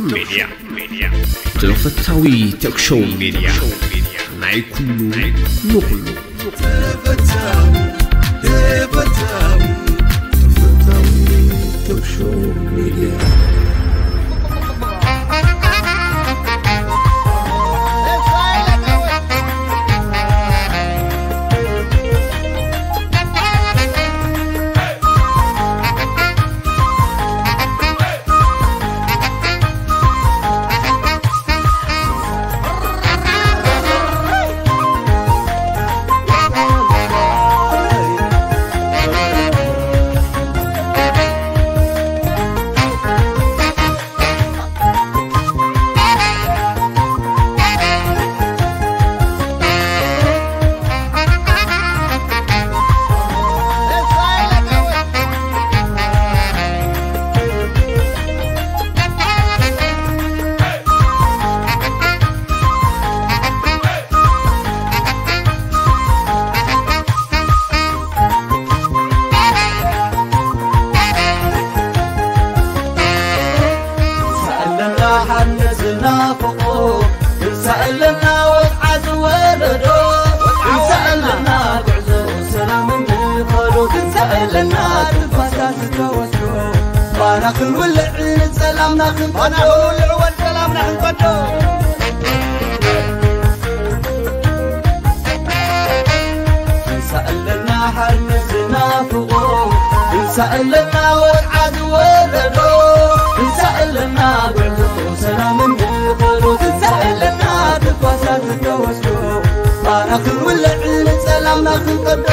ሜድያ፣ ሜድያ፣ ተፈታዊ ቶክ ሾው ሜድያ፣ ናይ ኩሉ ንኹሉ። ትንሳኤ ኣለና ሓንቲ ዝናፍቆ፣ ትንሳኤ ኣለና ወድዓ ዝወለዶ፣ ትንሳኤ ኣለና ጉዕዞ ሰላም እንኸዶ፣ ትንሳኤ ኣለና ትንፋሳ ዝተወስዶ፣ ባና ክንውልዕ ንጸላምና ክንቀዶ፣ ክንውልዕ ወን ሰላምና ክንቀዶ። ትንሳኤ ኣለና ሓርነት ዝናፍቆ፣ ትንሳኤ ኣለና ወድዓ ዝወለዶ፣ ትንሳኤ ኣለና ጉዕዞ ሰላም እንኸዶ፣ ትንሳኤ ኣለና ትንፋሳ ዝተወስዶ፣ ባና ክንውልዕ ንጸላምና ክንቀዶ።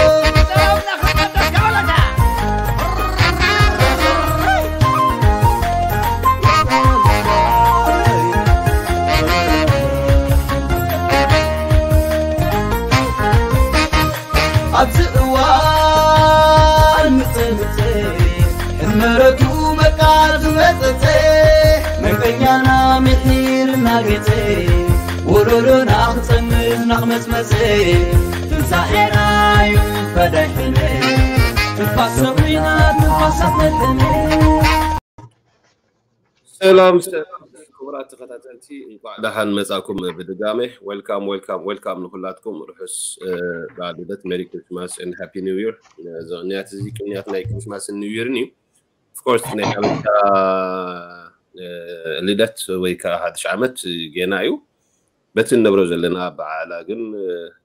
ኣብዚ እዋን ምጽምጽ ሕመረቱ በቃ ዝመጸጸ፣ መንቀኛና ምሒር እናገጸ፣ ወለዶና ክጸንት ናኽመጽመጸ፣ ትንሳኤና እዩ ፈዳይ ሕነ፣ ትንፋስ ሰዊና ትንፋስ ኣፍለጠነ። ሰላም ሰላም ክቡራት ተኸታተልቲ፣ እንኳዕ ደሓን መጻኩም ብድጋሜ። Welcome, welcome, welcome ንኹላትኩም። ርሑስ በዓል ልደት፣ Merry Christmas and Happy New Year። እዚ ቅንያት እዚ ቅንያት ናይ ክሪስማስን ኒው ይርን እዩ። Of course ናይ ሓበሻ ልደት ወይ ከዓ ሓድሽ ዓመት ጌና እዩ። በቲ እንነብሮ ዘለና በዓላ ግን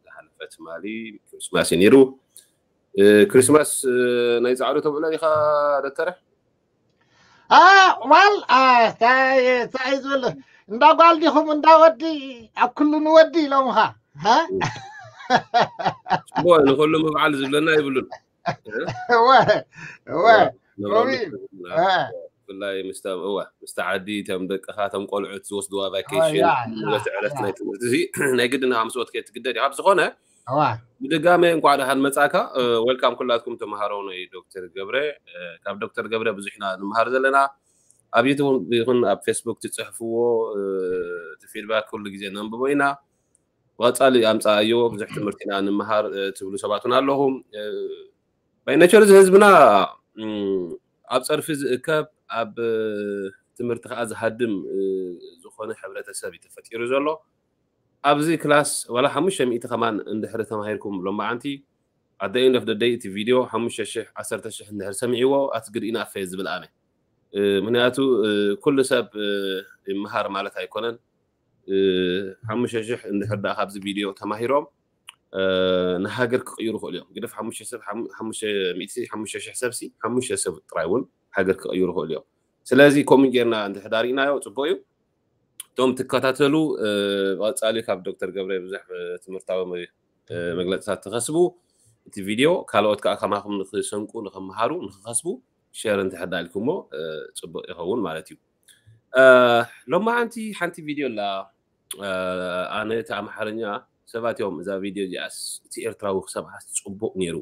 ዝሓለፈ ትማሊ ክሪስማስ እዩ ነይሩ። ክሪስማስ ናይ ጻዕዱ ተብዕሎ ኢኻ ዶክተረ? ዋል እንታይ ዝብል እንዳ ጓል ዲኹም እንዳ ወዲ ኣብ ኩሉ ንወዲ ኢሎምኻ። ጽቡቕ፣ ንኹሉ ምብዓል ዝብለና ይብሉን። ብፍላይ ምስታ ዓዲ ተም ደቅኻ ተም ቆልዑት ዝወስድዋ ቫኬሽን በቲ ዕለት ናይ ትምህርቲ እዚ ናይ ግድን ምስ ወትከ ትግደድ ኢኻ። ብዝኾነ ብድጋሜ እንኳዕ ደሓን መጻካ። ወልካም ኩላትኩም ተምሃሮ ናይ ዶክተር ገብረ። ካብ ዶክተር ገብረ ብዙሕ ኢና ንምሃር ዘለና። ኣብ ዩቱብ ይኹን ኣብ ፌስቡክ ትጽሕፍዎ እቲ ፊድባክ ኩሉ ግዜ ነንብቦ ኢና። ብቐጻሊ ኣምጻኣዮ ብዙሕ ትምህርቲ ኢና ንምሃር ትብሉ ሰባት እውን ኣለኹም። ባይ ኔቸር እዚ ህዝብና ኣብ ጸርፊ ዝእከብ ኣብ ትምህርቲ ከዓ ዝሃድም ዝኾነ ሕብረተሰብ እዩ ተፈጢሩ ዘሎ። ኣብዚ ክላስ ዋላ ሓሙሽተ ሚእቲ ከማን እንድሕሪ ተማሂርኩም ሎማዓንቲ ኣደ ኢንድ ኦፍ ደይ እቲ ቪድዮ ሓሙሽተ ሽሕ ዓሰርተ ሽሕ እንድሕር ሰሚዕዎ ኣትግድ ኢናፈ ዝብል ኣነ። ምክንያቱ ኩሉ ሰብ ይምሃር ማለት ኣይኮነን። ሓሙሽተ ሽሕ እንድሕር ደኣ ካብዚ ቪድዮ ተማሂሮም ንሃገር ክቕይሩ ይኽእሉ እዮም። ግደፍ ሓሙሽተ ሰብ ሓሙሽተ ሚእቲ ሓሙሽተ ሽሕ ሰብሲ ሓሙሽተ ሰብ ጥራይ እውን ሃገር ክቕይሩ ይኽእሉ እዮም። ስለዚ ከምኡ ጌርና እንድሕር ዳሪእናዮ ጽቡቕ እዩ። እቶም ትከታተሉ ብቐጻሊ ካብ ዶክተር ገብረ ብዙሕ ትምህርታዊ መግለጽታት ትኸስቡ እቲ ቪድዮ ካልኦት ከዓ ከማኹም ንክሰንቁ ንክመሃሩ ንክኸስቡ ሸር እንተሕዳ ኢልኩሞ ጽቡቕ ይኸውን ማለት እዩ። ሎማዓንቲ ሓንቲ ቪድዮ ኣላ። ኣነ እቲ ኣምሓርኛ ሰባት እዮም እዛ ቪድዮ እዚኣስ እቲ ኤርትራዊ ክሰምዓስ ጽቡቕ ነይሩ።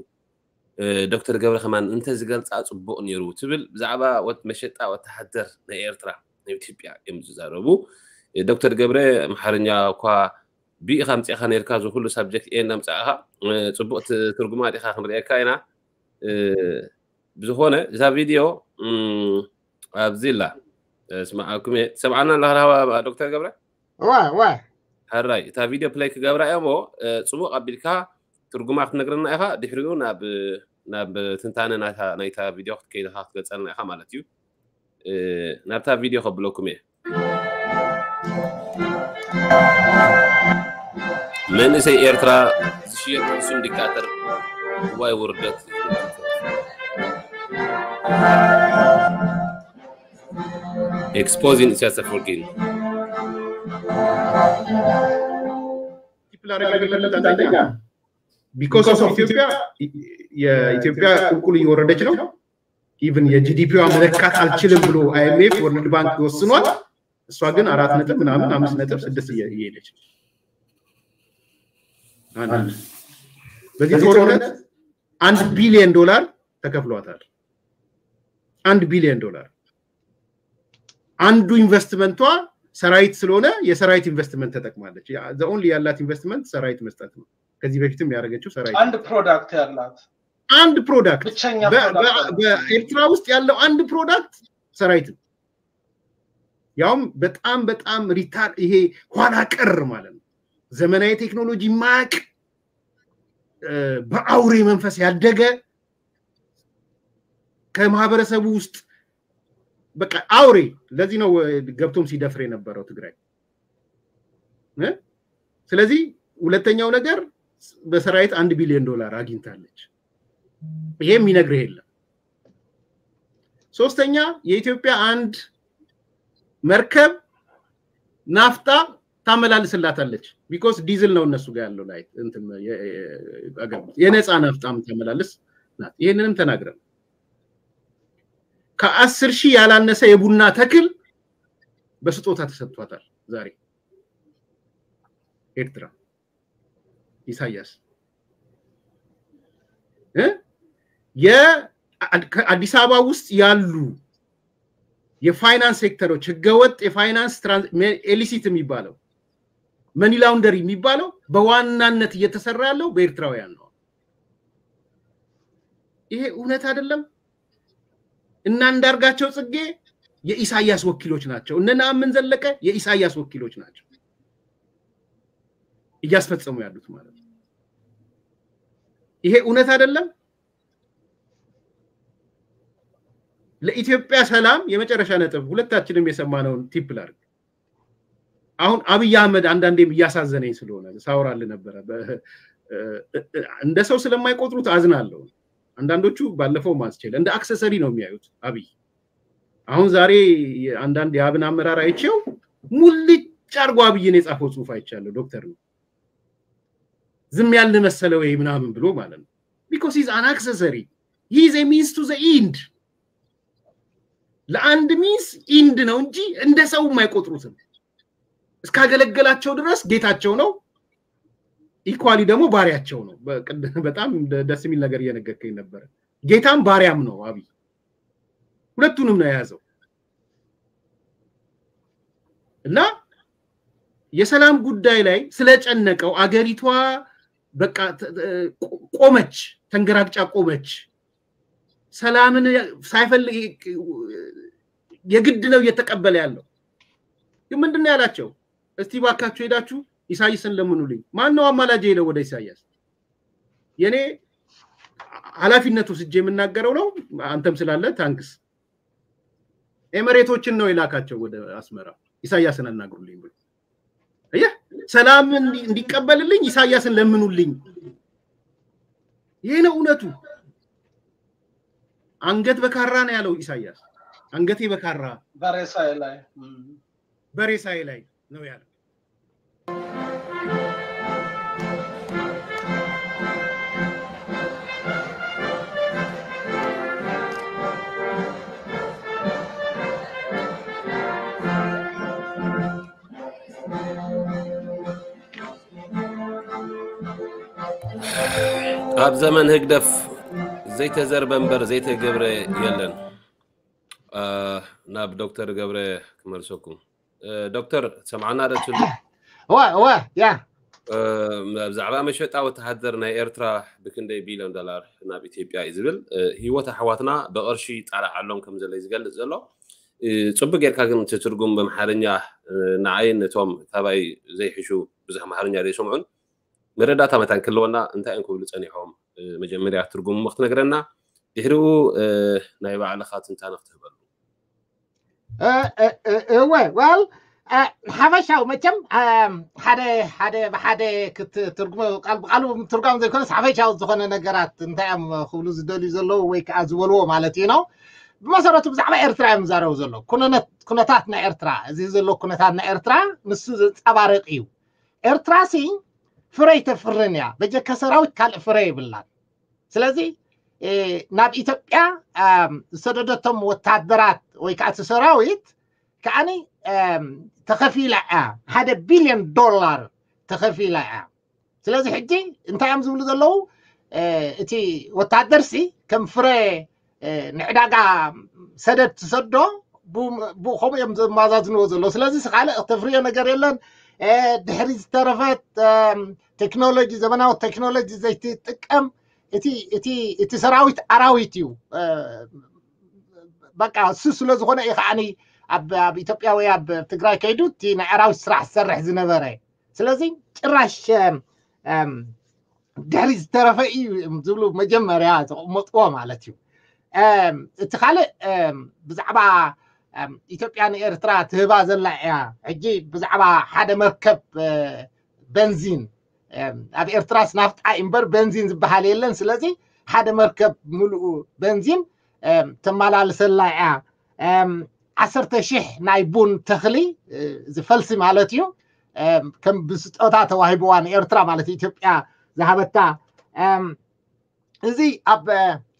ዶክተር ገብረ ከማን እንተ ዝገልጻ ጽቡቕ ነይሩ ትብል ብዛዕባ ወት መሸጣ ወተሃደር ናይ ኤርትራ ናይ ኢትዮጵያ እዮም ዝዛረቡ። ዶክተር ገብረ ኣምሓርኛ እኳ ቢ ኢኻ ኣምጺእኻ ነርካ እዚ ኩሉ ሳብጀክት ኤ እናምጻእኻ ጽቡቕ ትርጉማ ዲኻ ክንርእየካ ኢና። ብዝኾነ እዛ ቪድዮ ኣብዚ ኣላ ስማዓኩም እየ። ትሰምዓና ኣለኻ ዶክተር ገብረ? እዋ እዋ። ሕራይ፣ እታ ቪድዮ ፕለይ ክገብራ እየ እሞ፣ ጽቡቕ ኣቢልካ ትርጉማ ክትነግረና ኢኻ። ድሕሪኡ ናብ ናብ ትንታነ ናይታ ቪድዮ ክትከይድ ኢኻ፣ ክትገልጸልና ኢኻ ማለት እዩ። ናብታ ቪድዮ ከብለኩም እየ። መንእሰይ ኤርትራ ዝሽየጥ ሕሱም ዲክታተር፣ እዋይ ውርደት። Exposing ኢሳያስ ኣፈወርቂ። Because of ኢትዮጵያ፣ የኢትዮጵያ ቁልቁል እየወረደች ነው። ኢቭን የጂዲፒዋ መለካት አልችልም ብሎ አይኤምኤፍ፣ ወርልድ ባንክ ወስኗል። እሷ ግን አራት ነጥብ ምናምን አምስት ነጥብ ስድስት እየሄደች ነው። በዚህ ጦርነት አንድ ቢሊዮን ዶላር ተከፍሏታል። አንድ ቢሊዮን ዶላር። አንዱ ኢንቨስትመንቷ ሰራዊት ስለሆነ የሰራዊት ኢንቨስትመንት ተጠቅማለች። ኦንሊ ያላት ኢንቨስትመንት ሰራዊት መስጠት ነው። ከዚህ በፊትም ያደረገችው ሰራዊት አንድ ፕሮዳክት ያላት አንድ ፕሮዳክት ብቸኛ product አላት። በኤርትራ ውስጥ ያለው አንድ ፕሮዳክት ሰራዊት ነው። ያውም በጣም በጣም retard፣ ይሄ ኋላ ቀር ማለት ነው። ዘመናዊ ቴክኖሎጂ ማቅ በአውሬ መንፈስ ያደገ ከማህበረሰቡ ውስጥ በቃ አውሬ። ለዚህ ነው ገብቶም ሲደፍር የነበረው ትግራይ። ስለዚህ ሁለተኛው ነገር በሰራዊት አንድ ቢሊዮን ዶላር አግኝታለች። ይሄ የሚነግርህ የለም። ሶስተኛ የኢትዮጵያ አንድ መርከብ ናፍጣ ታመላልስላታለች። Because ዲዝል ነው እነሱ ጋር ያለው ላይ የነፃ ናፍጣ የምታመላልስ ናት። ይሄንንም ተናግረን ከአስር ሺህ ያላነሰ የቡና ተክል በስጦታ ተሰጥቷታል። ዛሬ ኤርትራ ኢሳያስ የአዲስ አበባ ውስጥ ያሉ የፋይናንስ ሴክተሮች ህገወጥ የፋይናንስ ኢሊሲት የሚባለው መኒ ላውንደሪ የሚባለው በዋናነት እየተሰራ ያለው በኤርትራውያን ነው። ይሄ እውነት አይደለም? እና አንዳርጋቸው ጽጌ የኢሳያስ ወኪሎች ናቸው። እነ ነአምን ዘለቀ የኢሳያስ ወኪሎች ናቸው እያስፈጸሙ ያሉት ማለት ነው። ይሄ እውነት አይደለም? ለኢትዮጵያ ሰላም የመጨረሻ ነጥብ። ሁለታችንም የሰማነውን ቲፕ ላድርግ። አሁን አብይ አህመድ አንዳንዴም እያሳዘነኝ ስለሆነ ሳወራልህ ነበረ። እንደ ሰው ስለማይቆጥሩት አዝናለሁ። አንዳንዶቹ ባለፈው ማስችል እንደ አክሰሰሪ ነው የሚያዩት አብይ። አሁን ዛሬ አንዳንድ የአብን አመራር አይቼው ሙልጭ አድርጎ አብይን የጻፈው ጽሁፍ አይቻለሁ። ዶክተር ነው ዝም ያልን መሰለ ወይ ምናምን ብሎ ማለት ነው። Because he's an accessory, he is a means to the end። ለአንድ ሚንስ ኢንድ ነው እንጂ እንደ ሰውም አይቆጥሩትም። እስካገለገላቸው ድረስ ጌታቸው ነው። ኢኳሊ ደግሞ ባሪያቸው ነው። በጣም ደስ የሚል ነገር እየነገርከኝ ነበረ። ጌታም ባሪያም ነው አብይ። ሁለቱንም ነው የያዘው። እና የሰላም ጉዳይ ላይ ስለጨነቀው አገሪቷ በቃ ቆመች፣ ተንገራግጫ ቆመች። ሰላምን ሳይፈልግ የግድ ነው እየተቀበለ ያለው። ግን ምንድን ነው ያላቸው? እስቲ ባካችሁ ሄዳችሁ ኢሳያስን ለምኑልኝ። ማን ነው አማላጅ ሄደው ወደ ኢሳያስ? የኔ ኃላፊነት ወስጄ የምናገረው ነው። አንተም ስላለ ታንክስ። ኤምሬቶችን ነው የላካቸው ወደ አስመራ ኢሳያስን አናግሩልኝ ብሎ። አየህ፣ ሰላም እንዲቀበልልኝ ኢሳያስን ለምኑልኝ። ይሄ ነው እውነቱ። አንገት በካራ ነው ያለው ኢሳያስ። አንገቴ በካራ በሬሳዬ ላይ በሬሳዬ ላይ ነው ያለው። ኣብ ዘመን ህግደፍ ዘይተዘርበ እምበር ዘይተገብረ የለን። ናብ ዶክተር ገብረ ክመልሰኩም። ዶክተር ሰምዓና ደችሉ እዋ እዋ ያ ብዛዕባ መሸጣ ወተሃደር ናይ ኤርትራ ብክንደይ ቢልዮን ዶላር ናብ ኢትዮጵያ እዩ ዝብል። ህይወት ኣሕዋትና ብቕርሺ ይጣላዓሎም ከም ዘሎ እዩ ዝገልጽ ዘሎ። ጽቡቅ ጌርካ ግን እቲ ትርጉም በምሓርኛ ንዓይን ነቶም ካባይ ዘይሕሹ ብዙሕ ኣምሓርኛ ዘይሰምዑን መረዳእታ መታን ክህልወና እንታይ እዮም ክብሉ ጸኒሖም? መጀመርያ ትርጉሙ ክትነግረና፣ ድሕሪኡ ናይ ባዕልኻ ትንታነ ክትህበሉ። እወ well ሓፈሻዊ መቸም ሓደ ሓደ ብሓደ ክትትርጉሞ ቃል ብቃሉ ምትርጓም ዘይኮነስ ሓፈሻዊ ዝኾነ ነገራት እንታይ እዮም ክብሉ ዝደልዩ ዘለዉ ወይ ከዓ ዝበልዎ ማለት እዩ ነው። ብመሰረቱ ብዛዕባ ኤርትራ እዮም ዝዛረቡ ዘለዉ። ኩነታት ናይ ኤርትራ፣ እዚ ዘሎ ኩነታት ናይ ኤርትራ ንሱ ዘንጸባርቕ እዩ። ኤርትራ ሲ ፍረ ኣይተፍርን እያ። በጀካ ሰራዊት ካልእ ፍረ የብላን። ስለዚ ናብ ኢትዮጵያ ዝሰደደቶም ወታደራት ወይ ከዓ እቲ ሰራዊት ከዓኒ ተኸፊላ እያ። ሓደ ቢልዮን ዶላር ተኸፊላ እያ። ስለዚ ሕጂ እንታይ እዮም ዝብሉ ዘለዉ? እቲ ወታደር ሲ ከም ፍረ ንዕዳጋ ሰደድ ትሰዶ ብኡ ከምኡ እዮም ዘመዛዝንዎ ዘለዉ። ስለዚ ካልእ እተፍርዮ ነገር የለን። ድሕሪ ዝተረፈት ቴክኖሎጂ፣ ዘመናዊ ቴክኖሎጂ ዘይትጥቀም እቲ ሰራዊት ኣራዊት እዩ። በቃ እሱ ስለ ዝኾነ እዩ ከዓኒ ኣብ ኢትዮጵያ ወይ ኣብ ትግራይ ከይዱ እቲ ናይ ኣራዊት ስራሕ ዝሰርሕ ዝነበረ። ስለዚ ጭራሽ ድሕሪ ዝተረፈ እዩ ዝብሉ መጀመርያ ዘቐመጥዎ ማለት እዩ። እቲ ካልእ ብዛዕባ ኢትዮጵያ ንኤርትራ ትህባ ዘላ እያ። ሕጂ ብዛዕባ ሓደ መርከብ በንዚን ኣብ ኤርትራስ ናፍጣ እምበር በንዚን ዝበሃል የለን። ስለዚ ሓደ መርከብ ምሉኡ በንዚን ተመላልሰላ እያ። ዓሰርተ ሺሕ ናይ ቡን ተኽሊ ዝፈልሲ ማለት እዩ ከም ብስጦታ ተዋሂብዋ ንኤርትራ ማለት ኢትዮጵያ ዝሃበታ። እዚ ኣብ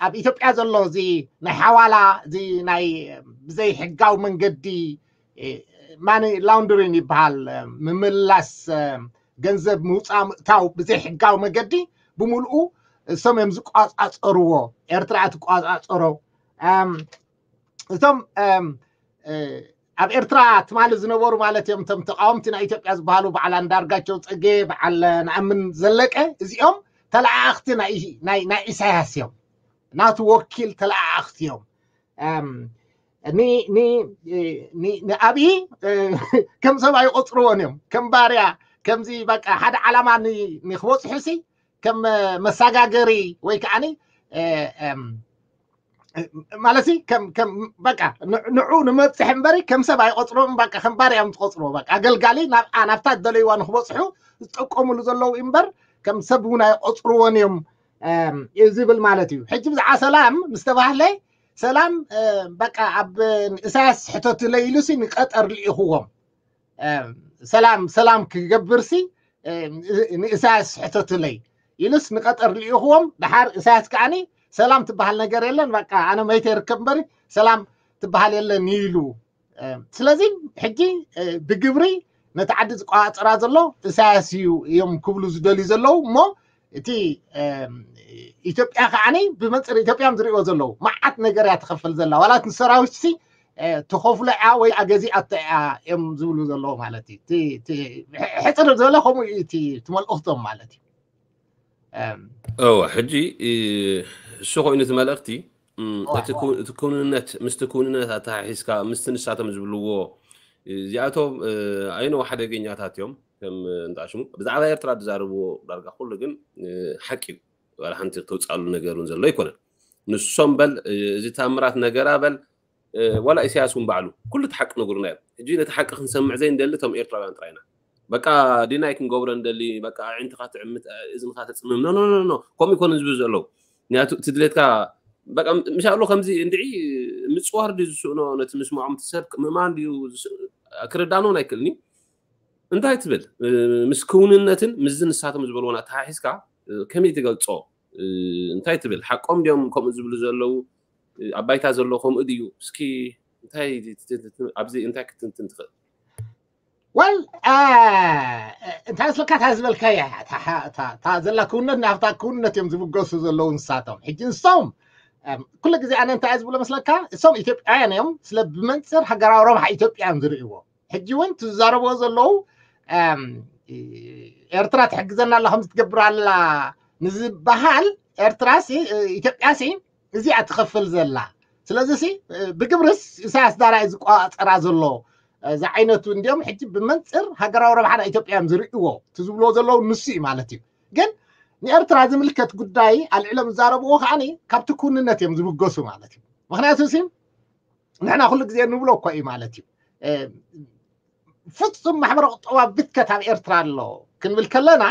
ኣብ ኢትዮጵያ ዘሎ እዚ ናይ ሓዋላ እዚ ናይ ብዘይ ሕጋዊ መንገዲ ማኒ ላውንድሪን ይበሃል፣ ምምላስ ገንዘብ ምውፃእ ምእታው ብዘይ ሕጋዊ መገዲ ብምልኡ እሶም እዮም ዝቋፃፀርዎ። ኤርትራ ትቋፃፀሮ። እቶም ኣብ ኤርትራ ትማሊ ዝነበሩ ማለት እዮም እቶም ተቃወምቲ ናይ ኢትዮጵያ ዝበሃሉ በዓል ኣንዳርጋቸው ጽጌ፣ በዓል ንኣምን ዘለቀ፣ እዚኦም ተለኣኣኽቲ ናይ ኢሳያስ እዮም። ናቱ ወኪል ተለኣኣኽቲ እዮም። ንኣብይ ከም ሰብ ኣይቆፅርዎን እዮም። ከም ባርያ ከምዚ በቃ ሓደ ዓላማ ንክበፅሑ ሲ ከም መሳጋገሪ ወይ ከዓኒ ማለት በቃ ንዑ ንመብፅሕ እምበሪ ከም ሰብ ኣይቆፅሮም። በቃ ከም ባርያ እዮም ዝቆፅርዎ። በቃ ኣገልጋሊ ናብታ ዝደለይዋ ንክበፅሑ ዝጠቀሙሉ ዘለዉ እምበር ከም ሰብ እውን ኣይቆፅርዎን እዮም ዝብል ማለት እዩ። ሕጂ ብዛዕባ ሰላም ምስተባህለ ሰላም በቃ ኣብ ኢሳያስ ሕተትለይ ኢሉሲ ንቀጠር ልኢኽዎም። ሰላም ሰላም ክገብርሲ ንኢሳያስ ሕተትለይ ኢሉስ ንቀጠር ልኢኽዎም። ደሓር ኢሳያስ ከዓኒ ሰላም ትበሃል ነገር የለን፣ በቃ ኣነ መይተ ይርከብ እምበሪ ሰላም ትበሃል የለን ኢሉ። ስለዚ ሕጂ ብግብሪ ነቲ ዓዲ ዝቆፃፀራ ዘሎ ኢሳያስ እዩ እዮም ክብሉ ዝደልዩ ዘለዉ። እሞ እቲ ኢትዮጵያ ከዓኒ ብመንፅር ኢትዮጵያ እዮም ዝሪእዎ ዘለዉ። መዓት ነገር እያ ትኸፍል ዘላ። ዋላ እቲ ሰራዊት ሲ ተኸፍሎ እያ ወይ ኣገዚኣቶ እያ እዮም ዝብሉ ዘለዉ ማለት እዩ። ሕፅር ዝበለ ከምኡ እዩ እቲ መልእኽቶም ማለት እዩ። እወ ሕጂ እሱ ኮይኑ እቲ መልእኽቲ እቲ ክውንነት ምስቲ ክውንነት ኣተሓሒዝካ ምስቲ ንሳቶም ዝብልዎ እዚኣቶም ኣይነው ሓደገኛታት እዮም። ከም እንጣሽሙ ብዛዕባ ኤርትራ ዝዛረብዎ ዳርጋ ኩሉ ግን ሓቂ እዩ። ዋላ ሓንቲ ተውፃሉ ነገር እውን ዘሎ ኣይኮነን። ንሶም በል እዚ ታምራት ነገራ በል ዋላ ኢሳያስ እውን ባዕሉ ኩሉ እቲ ሓቂ ነግሩና እዮም። ሕጂ ነቲ ሓቂ ክንሰምዕ ዘይንደሊ እቶም ኤርትራውያን ጥራይና በቃ ዲናይ ክንገብሮ እንደሊ በቃ ኣዒንትኻ ትዕምት እዝንኻ ተፅምም ኖ ኖ ኖ ከምኡ ይኮነ ዝብሉ ዘለዉ። ምክንያቱ እቲ ድሌትካ በቃ ምሻሎ ከምዚ እንድዒ ምፅዋር ድዩ ዝስእኖ ነቲ ምስምዖም እቲ ሰብ ምእማን ድዩ ክርዳኖን ኣይክእልኒ። እንታይ ትብል ምስ ክውንነትን ምስዚ ንሳቶም ዝበልዎን ኣተሓሒዝካ ከመይ ትገልፆ? እንታይ ትብል ሓቆም ድዮም ከምኡ ዝብሉ ዘለዉ? ኣብ ባይታ ዘሎ ከምኡ ድዩ? እስኪ እንታይ ኣብዚ እንታይ ክትንትን ትኽእል? ወል እንታይ ስለካ እታ ዝበልካያ እታ ዘላ ክውነት ናብታ ክውነት እዮም ዝብገሱ ዘለዉ ንሳቶም። ሕጂ ንሶም ኩሉ ግዜ ኣነ እንታይ ዝብሎ መስለካ እሶም ኢትዮጵያውያን እዮም። ስለ ብመንፅር ሃገራዊ ረብሓ ኢትዮጵያ እዮም ዝርእይዎ። ሕጂ እውን ትዛረብዎ ዘለዉ ኤርትራ ትሕግዘና ኣላ ከምዚ ትገብር ኣላ ንዝበሃል ኤርትራ ኢትዮጵያ ሲ እዚኣ ትኸፍል ዘላ ስለዚ ሲ ብግብርስ ኢሳያስ ዳራይ ዝቋፀራ ዘሎ ዝዓይነቱ እንዲኦም ሕጂ ብመንፅር ሃገራዊ ረብሓ ናይ ኢትዮጵያ እዮም ዝርእዎ። እቲ ዝብልዎ ዘለዉ ንሱ እዩ ማለት እዩ። ግን ንኤርትራ ዝምልከት ጉዳይ ኣልዕሎም ዝዛረብዎ ከዓ ካብቲ ኩንነት እዮም ዝብገሱ ማለት እዩ። ምክንያቱ ሲ ንሕና ኩሉ ግዜ ንብሎ እኮ እዩ ማለት እዩ። ፍፁም ማሕበረ ቁጠባ ብትከት ኣብ ኤርትራ ኣሎ ክንብል ከለና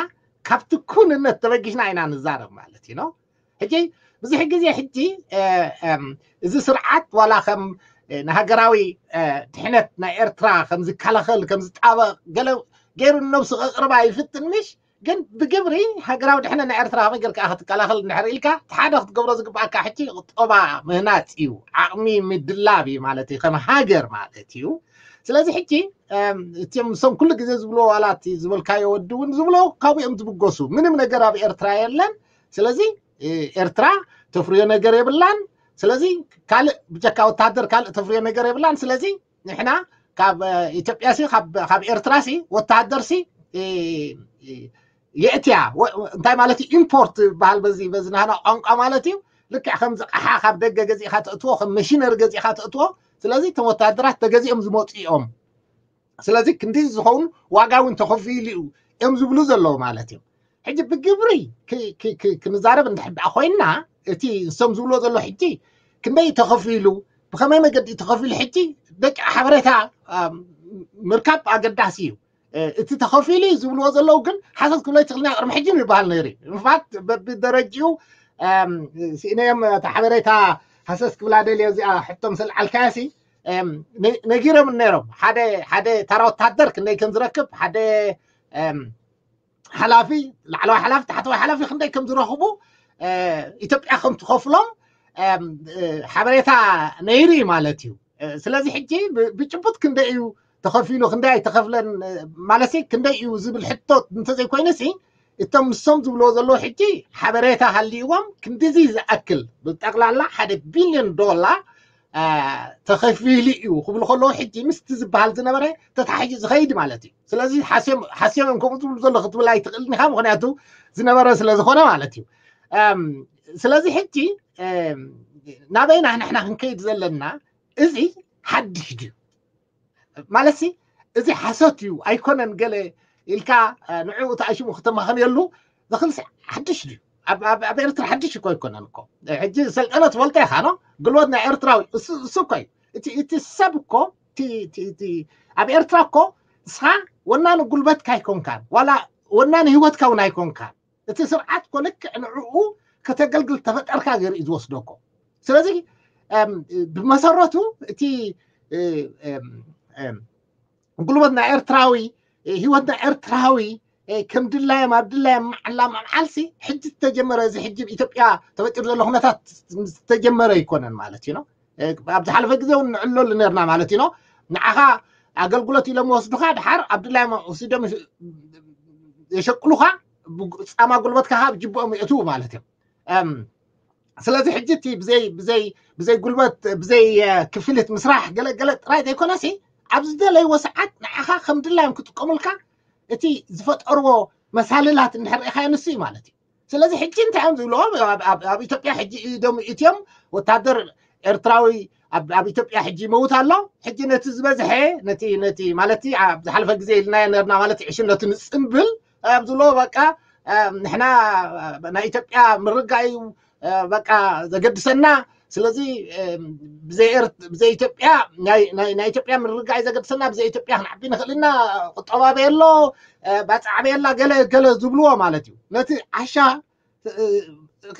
ካብቲ ኩንነት ተበጊስና ኢና ንዛረብ ማለት እዩ። ሕጂ ብዙሕ ግዜ ሕጂ እዚ ስርዓት ዋላ ከም ንሃገራዊ ድሕነት ናይ ኤርትራ ከም ዝከላኸል ከም ዝጣበቕ ገለ ገይሩ ነብሱ ከቕርባ ይፍትን ምሽ ግን ብግብሪ ሃገራዊ ድሕነት ናይ ኤርትራ ከመይ ጌርካ ክትከላኸል እንድሕር ኢልካ እቲ ሓደ ክትገብሮ ዝግባኣካ ሕጂ ቁጠባ ምህናፅ እዩ፣ ዓቕሚ ምድላብ እዩ ማለት እዩ ከም ሃገር ማለት እዩ። ስለዚ ሕጂ እም፣ እቲም እሶም ኩሉ ግዜ ዝብልዎ ዋላ እቲ ዝበልካዮ ወዲ እውን ዝብሎ ካብኡ እዮም ዝብገሱ። ምንም ነገር ኣብ ኤርትራ የለን። ስለዚ እ፣ ኤርትራ ተፍርዮ ነገር የብላን። ስለዚ ካልእ ብጀካ ወታደር ካልእ ተፍርዮ ነገር የብላን። ስለዚ ንሕና ካብ እ፣ ኢትዮጵያ ሲ ካብ ካብ ኤርትራ ሲ ወታደር ሲ እ፣ እ፣ የእትያ ወ- እንታይ ማለት እዩ? ኢምፖርት ዝበሃል በዚ በዚ ናህና ቋንቋ ማለት እዩ። ልክዕ ከም ዝቃሓ ካብ ደገ ገዚእካ ተእትዎ፣ ከም መሽነሪ ገዚእካ ተእትዎ። ስለዚ እቶም ወታደራት ተገዚኦም ዝመፁ እዮም። ስለዚ ክንዲ ዝኸውን ዋጋ እውን ተኸፊሉ እዩ እዮም ዝብሉ ዘለዉ ማለት እዮም። ሕጂ ብግብሪ ክ- ክ- ክ- ክንዛረብ እንድሕር ደኣ ኮይንና እቲ ንሶም ዝብልዎ ዘሎ ሕጂ ክንደይ ተኸፊሉ፣ ብኸመይ መገዲ ተኸፊሉ ሕጂ ደቂ ሓበሬታ ኣም፣ ምርካብ ኣገዳሲ እዩ። እ፣ እቲ ተኸፊሉ እዩ ዝብልዎ ዘለዉ ግን ሓሰት ክብሎ ይትኽእልና ቅድሚ ሕጂ ይበሃል ነይሩ። ምፋት በብደረጅኡ ኣም፣ ስኢነዮም እቲ ሓበሬታ ሓሰት ክብላ ደልዮ እዚኣ ሕቶ ምስ ኣልዓልካያ ሲ ኣም፣ ነ- ነጊሮም ነይሮም። ሓደ ሓደ ተራ ወታደር ክንደይ ከም ዝረክብ፣ ሓደ ኣም፣ ሓላፊ ላዕለዋይ ሓላፊ ታሕተዋይ ሓላፊ ክንደይ ከም ዝረኽቡ እ፣ ኢትዮጵያ ከም ትኸፍሎም ኣም፣ እ፣ ሓበሬታ ነይሩ እዩ ማለት እዩ። እ፣ ስለዚ ሕጂ ብ- ብጭቡጥ ክንደይ እዩ ተኸፊሉ ክንደይ ኣይተኸፍለን እ፣ ማለት ሲ ክንደይ እዩ ዝብል ሕቶ እንተዘይኮይኑ ሲ እቶም ንሶም ዝብልዎ ዘለዉ ሕጂ ሓበሬታ ሃልይዎም ክንዲዚ ዝኣክል ብጠቕላላ ሓደ ቢልዮን ዶላር እ፣ ተኸፊሉ እዩ ክብሉ ከለዉ ሕጂ ምስቲ ዝበሃል ዝነበረ ተታሒዙ ዝኸይድ ማለት እዩ። ስለዚ ሓስዮም ሓስዮም እዮም ከምኡ ዝብሉ ዘሎ ክትብል ኣይትኽእልን ኢኻ፣ ምክንያቱ ዝነበረ ስለ ዝኾነ ማለት እዩ። እም፣ ስለዚ ሕጂ እም፣ ናበይና ንሕና ክንከይድ ዘለና እዚ ሓድሽ ድዩ ማለት ሲ እዚ ሓሶት እዩ ኣይኮነን ገለ ኢልካ እ፣ ንዕኡ ተኣሽሙ ክተማኸንየሉ ዝኽእል ሲ ሓድሽ ድዩ? ኣብ ኣብ- ኣብ ኤርትራ ሓድሽ እኮ ኣይኮነን እኮ። ሕጂ ሰልጠነ ትፈልጦ ኢኻ ኖ? ጉልበት ናይ ኤርትራዊ እሱ እሱ እኮ እዩ። እቲ እቲ ሰብ እኮ እቲ እቲ እቲ ኣብ ኤርትራ እኮ ንስኻ ወናኒ ጉልበትካ ኣይኮንካን ዋላ ወናኒ ህይወትካ እውን ኣይኮንካን። እቲ ስርዓት እኮ ልክዕ ንዕኡ ከተገልግል ተፈጠርካ ገይሩ እዩ ዝወስደኮ። ስለዚ እም፣ ብመሰረቱ እቲ እ፣ እም፣ እም፣ ጉልበት ናይ ኤርትራዊ እ፣ ህይወት ናይ ኤርትራዊ እ፣ ከም ድላዮም ኣብ ድላዮም መዓላ መዓልሲ ሕጂ ዝተጀመረ እዚ ሕጂ ኢትዮጵያ ተፈጢሩ ዘሎ ኩነታት ዝተጀመረ ኣይኮነን ማለት እዩ። ኣብ ዝሓለፈ ግዜ እውን ንዕለሉ ነርና ማለት እዩ። ንዓኻ ኣገልግሎት ኢሎም ወስዱኻ ድሓር ኣብ ድላዮም ወሲዶም የሸቅሉኻ፣ ፃማ ጉልበትካ ካብ ጅብኦም የእትዉ ማለት እዮም። እም፣ ስለዚ ሕጂ እቲ ብዘይ ብዘይ ብዘይ ጉልበት ብዘይ እ፣ ክፍሊት ምስራሕ ገለ ገለ ጥራይ ዘይኮነሲ ኣብ ዝደለይዎ ሰዓት ንዓኻ ከም ድላዮም ክጥቀሙልካ እቲ ዝፈጠርዎ መሳልላት እንድሕር ርኢኻዮ ንሱ እዩ ማለት እዩ። ስለዚ ሕጂ እንታይ እዮም ዝብልዎ? ኣብ- ኣብ ኣብ ኢትዮጵያ ሕጂ ኢዶም ኢትዮም ወታደር ኤርትራዊ ኣብ ኣብ ኢትዮጵያ ሕጂ ይመውት ኣሎ። ሕጂ ነቲ ዝበዝሐ ነቲ ነቲ ማለት ኣብ ዝሓለፈ ግዜ ኢልናዮ ነርና ማለት ዕሽነቱ ንፅምብል ኣብ ዝብሎ በቃ እ፣ ንሕና እ፣ ናይ ኢትዮጵያ ምርጋ እዩ እ፣ በቃ ዘገድሰና። ስለዚ እ፣ ብዘይ ኤርት- ብዘይ ኢትዮጵያ ናይ ናይ- ናይ ኢትዮጵያ ምርጋ እዩ ዘገድሰና፣ ብዘይ ኢትዮጵያ ክንዓቢ ንኽእል ኢና፣ ቁጠባ በየሎ እ፣ ባፅዕ በየላ ገለ ገለ ዝብልዎ ማለት እዩ። ነቲ ዓሻ እ፣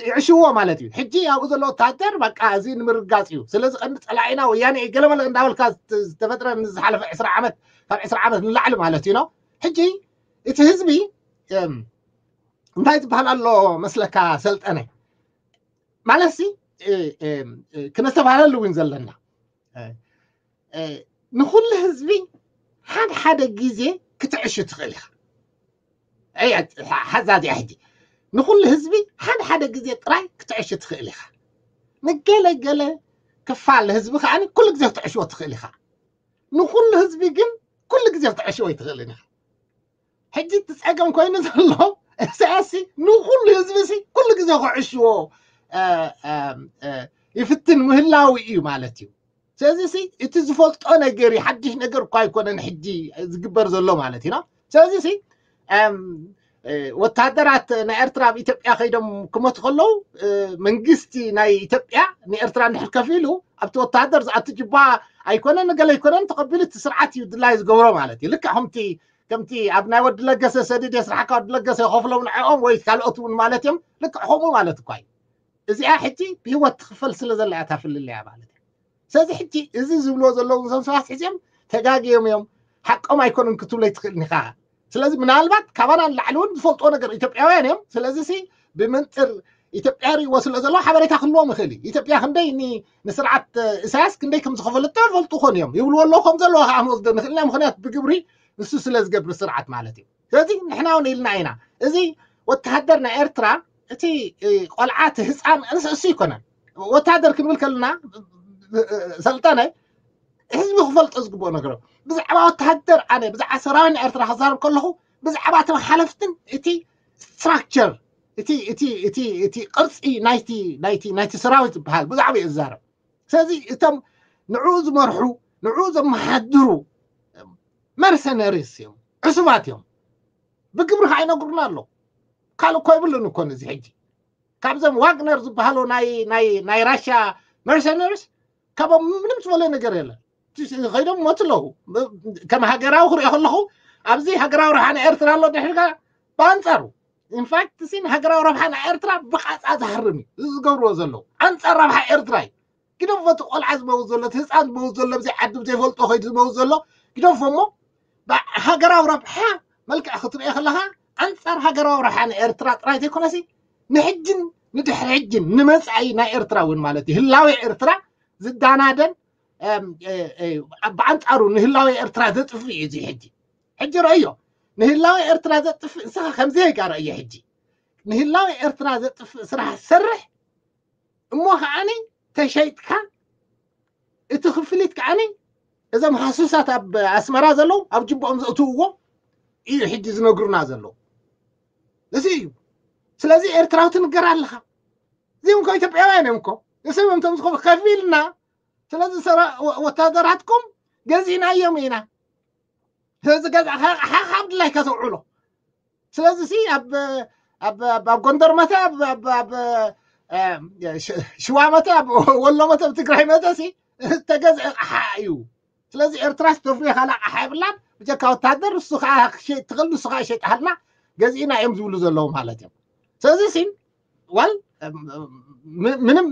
ይዕሽዎ ማለት እዩ። ሕጂ ኣብኡ ዘሎ ወታደር በቃ እዚ ንምርጋፅ እዩ። ስለዚ ቀንዲ ፀላኢና ወያነ እዩ ገለመለ እንዳበልካ ዝተ- ዝተፈጥረ ንዝሓለፈ ዕስራ ዓመት ካብ ዕስራ ዓመት ንላዕሊ ማለት እዩ ነው። ሕጂ እቲ ህዝቢ እም፣ እንታይ ዝበሃል ኣሎ መስለካ ሰልጠነ? ማለት ሲ እ፣ እ፣ እ፣ ክነስተባህለሉ እውን ዘለና እ፣ እ፣ ንኩሉ ህዝቢ ሓደ ሓደ ግዜ ክትዕሹ ትኽእል ኢኻ። እያ፣ ሓ- ሓዛ እዚኣ ሕጂ ንኩሉ ህዝቢ ሓደ ሓደ ግዜ ጥራይ ክትዕሹ ትኽእል ኢኻ። ንገለ ገለ ክፋል ህዝቢ ከዓ ኩሉ ግዜ ክትዕሽዎ ትኽእል ኢኻ። ንኩሉ ህዝቢ ግን ኩሉ ግዜ ክትዕሽዎ ኣይትኽእልን ኢኻ። ሕጂ እቲ ፀገም ኮይኑ ዘሎ ኢሳያስ ሲ ንኩሉ ህዝቢ ሲ ኩሉ ግዜ ክዕሽዎ እ፣ እ፣ እ፣ ይፍትን ምህላው እዩ ማለት እዩ። ስለዚ ሲ እቲ ዝፈልጦ ነገር እዩ፣ ሓድሽ ነገር እኳ ኣይኮነን ሕጂ ዝግበር ዘሎ ማለት እዩ። ስለዚ ሲ ወታደራት ናይ ኤርትራ ኣብ ኢትዮጵያ ከይዶም ክመቱ ከለዉ መንግስቲ ናይ ኢትዮጵያ ንኤርትራ እንድሕር ከፊሉ ኣብቲ ወታደር ዝኣቱ ጅባ ኣይኮነን ገለ ኣይኮነን ተቐቢሉ እቲ ስርዓት እዩ ድላይ ዝገብሮ ማለት እዩ። ልክዕ ከምቲ ከምቲ ኣብ ናይ ወዲ ለገሰ ሰድድ የስራሕካ ወዲ ለገሰ ይኸፍሎም ንዕኦም ወይ ካልኦት እውን ማለት እዮም። ልክዕ ከምኡ ማለት እኳ እዩ። እዚኣ ሕጂ ብህይወት ትኽፈል ስለ ዘላ እያ እታ ፍልልያ ማለት እዩ። ስለዚ ሕጂ እዚ ዝብልዎ ዘለዉ እዞም ሰባት ሕዚኦም ተጋግዮም እዮም፣ ሓቆም ኣይኮኑን ክትብሎ ኣይትኽእልን ኢኻ። ስለዚ ምናልባት ካባና ንላዕሊ እውን ዝፈልጥዎ ነገር ኢትዮጵያውያን እዮም። ስለዚ ሲ ብመንፅር ኢትዮጵያ ርእይዎ ስለ ዘለዉ ሓበሬታ ክህልዎም ይኽእል እዩ። ኢትዮጵያ ክንደይ ኒ- ንስርዓት ኢሳያስ ክንደይ ከም ዝኸፈለቶ ይፈልጡ ኾን እዮም ይብልዎ ኣለዉ ከም ዘለዉ ከዓ ክንወስዶ ንኽእል ኢና። ምኽንያት ብግብሪ ንሱ ስለ ዝገብር ስርዓት ማለት እዩ። ስለዚ ንሕና እውን ኢልና ኢና እዚ ወተሃደር ናይ ኤርትራ እቲ ቆልዓ እቲ ህፃን እሱ ኣይኮነን ወተሃደር ክንብል ከለና ሰልጠነ ህዝቢ ክፈልጦ ዝግብኦ ነገር ብዛዕባ ወተሃደር ኣነ ብዛዕባ ሰራዊት ናይ ኤርትራ ክዛረብ ከለኹ ብዛዕባ እቶም ሓለፍትን እቲ ስትራክቸር እቲ እቲ እቲ እቲ ቅርፂ ናይቲ ናይቲ ናይቲ ሰራዊት ዝበሃል ብዛዕባ እዩ ዝዛረብ። ስለዚ እቶም ንዕኡ ዝመርሑ ንዕኡ ዘመሓድሩ መርሰነሪስ እዮም፣ ዕሱባት እዮም። ብግብሪ ከዓ ይነግሩና ኣለዉ። ካልእ እኮ ይብልን እኮ ነዚ ሕጂ ካብዞም ዋግነር ዝበሃሉ ናይ ናይ ናይ ራሽያ መርሰነሪስ ካብኦም ምንም ዝበለ ነገር የለን። ከይዶም ሞት ኣለዉ። ከም ሃገራዊ ክሪኦ ከለኹ ኣብዚ ሃገራዊ ረብሓ ናይ ኤርትራ ኣሎ ድሕርካ ብኣንፃሩ ኢንፋክት ሲ ንሃገራዊ ረብሓ ናይ ኤርትራ ብቃፃ ዝሃርም እዩ እዚ ዝገብርዎ ዘለዉ ኣንፃር ረብሓ ኤርትራ እዩ። ግደፎ እቲ ቆልዓ ዝመውት ዘሎ እቲ ህፃን ዝመውት ዘሎ ብዘይ ዓዱ ብዘይፈልጦ ከይዱ ዝመውት ዘሎ ግደፎ እሞ ሃገራዊ ረብሓ መልክዕ ክትሪኦ ከለካ ኣንፃር ሃገራዊ ረብሓ ንኤርትራ ጥራይ ዘይኮነሲ ንሕጅን ንድሕሪ ሕጅን ንመፃኢ ናይ ኤርትራ እውን ማለት እዩ ህላዊ ኤርትራ ዝዳናደን ብኣንፃሩ ንህላዊ ኤርትራ ዘጥፍእ እዩ እዚ ሕጂ ሕጂ ረእዮ ንህላዊ ኤርትራ ዘጥፍእ ንስኻ ከምዚ ጋ ረእዮ ሕጂ ንህላዊ ኤርትራ ዘጥፍእ ስራሕ ሰርሕ እሞ ከዓኒ ተሸይጥካ እቲ ክፍሊት ከዓኒ እዞም ሃሱሳት ኣብ ኣስመራ ዘለዉ ኣብ ጅቦኦም ዘእትውዎ እዩ ሕጂ ዝነግሩና ዘለዉ እዚ እዩ ስለዚ ኤርትራዊ ትንገር ኣለኻ እዚኦም እኮ ኢትዮጵያውያን እዮም እኮ ንስም እንቶም ዝኸ ከፊልና ስለዚ ወታደራትኩም ገዚእናዮም ኢና ስለዚ ገዛ ሓኻብ ድላይካ ተውዕሎ ስለዚ ሲ ኣብ ኣብ ጎንደር መተ ኣብ ሽዋ መተ ኣብ ወሎ መተ ኣብ ትግራይ መተ ሲ ተገዝአ ቃሓ እዩ ስለዚ ኤርትራ ስተፍሪ ካላ ቃሓ የብላን ብጀካ ወታደር ንሱ ከዓ ትኽእል ንሱ ከዓ ይሸይጥሃልና ገዚእና እዮም ዝብሉ ዘለዉ ማለት እዮም ስለዚ ሲ ዋል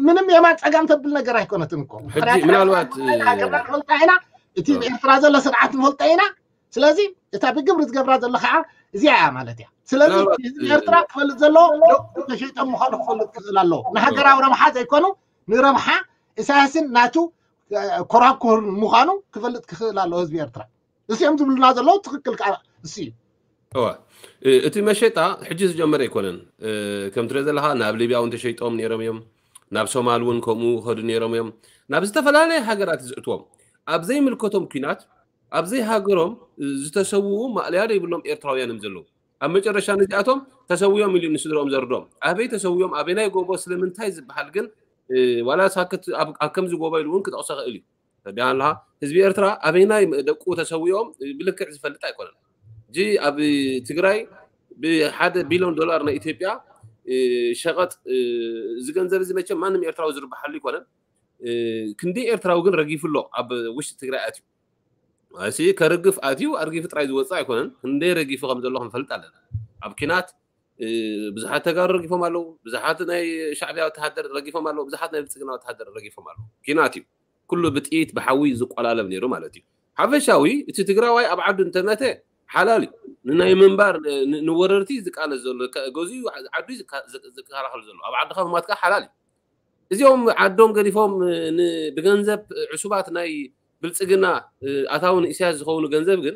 ምንም የማን ፀጋም ተብል ነገር ኣይኮነትን እኮ ምናልባት ሃገርና ንፈልጣ ኢና እቲ ኤርትራ ዘሎ ስርዓት ንፈልጣ ኢና ስለዚ እታ ብግብሪ ዝገብራ ዘሎ ከዓ እዚኣ እያ ማለት እያ ስለዚ ህዝቢ ኤርትራ ክፈልጥ ዘለዎ ተሸይጦም ምኳኑ ክፈልጥ ክኽእል ኣለዎ ንሃገራዊ ረብሓ ዘይኮኑ ንረብሓ ኢሳያስን ናቱ ኮራኩር ምኳኑ ክፈልጥ ክኽእል ኣለዎ ህዝቢ ኤርትራ እዚኦም ዝብሉና ዘለዉ ትኽክል ከዓ እሱ እዩ እዋ እቲ መሸጣ ሕጂ ዝጀመረ ኣይኮነን ከም ትሪኦ ዘለካ ናብ ሊብያ እውን ተሸይጦም ነይሮም እዮም ናብ ሶማል እውን ከምኡ ከዱ ነይሮም እዮም ናብ ዝተፈላለየ ሃገራት ዝእትዎም ኣብ ዘይምልከቶም ኩናት ኣብ ዘይሃገሮም ዝተሰውኡ ማእለያ ዘይብሎም ኤርትራውያን እዮም ዘለዉ ኣብ መጨረሻ ነዚኣቶም ተሰውዮም ኢሉ ንስድሮም ዘርዶም ኣበይ ተሰውዮም ኣበይናይ ጎቦ ስለምንታይ ዝበሃል ግን ዋላ ሳክት ኣብ ከምዚ ጎቦ ኢሉ እውን ክጠቕሶ ክእል እዩ ተዳን ኣለካ ህዝቢ ኤርትራ ኣበይናይ ደቁ ተሰዊኦም ብልክዕ ዝፈልጥ ኣይኮነን እዚ ኣብ ትግራይ ብሓደ ቢልዮን ዶላር ናይ ኢትዮጵያ ሸቐጥ እዚ ገንዘብ እዚ መቸም ማንም ኤርትራዊ ዝርብሓሉ ኣይኮነን ክንደይ ኤርትራዊ ግን ረጊፉ ኣሎ ኣብ ውሽጢ ትግራይ ኣትዩ እዚ ከርግፍ ኣትዩ ኣርጊፉ ጥራይ ዝወፅእ ኣይኮነን ክንደይ ረጊፉ ከም ዘሎ ክንፈልጥ ኣለና ኣብ ኪናት ብዙሓት ተጋሩ ረጊፎም ኣለዉ ብዙሓት ናይ ሻዕብያ ወተሃደር ረጊፎም ኣለዉ ብዙሓት ናይ ብልፅግና ወተሃደር ረጊፎም ኣለዉ ኪናት እዩ ኩሉ ብጥይት ብሓዊ ዝቆላለብ ነይሩ ማለት እዩ ሓፈሻዊ እቲ ትግራዋይ ኣብ ዓዱ እንተመተ ሓላል እዩ ንናይ ምንባር ንወረርቲ ዝቃለስ ዘሎ ገዚኡ ዓዱ ዝከላኸል ዘሎ ኣብ ዓድካ ምማትካ ሓላል እዩ እዚኦም ዓዶም ገዲፎም ብገንዘብ ዕሱባት ናይ ብልፅግና ኣታዊ ንእስያስ ዝኸውን ገንዘብ ግን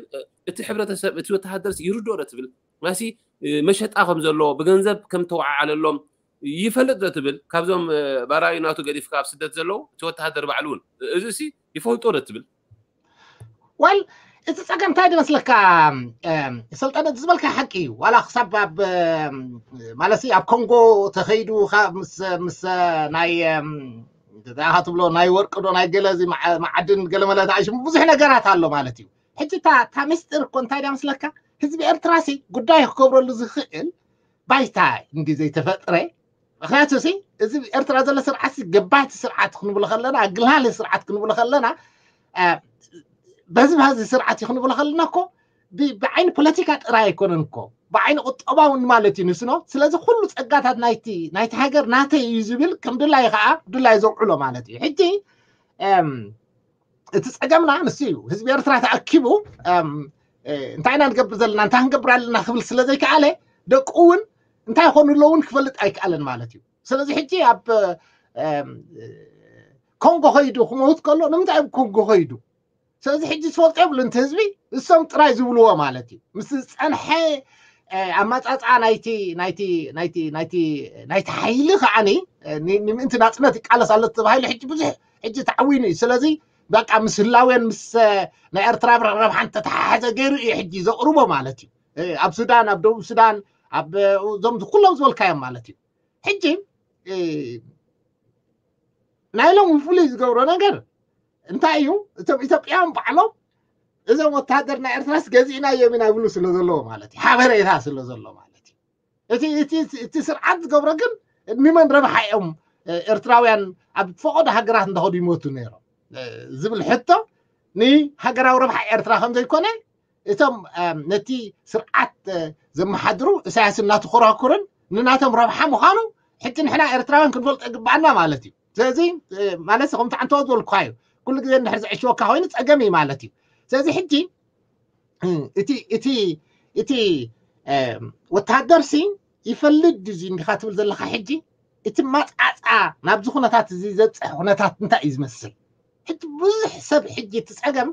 እቲ ሕብረተሰብ እቲ ወተሃደርስ ይርድኦ ዶ ትብል ማሲ መሸጣ ከም ዘሎ ብገንዘብ ከም ተወዓዓለሎም ይፈልጥ ዶ ትብል ካብዞም ባራዩ ናቱ ገዲፍካ ኣብ ስደት ዘለዉ እቲ ወተሃደር ባዕሉ እውን እዚ ሲ ይፈልጦ ዶ ትብል ዋል እቲ ፀገም እንታይ ዝመስለካ ሰልጠነ ዝበልካ ሓቂ እዩ ዋላ ክሳብ ኣብ ማለት ኣብ ኮንጎ ተኸይዱ ምስ ናይ እዛ ኢኻ ትብሎ ናይ ወርቂ ዶ ናይ ገለ እዚ መዓ- መዓድን ገለመለ ተኣሽሙ ብዙሕ ነገራት ኣሎ ማለት እዩ። ሕጂ እታ እታ ምስጢር እኮ እንታይ ድያ ምስለካ? ህዝቢ ኤርትራ ሲ ጉዳይ ክገብረሉ ዝኽእል ባይታ እንዲ ዘይተፈጥረ። ምክንያቱ ሲ እዚ ኤርትራ ዘሎ ስርዓት ሲ ገባቲ ስርዓት ክንብሎ ከለና፣ ኣግልሃሊ ስርዓት ክንብሎ ከለና፣ እ፣ በዚ ባዚ ስርዓት እዩ ክንብሎ ከለና እኮ ብ- ብዓይኒ ፖለቲካ ጥራይ ኣይኮነን እኮ፣ ብዓይኒ ቁጠባውን ማለት እዩ ንስኖ። ስለዚ ኩሉ ጸጋታት ናይቲ ናይቲ ሃገር ናተይ እዩ ዝብል ከም ድላይ ከዓ ድላይ ዘውዕሎ ማለት እዩ። ሕጂ እም፣ እቲ ጸገምና ንሱ እዩ። ህዝቢ ኤርትራ ተኣኪቡ እም፣ እ፣ እንታይ ኢና ንገብር ዘለና፣ እንታይ ክንገብር ኣለና ክብል ስለ ዘይከኣለ፣ ደቁ እውን እንታይ ይኾኑ ኣለዉ እውን ክፈልጥ ኣይከኣለን ማለት እዩ። ስለዚ ሕጂ ኣብ እም፣ ኮንጎ ኸይዱ ክመውት ከሎ ንምንታይ ኣብ ኮንጎ ኸይዱ? ስለዚ ሕጂ ዝፈልጦ የብሉን እቲ ህዝቢ፣ እሶም ጥራይ ዝብልዎ ማለት እዩ። ምስ ዝጸንሐ እ፣ ኣመጻጽኣ ናይቲ ናይቲ ናይቲ ናይቲ ናይቲ ሓይሊ ከዓኒ እ፣ ኒ- ንምእንቲ ናጽነት ይቃለስ ኣሎ ተባሂሉ ሕጂ ብዙሕ ሕጂ ተዓዊኑ እዩ። ስለዚ በቃ ምስ ህላዌን ምስ እ፣ ናይ ኤርትራ ረብሓን ተተሓሓዘ ገይሩ እዩ ሕጂ ዘቕርቦ ማለት እዩ። እ፣ ኣብ ሱዳን፣ ኣብ ደቡብ ሱዳን፣ ኣብ እ፣ እዞም ኩሎም ዝበልካዮም ማለት እዩ። ሕጂ እ፣ ናይ ሎም ፍሉይ ዝገብሮ ነገር እንታይ እዩ? እቶም ኢትዮጵያውያን ባዕሎም እዞም ወታደር ናይ ኤርትራስ ገዚእናዮም ኢና ይብሉ ስለ ዘለዎ ማለት እዩ፣ ሓበሬታ ስለ ዘሎ ማለት እዩ። እቲ እቲ እቲ ስርዓት ዝገብሮ ግን ንመን ረብሓ እዮም ኤርትራውያን ኣብ ፈቐዶ ሃገራት እንዳኸዱ ይሞቱ ነይሮም ዝብል ሕቶ ንሃገራዊ ረብሓ ኤርትራ ከም ዘይኮነ እቶም ነቲ ስርዓት ዘመሓድሩ እሳያስ እናተኮራኩርን ንናቶም ረብሓ ምዃኑ ሕጂ ንሕና ኤርትራውያን ክንፈልጦ ይግባኣና ማለት እዩ። ስለዚ ማለት ከምቲ ዓንተወ ዝበልኩካ እዩ፣ ኩሉ ግዜ እንድሕር ዘዕሽወካ ኮይኑ ፀገም እዩ ማለት እዩ። ስለዚ ሕጂ እቲ እቲ እቲ ወተሃደር ሲ ይፈልድ እዚ እንዲኻ ትብል ዘለኻ ሕጂ እቲ ማፃፃ ናብዚ ኩነታት እዚ ዘብፅሕ ኩነታት እንታይ እዩ ዝመስል? ሕጂ ብዙሕ ሰብ ሕጂ እቲ ፀገም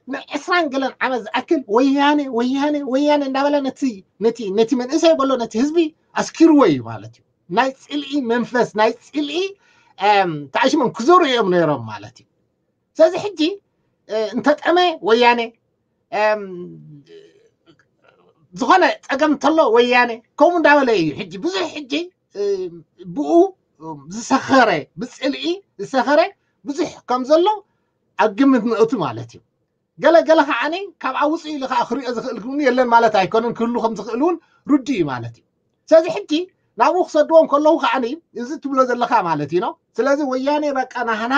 ንዕስራን ገለን ዓመት ዝኣክል ወያነ ወያነ ወያነ እንዳበለ ነቲ ነቲ ነቲ መንእሰይ በሎ ነቲ ህዝቢ ኣስኪርዎ እዩ ማለት እዩ። ናይ ፅልኢ መንፈስ ናይ ፅልኢ ተኣሽሞም ክዘሩ እዮም ነይሮም ማለት እዩ። ስለዚ ሕጂ እንተጠመ ወያነ ዝኾነ ፀገም እንተሎ ወያነ ከምኡ እንዳበለ እዩ። ሕጂ ብዙሕ ሕጂ ብኡ ዝሰኸረ ብፅልኢ ዝሰኸረ ብዙሕ ከም ዘሎ ኣብ ግምት ነእቱ ማለት እዩ። ገለ ገለ ከዓኒ ካብ ውፅእ ኢሉ ከዓ ክሪኦ ዝኽእል እውን የለን ማለት ኣይኮነን፣ ክህሉ ከም ዝኽእል እውን ርዱ እዩ ማለት እዩ። ስለዚ ሕጂ ናብኡ ክሰድዎም ከለዉ ከዓኒ እዚ ትብሎ ዘለካ ማለት እዩ ነው። ስለዚ ወያኔ በቃ ናህና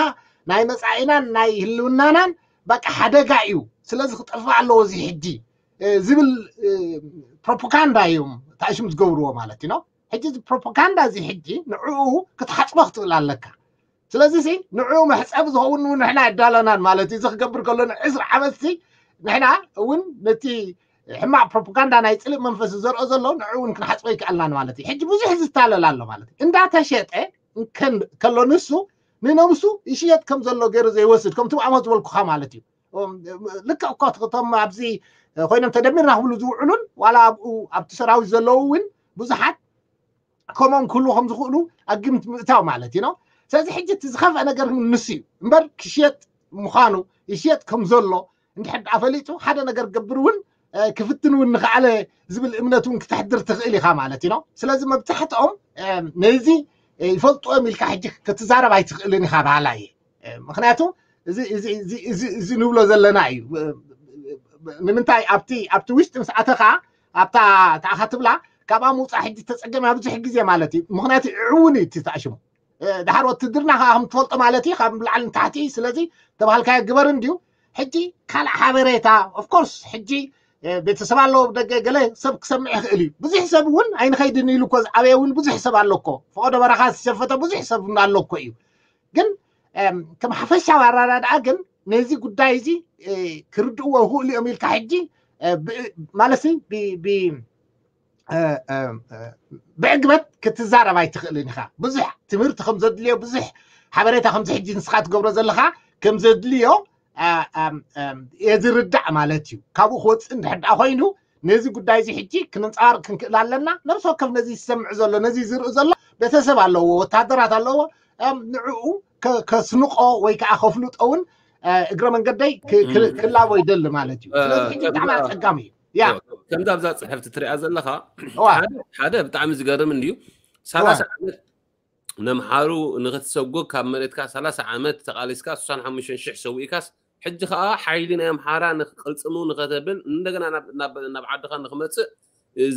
ናይ መፃኢናን ናይ ህልውናናን በቃ ሓደጋ እዩ፣ ስለዚ ክጠፍእ ኣለዎ እዚ ሕጂ ዝብል ፕሮፓጋንዳ እዮም ተኣሽም ዝገብርዎ ማለት እዩ ነው። ሕጂ እዚ ፕሮፓጋንዳ እዚ ሕጂ ንዕኡ ክትሓፅቦ ክትብል ኣለካ። ስለዚ ሲ ንዕኡ መሕፀቢ ዝኸውን እውን ንሕና ኣይዳለናን ማለት እዩ። እዚ ክገብር ከሎ ንዕስራ ዓመት ሲ ንሕና እውን ነቲ ሕማቕ ፕሮፓጋንዳ ናይ ፅልእ መንፈስ ዘርኦ ዘሎ ንዕኡ እውን ክንሓፅቦ ይከኣልናን ማለት እዩ። ሕጂ ብዙሕ ዝታለል ኣሎ ማለት እዩ። እንዳተሸጠ ከሎ ንሱ ንነብሱ ይሽየጥ ከም ዘሎ ገይሩ ዘይወስድ ከምቲ ብኣሞ ዝበልኩኻ ማለት እዩ። ልክዕ እኮ እቶም ኣብዚ ኮይኖም ተደሚርና ክብሉ ዝውዕሉን ዋላ ኣብኡ ኣብቲ ሰራዊት ዘለዉ እውን ብዙሓት ከምኦም ክህልዉ ከም ዝኽእሉ ኣብ ግምት ምእታው ማለት እዩ ነው። ስለዚ ሕጂ እቲ ዝኸፍአ ነገር ንሱ እዩ እምበር ክሽየጥ ምዃኑ ይሽየጥ ከም ዘሎ እንድሕር ደኣ ፈሊጡ ሓደ ነገር ክገብር እውን ክፍትን እውን ንኽኣለ ዝብል እምነት እውን ክተሕድር ትኽእል ኢኻ ማለት እዩ ነው። ስለዚ መብዛሕትኦም ነዚ ይፈልጥዎም ኢልካ ሕጂ ክትዛረብ ኣይትኽእልን ኢኻ በሃላ እየ። ምክንያቱ እዚ ንብሎ ዘለና እዩ። ንምንታይ ኣብቲ ኣብቲ ውሽጢ ምስ ኣተኻ ኣብታ ተኣኻ ትብላ ካብኣ ምውፃእ ሕጂ ተፀገም ብዙሕ ግዜ ማለት እዩ። ምክንያቱ ዕውን እዩ እቲ ተኣሽሙ ድሓር ወትድርና ከዓ ከም ትፈልጦ ማለት እዩ ካብ ላዕሊ ንታሕቲ እዩ። ስለዚ ተባሃልካዮ ግበር እንድዩ። ሕጂ ካልእ ሓበሬታ ኦፍኮርስ ሕጂ ቤተሰብ ኣለዎ ደገ ገለ ሰብ ክሰምዕ ይኽእል እዩ። ብዙሕ ሰብ እውን ኣይንኸይድን ኢሉ እኮ ዝዓበየ እውን ብዙሕ ሰብ ኣሎ እኮ፣ ፈቐዶ በረኻ ዝሸፈተ ብዙሕ ሰብ እውን ኣሎ እኮ እዩ። ግን ከም ሓፈሻዊ ኣራዳድኣ ግን ነዚ ጉዳይ እዚ ክርድእዎ ይኽእሉ እዮም ኢልካ ሕጂ ማለት ብዕግበት ክትዛረብ ኣይትኽእልን ኢኻ። ብዙሕ ትምህርቲ ከም ዘድልዮ ብዙሕ ሓበሬታ ከምዚ ሕጂ ንስኻ ትገብሮ ዘለኻ ከም ዘድልዮ እየ ዝርዳእ ማለት እዩ። ካብኡ ክወፅእ እንድሕር ደኣ ኮይኑ ነዚ ጉዳይ እዚ ሕጂ ክንንፀባርቅ ክንክእል ኣለና። ነብሲ ወከፍ ነዚ ዝሰምዕ ዘሎ ነዚ ዝርኢ ዘሎ ቤተሰብ ኣለዎ፣ ወታደራት ኣለዎ። ንዕኡ ከስንቆ ወይ ከዓ ከፍልጦ እውን እግረ መንገደይ ክላቦ ይደሊ ማለት እዩ። ስለዚ ሕጂ ብጣዕሚ ኣፀጋሚ እዩ። ያ ከምዛ ኣብዛ ፅሕፍቲ ትሪኣ ዘለኻ ሓደ ብጣዕሚ ዝገርም እንድዩ ሰላሳ ዓመት ነምሓሩ ንኽትሰጎግ ካብ መሬትካ ሰላሳ ዓመት ተቓሊስካ ስሳን ሓሙሽተን ሽሕ ሰዊእካስ ሕጂ ከዓ ሓይሊ ናይ ኣምሓራ ንክቅልፅሙ ንኸተብል እንደገና ናብ- ናብ ናብ ዓድኻ ንክመፅእ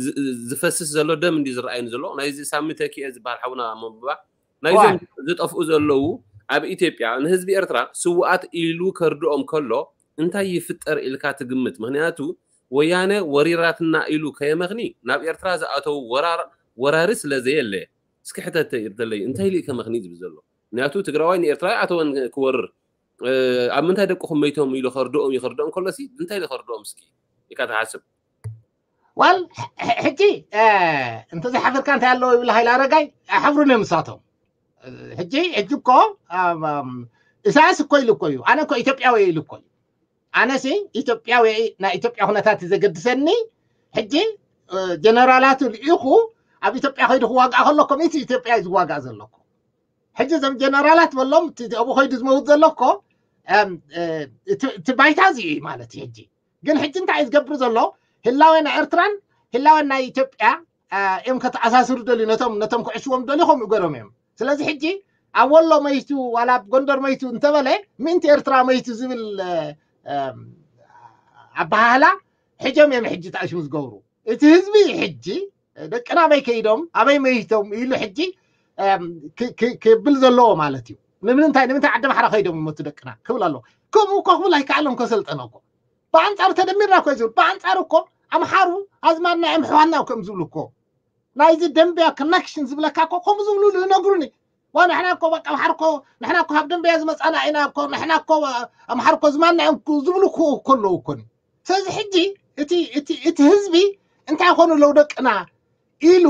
ዝ- ዝፈስስ ዘሎ ደም እንዲ ዝረኣይኒ ዘሎ ናይዚ ሳሚ ተኪኤ ዝበሃል ሓውና መንብባ ናይዞም ዝጠፍኡ ዘለዉ ኣብ ኢትዮጵያ ንህዝቢ ኤርትራ ስውኣት ኢሉ ከርድኦም ከሎ እንታይ ይፍጠር ኢልካ ትግምት? ምክንያቱ ወያነ ወሪራትና ኢሉ ከየመኽኒ ናብ ኤርትራ ዝኣተው ወራር ወራሪ ስለ ዘየለ እስኪ ሕተተ ይርደለይ እንታይ ኢሉ ከመኽኒ ዝብል ዘሎ ምክንያቱ ትግራዋይ ንኤርትራ ኣተወን ክወርር ኣብ ምንታይ ደቅኹም መይቶም ኢሉ ከርድኦም ይኸርድኦም ከሎሲ እንታይ ኢሉ ከርድኦም እስኪ ኢካ ትሓስብ ዋል ሕጂ እንተዘይሓፍርካ እንታይ ኣለዎ ይብል ሃይለ ኣረጋይ ኣይሓፍሩን እዮም ንሳቶም ሕጂ ሕጂ እኮ ኢሳያስ እኮ ኢሉ እኮ እዩ ኣነ እኮ ኢትዮጵያዊ ኢሉ እኮ እዩ ኣነሲ ኢትዮጵያዊ ናይ ኢትዮጵያ ኩነታት ዘገድሰኒ ሕጂ ጀነራላቱ ልኢኹ ኣብ ኢትዮጵያ ከይዱ ክዋግኣ ከሎ ከምኢቲ ኢትዮጵያ እዩ ዝዋጋእ ዘለኩ ሕጂ እዞም ጀነራላት በሎም ኣብኡ ከይዱ ዝመውት ዘሎ እኮ እቲ ባይታ እዚ እዩ ማለት እዩ ሕጂ ግን ሕጂ እንታይ እዩ ዝገብር ዘሎ ህላወ ናይ ኤርትራን ህላወ ናይ ኢትዮጵያ እዮም ከተኣሳስሩ ደልዩ ነቶም ነቶም ክዕሽዎም ደልዩ ከምኡ ገሮም እዮም ስለዚ ሕጂ ኣብ ወሎ መይቱ ዋላ ኣብ ጎንደር መይቱ እንተበለ ምእንቲ ኤርትራ መይቱ ዝብል ኣበሃህላ ሕጆም እዮም ሕጂ ተኣሽሙ ዝገብሩ እቲ ህዝቢ ሕጂ ደቅና ኣበይ ከይዶም ኣበይ መይቶም ኢሉ ሕጂ ክብል ዘለዎ ማለት እዩ ንምንታይ ንምንታይ ዓዲ ማሕራ ከይዶም ይመቱ ደቅና ክብል ኣለዎ ከምኡ እኮ ክብል ኣይከኣሎም ከሰልጠነ እኮ ብኣንፃሩ ተደሚርና እኮ ዝብል ብኣንፃሩ እኮ ኣምሓሩ ኣዝማድና እዮም ሕዋና ከም ዝብሉ እኮ ናይዚ ደንበያ ኮነክሽን ዝብለካ እኮ ከምኡ ዝብሉ ዝነግሩኒ ዋ ንሕና እኮ በቃ ኣምሓር እኮ ንሕና እኮ ካብ ደንበያ ዝመፃና ኢና እኮ ንሕና እኮ ኣምሓር እኮ ዝማና እዮም ዝብሉ ከለዉ እኮ ስለዚ ሕጂ እቲ ህዝቢ እንታይ ይኾኑ ኣለዉ ደቅና ኢሉ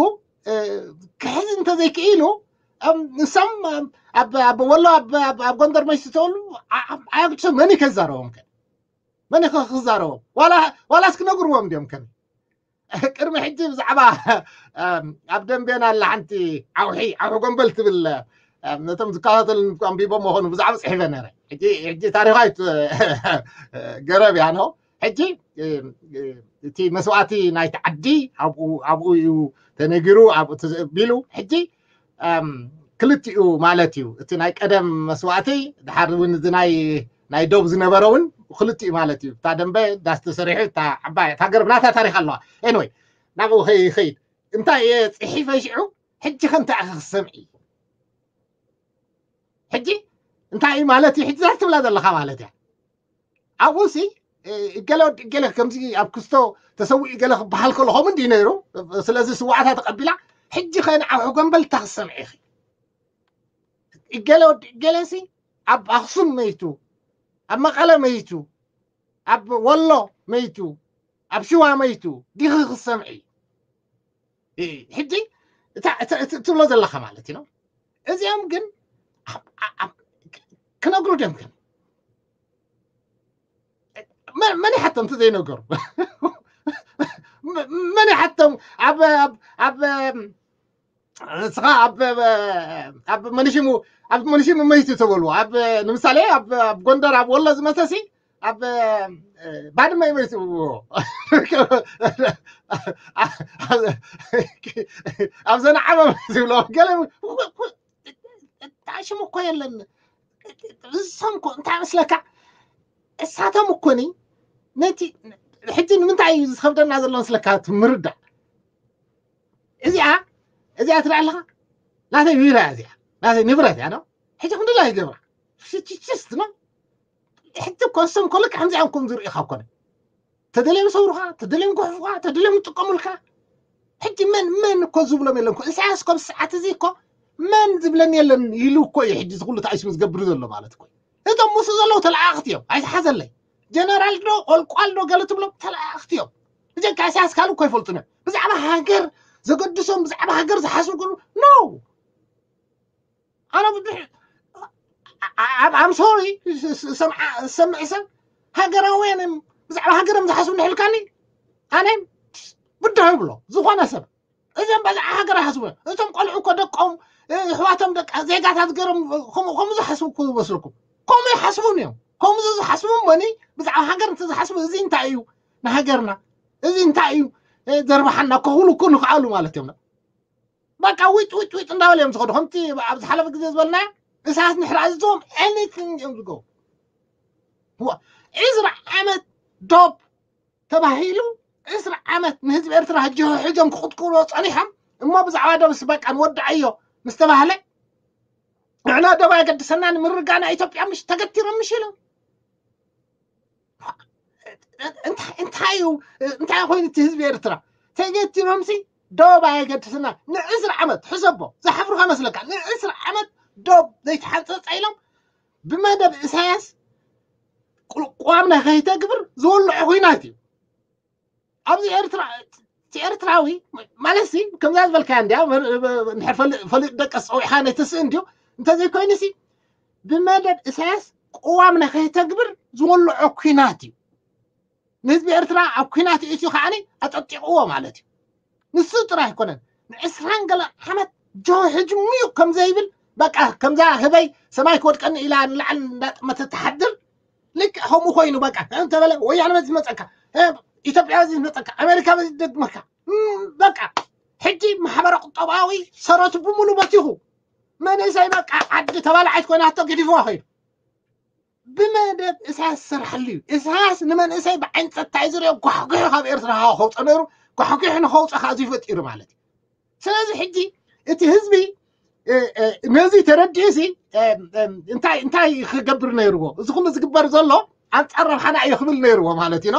ክሕዝ እንተዘይክኢሉ ንሶም ኣብ ወሎ ኣብ ጎንደር መሽቲ ተብሉ ኣያግድሶም መን ከዛረቦም ከ መን ክዛረቦም ዋላስ ክነግርዎም እንዲዮም ከ ቅድሚ ሕጂ ብዛዕባ ኣብ ደንቤና ኣላ ሓንቲ ዓውሒ ዓውሒ ጎንበል ትብል ነቶም ዝከታተሉ ኣንቢቦም መኾኑ ብዛዕባ ፅሒፈ ነረ ሕጂ ታሪኻ ገረብ እያ ነው ሕጂ እቲ መስዋእቲ ናይቲ ዓዲ ኣብኡ እዩ ተነጊሩ ኣብኡ ተዘቢሉ ሕጂ ክልቲኡ ማለት እዩ እቲ ናይ ቀደም መስዋእቲ ድሓር እውን እዚ ናይ ናይ ዶብ ዝነበረ እውን ክልቲኡ ማለት እዩ እታ ደንበ ዳስ ተሰሪሑ እታ ዓባይ እታ ገረብ ናታ ታሪክ ኣለዋ ኤንወይ ናብኡ ከይኸይድ እንታይ እየ ፅሒፈ ሽዑ ሕጂ ከምታ ክሰምዒ ሕጂ እንታይ ማለት እዩ ሕጂ ትብላ ዘለካ ማለት እያ ኣብኡ ሲ ገለ ወዲ ገለ ከምዚ ኣብ ክስቶ ተሰዊኡ ገለ ክበሃል ከሎ ከምኡ እንዲ ነይሩ ስለዚ ስዋዕታ ተቀቢላ ሕጂ ከ ንዓብ ሕጎንበል እታ ክሰምዒ ኢኺ ገለ ወዲ ገለ ሲ ኣብ ኣክሱም መይቱ ኣብ መቐለ መይቱ ኣብ ወሎ መይቱ ኣብ ሽዋ መይቱ ዲኺ ክሰምዒ ሕጂ ትብሎ ዘለካ ማለት እዩ እዚኦም ግን ክነግሩ ድዮም ግን መን ይሓቶም እንተ ዘይነገሩ መን ይሓቶም ኣብ ኣብ ንስኻ ኣብ መኒሽሙ ኣብ መኒሽሙ መይቱ ተበልዎ ኣብ ንምሳሌ ኣብ ጎንደር ኣብ ወሎ ዝመሰሲ ኣብ ባድመ ይመይትዎ ኣብ ዘነዓመ ዝብሎ ገለ ሽሙ እኮ የለን እሶም እኮ እንታይ መስለካ እሳቶም እኮኒ ነቲ ሕጂ ንምንታይ እዩ ዝኸብደና ዘሎ መስለካ ምርዳእ እዚኣ እዚኣ ትርኢ ኣለኻ ናተይ ቢራ እያ እዚኣ ናተይ ንብረት እያ ነው ሕጂ ክንድላ ይገብራ ሽችችስት ነው ሕጂ እኮ እሶም እኮ ልክዕ ከምዚኦም ከም ዝርእኻ እኮነ ተደልዮም ሰውሩኻ ተደልዮም ክሕፉኻ ተደልዮም ይጥቀሙልካ ሕጂ መን መን እኮ ዝብሎም የለን እኮ ኢሳያስ እኮ ብሰዓት እዚ እኮ መን ዝብለን የለን ኢሉ እኮ እዩ ሕጂ ዝኩሉ ተኣሽሙ ዝገብር ዘሎ ማለት እኮ እቶም ምስኡ ዘለዉ ተለኣኽቲ እዮም ኣይትሓዘለይ ጀነራል ዶ ቆልቋል ዶ ገለ ትብሎም ተለኣኽቲ እዮም እዚኦም ካብ ኢሳያስ ካልእ እኮ ይፈልጡን እዮም ብዛዕባ ሃገር ዘገድሶም ብዛዕባ ሃገር ዝሓስቡ ክብሉ no ኣነ ብዙሕ I'm sorry ሰምዒ ሰብ ሃገራውያን እዮም ብዛዕባ ሃገሮም ዝሓስቡ ንሕልካኒ ኣነ ብድሆ ይብሎ ዝኾነ ሰብ እዚኦም በዛዕ ሃገር ይሓስቡ እዮም እቶም ቆልዑ እኮ ደቆም ኣሕዋቶም ደቂ ዜጋታት ገሮም ከምኡ ዝሓስቡ እኮ ይመስልኩም ከምኡ ይሓስቡን እዮም ከምኡ ዝሓስቡ እሞኒ ብዛዕባ ሃገር እንተዝሓስቡ እዚ እንታይ እዩ ንሃገርና እዚ እንታይ እዩ ዘርባሓና ክኽብሉ እኮ ንኽኣሉ ማለት እዮም በቃ ዊጥ ዊጥ ዊጥ እንዳበለ እዮም ዝኸዱ። ከምቲ ኣብ ዝሓለፈ ግዜ ዝበልና እሳት ንሕር ኣዝዞም anything እዮም ዝገብሩ። ዕስራ ዓመት ዶብ ተባሂሉ፣ ዕስራ ዓመት ንህዝቢ ኤርትራ ሕጂ ሕጆም ክቕጥቅጥዎ ጸኒሖም። እሞ ብዛዕባ ዶብስ በቃ ንወድዓዮ ምስ ተባህለ፣ ንሕና ዶብ ኣየገድሰናን፣ ምርግጋእ ናይ ኢትዮጵያ ምሽ ተገቲሮም ምሽ ኢሎም። እንታይ እዩ እንታይ ኮይኑ እቲ ህዝቢ ኤርትራ ተገቲሮምሲ ዶብ ኣየገድስና ንዕስራ ዓመት ሕሰቦ። ዝሓፍሩካ መስለካ? ንዕስራ ዓመት ዶብ ዘይተሓንፀፀ ኢሎም ብመደብ ኢሳያስ ቅዋምና ከይተግብር ዝወልዖ ኩናት እዩ። ኣብዚ ኤርትራ እቲ ኤርትራዊ ማለት ሲ ከምዛ ዝበልካያ እንዲያ ፈሊጥ ደቀስ ፀዊዕካ ነቲ ስእ እንዲዩ እንተዘይኮይኑ ሲ ብመደብ ኢሳያስ ቅዋምና ከይተግብር ዝወልዖ ኩናት እዩ። ንህዝቢ ኤርትራ ኣብ ኩናት እትዩ ከዓኒ ኣጠጢቕዎ ማለት እዩ። ንሱ ጥራይ ኣይኮነን፣ ንዕስራን ገለ ዓመት ጆ ሕጂ ሙዩቕ ከም ዘይብል በቃ ከምዛ ህበይ ሰማይ ክወድቀኒ ኢላ ንላዕሊ እንዳጥመተ ትሓድር ልክዕ ከምኡ ኮይኑ በቃ እንተበለ ወያነ በዚ መፀካ ኢትዮጵያ በዚ መፀካ ኣሜሪካ በዚ ደግመካ በቃ ሕጂ ማሕበረ ቁጠባዊ ሰረቱ ብምሉ በቲኹ መንእሰይ በቃ ዓዲ ተባላዓይት ኮይናቶ ገዲፍዋ ከይዱ። ብመደብ እሳያስ ዝሰርሓሉ እዩ። እሳያስ ንመንእሰይ ብዓይኒ ፀጥታ እዩ ዝሪኦ። ጓሕጒሑ ካብ ኤርትራ ከውፀ ነይሩ። ጓሕጒሑ ንኸውፀ ከዓ እዚ ፈጢሩ ማለት እዩ። ስለዚ ሕጂ እቲ ህዝቢ ነዚ ተረዲኡ ሲ እንታይ እንታይ ክገብር ነይርዎ? እዚ ኩሉ ዝግበር ዘሎ ኣንፃር ረብሓና እዩ ክብል ነይርዎ ማለት እዩ።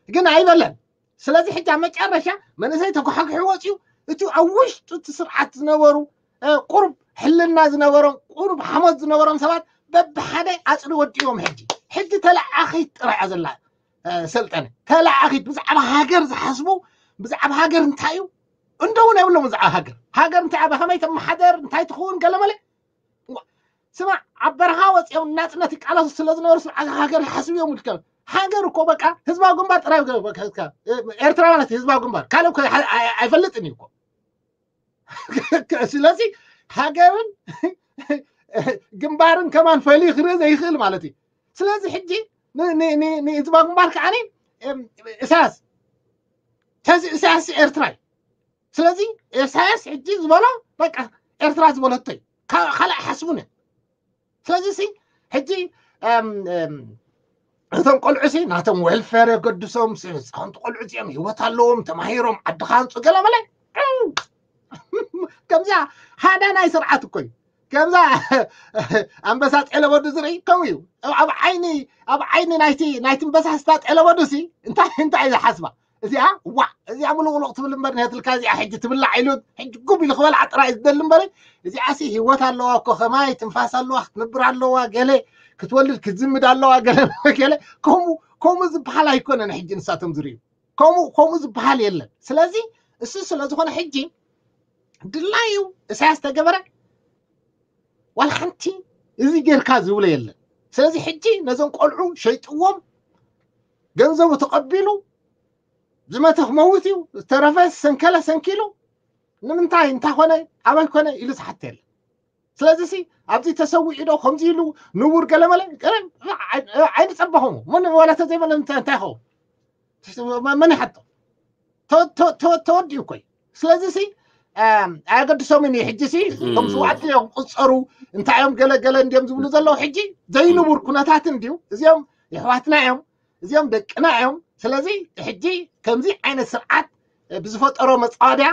ግን ኣይበለን። ስለዚ ሕጂ ኣብ መጨረሻ መንእሰይ ተጓሕጒሑ ወፂኡ። እቲ ኣብ ውሽጡ እቲ ስርዓት ዝነበሩ ቁሩብ ሕልና ዝነበሮም ቁሩብ ሓሞት ዝነበሮም ሰባት በብሓደ ኣፅሪ ወዲዎም። ሕጂ ሕጂ ተለኣኺት ጥራይ እያ ዘላ። ሰልጠነ ተለኣኺት ብዛዕባ ሃገር ዝሓስቡ ብዛዕባ ሃገር እንታይ እዩ እንደውን የብሎም። ብዛዕባ ሃገር ሃገር እንታይ በኸመይ ተመሓደር እንታይ ትኸውን ገለመለ ስማ ኣብ በረኻ ወፂኦም ናፅነት ይቃለሱ ስለ ዝነበሩ ስርዓት ሃገር ይሓስቡ እዮም። ውድቀ ሃገር እኮ በቃ ህዝባዊ ግንባር ጥራይ ኤርትራ ማለት ህዝባዊ ግንባር ካልእ ኣይፈልጥን እዩ እኮ። ስለዚ ሃገርን ግንባርን ከማን ፈልዩ ክርኢ ዘይኽእል ማለት እዩ። ስለዚ ሕጂ ንህዝባዊ ግንባር ከዓኒ እሳያስ ተዚ እሳያስ ኤርትራ እዩ። ስለዚ ኢሳያስ ሕጂ ዝበሎ በቃ ኤርትራ ዝበለቶ እዩ። ካልእ ሓስቡን እዮም። ስለዚ ሲ ሕጂ እቶም ቆልዑ ሲ ናቶም ዌልፌር የገድሶም፣ ህፃውንቲ ቆልዑ እዚኦም ህይወት ኣለዎም፣ ተማሂሮም ዓዲ ካንፁ ገለ መለ ከምዚኣ ሃዳ ናይ ስርዓት እኮ እዩ። ከምዛ ኣንበሳ ጤለበዱ ዝርኢ ከምኡ እዩ። ኣብ ዓይኒ ኣብ ዓይኒ ናይቲ ናይቲ ኣንበሳ ስታ ጤለበዱ ሲ እንታይ እንታይ እዩ ዝሓስባ? እዚኣ ዋዕ እዚኣ ምሉቕሉቕ ትብል እምበር ነትልካ እዚኣ ሕጂ ትብላዕ ኢሉ ሕጂ ጉብ ኢሉ ክበልዓ ጥራይ ዝደሊ እምበር እዚኣ ሲ ህይወት ኣለዋ እኮ ከማይ ትንፋስ ኣለዋ ክትነብር ኣለዋ ገለ ክትወልድ ክትዝምድ ኣለዋ ገለ ገለ ከምኡ ከምኡ ዝበሃል ኣይኮነን። ሕጂ ንሳቶም ዝርእዩ ከምኡ ከምኡ ዝበሃል የለን። ስለዚ እሱ ስለ ዝኾነ ሕጂ ድላዩ እሳያስ ተገበረ ዋላ ሓንቲ እዚ ጌርካ ዝብሎ የለን። ስለዚ ሕጂ ነዞም ቆልዑ ሸይጥዎም ገንዘቡ ተቐቢሉ ዝመተ ክመውት እዩ ዝተረፈ ሰንከለ ሰንኪሉ ንምንታይ እንታይ ኮነ ኣበይ ኮነ ኢሉ ዝሓተ የለን። ስለዚ ሲ ኣብዚ ተሰዊዑ ዶ ከምዚ ኢሉ ንቡር ገለመለ ኣይንፀበኹም ምን ዋላ ተዘይመለ እንታይ እንታይ ይኸውን መን ይሓቶ ተወዲኡ እኮ እዩ። ስለዚ ሲ ኣየገድሶምን እዩ። ሕጂ ሲ እቶም ስዋዕቲ እዮም ክቁፀሩ እንታይ እዮም ገለገለ እንዲዮም ዝብሉ ዘለዉ ሕጂ ዘይንቡር ኩነታት እንድዩ። እዚኦም የሕዋትና እዮም፣ እዚኦም ደቅና እዮም። ስለዚ ሕጂ ከምዚ ዓይነት ስርዓት ብዝፈጠሮ መፃወድያ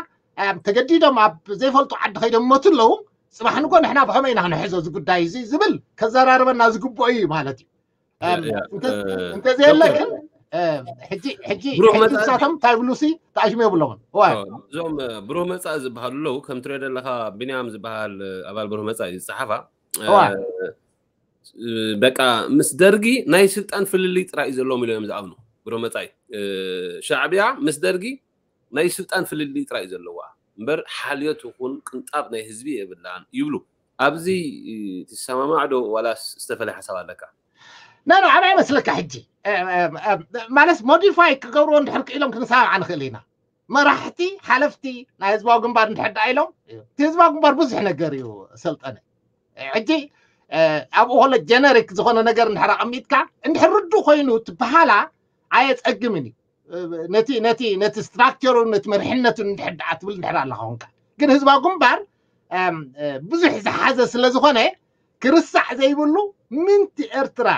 ተገዲዶም ኣብ ዘይፈልጡ ዓዲ ከይዶም መቱ ኣለዉ። ፅባሕ ንጎ ንሕና ብኸመይ ኢና ክንሕዞ እዚ ጉዳይ እዚ ዝብል ከዘራርበና ዝግብኦ እዩ ማለት እዩ። እንተዘየለ ግን ሕጂ ሕጂ ንሳቶም እንታይ ብሉ ሲ ተኣሽሙ የብሎምን። እዞም ብሩህ መፃኢ ዝበሃሉ ኣለዉ። ከም ትሪኦ ዘለካ ቢንያም ዝበሃል ኣባል ብሩህ መፃኢ ዝፀሓፋ በቃ ምስ ደርጊ ናይ ስልጣን ፍልልይ ጥራይ እዩ ዘለዎም ኢሎም እዮም ዝኣምኑ። ብሩህ መፃኢ ሻዕብያ ምስ ደርጊ ናይ ስልጣን ፍልልይ ጥራይ እዩ ዘለዋ እምበር ሓልዮት ይኹን ቅንጣብ ናይ ህዝቢ የብላን ይብሉ። ኣብዚ ትሰማማዕ ዶ ዋላስ ዝተፈለየ ሓሳብ ኣለካ? ና ና ኣበይ መስለካ ሕጂ ማለት ሞዲፋይ ክገብርዎ እንድሕር ክኢሎም ክንሰማማዕ ንኽእል ኢና። መራሕቲ ሓለፍቲ ናይ ህዝባዊ ግንባር እንድሕር ደኣ ኢሎም እቲ ህዝባዊ ግንባር ብዙሕ ነገር እዩ ሰልጠነ። ሕጂ ኣብኡ ከሎ ጀነሪክ ዝኾነ ነገር እንድሕር ኣቐሚጥካ እንድሕር ርዱእ ኮይኑ ትበሃላ ኣየፀግምን እዩ። ነቲ ነቲ ነቲ ስትራክቸሩ ነቲ መርሕነቱ እንድሕር ደኣ ትብል እንድሕር ኣለኻ ኮንካ ግን ህዝባዊ ግንባር ብዙሕ ዝሓዘ ስለ ዝኾነ፣ ክርሳዕ ዘይብሉ ምንቲ ኤርትራ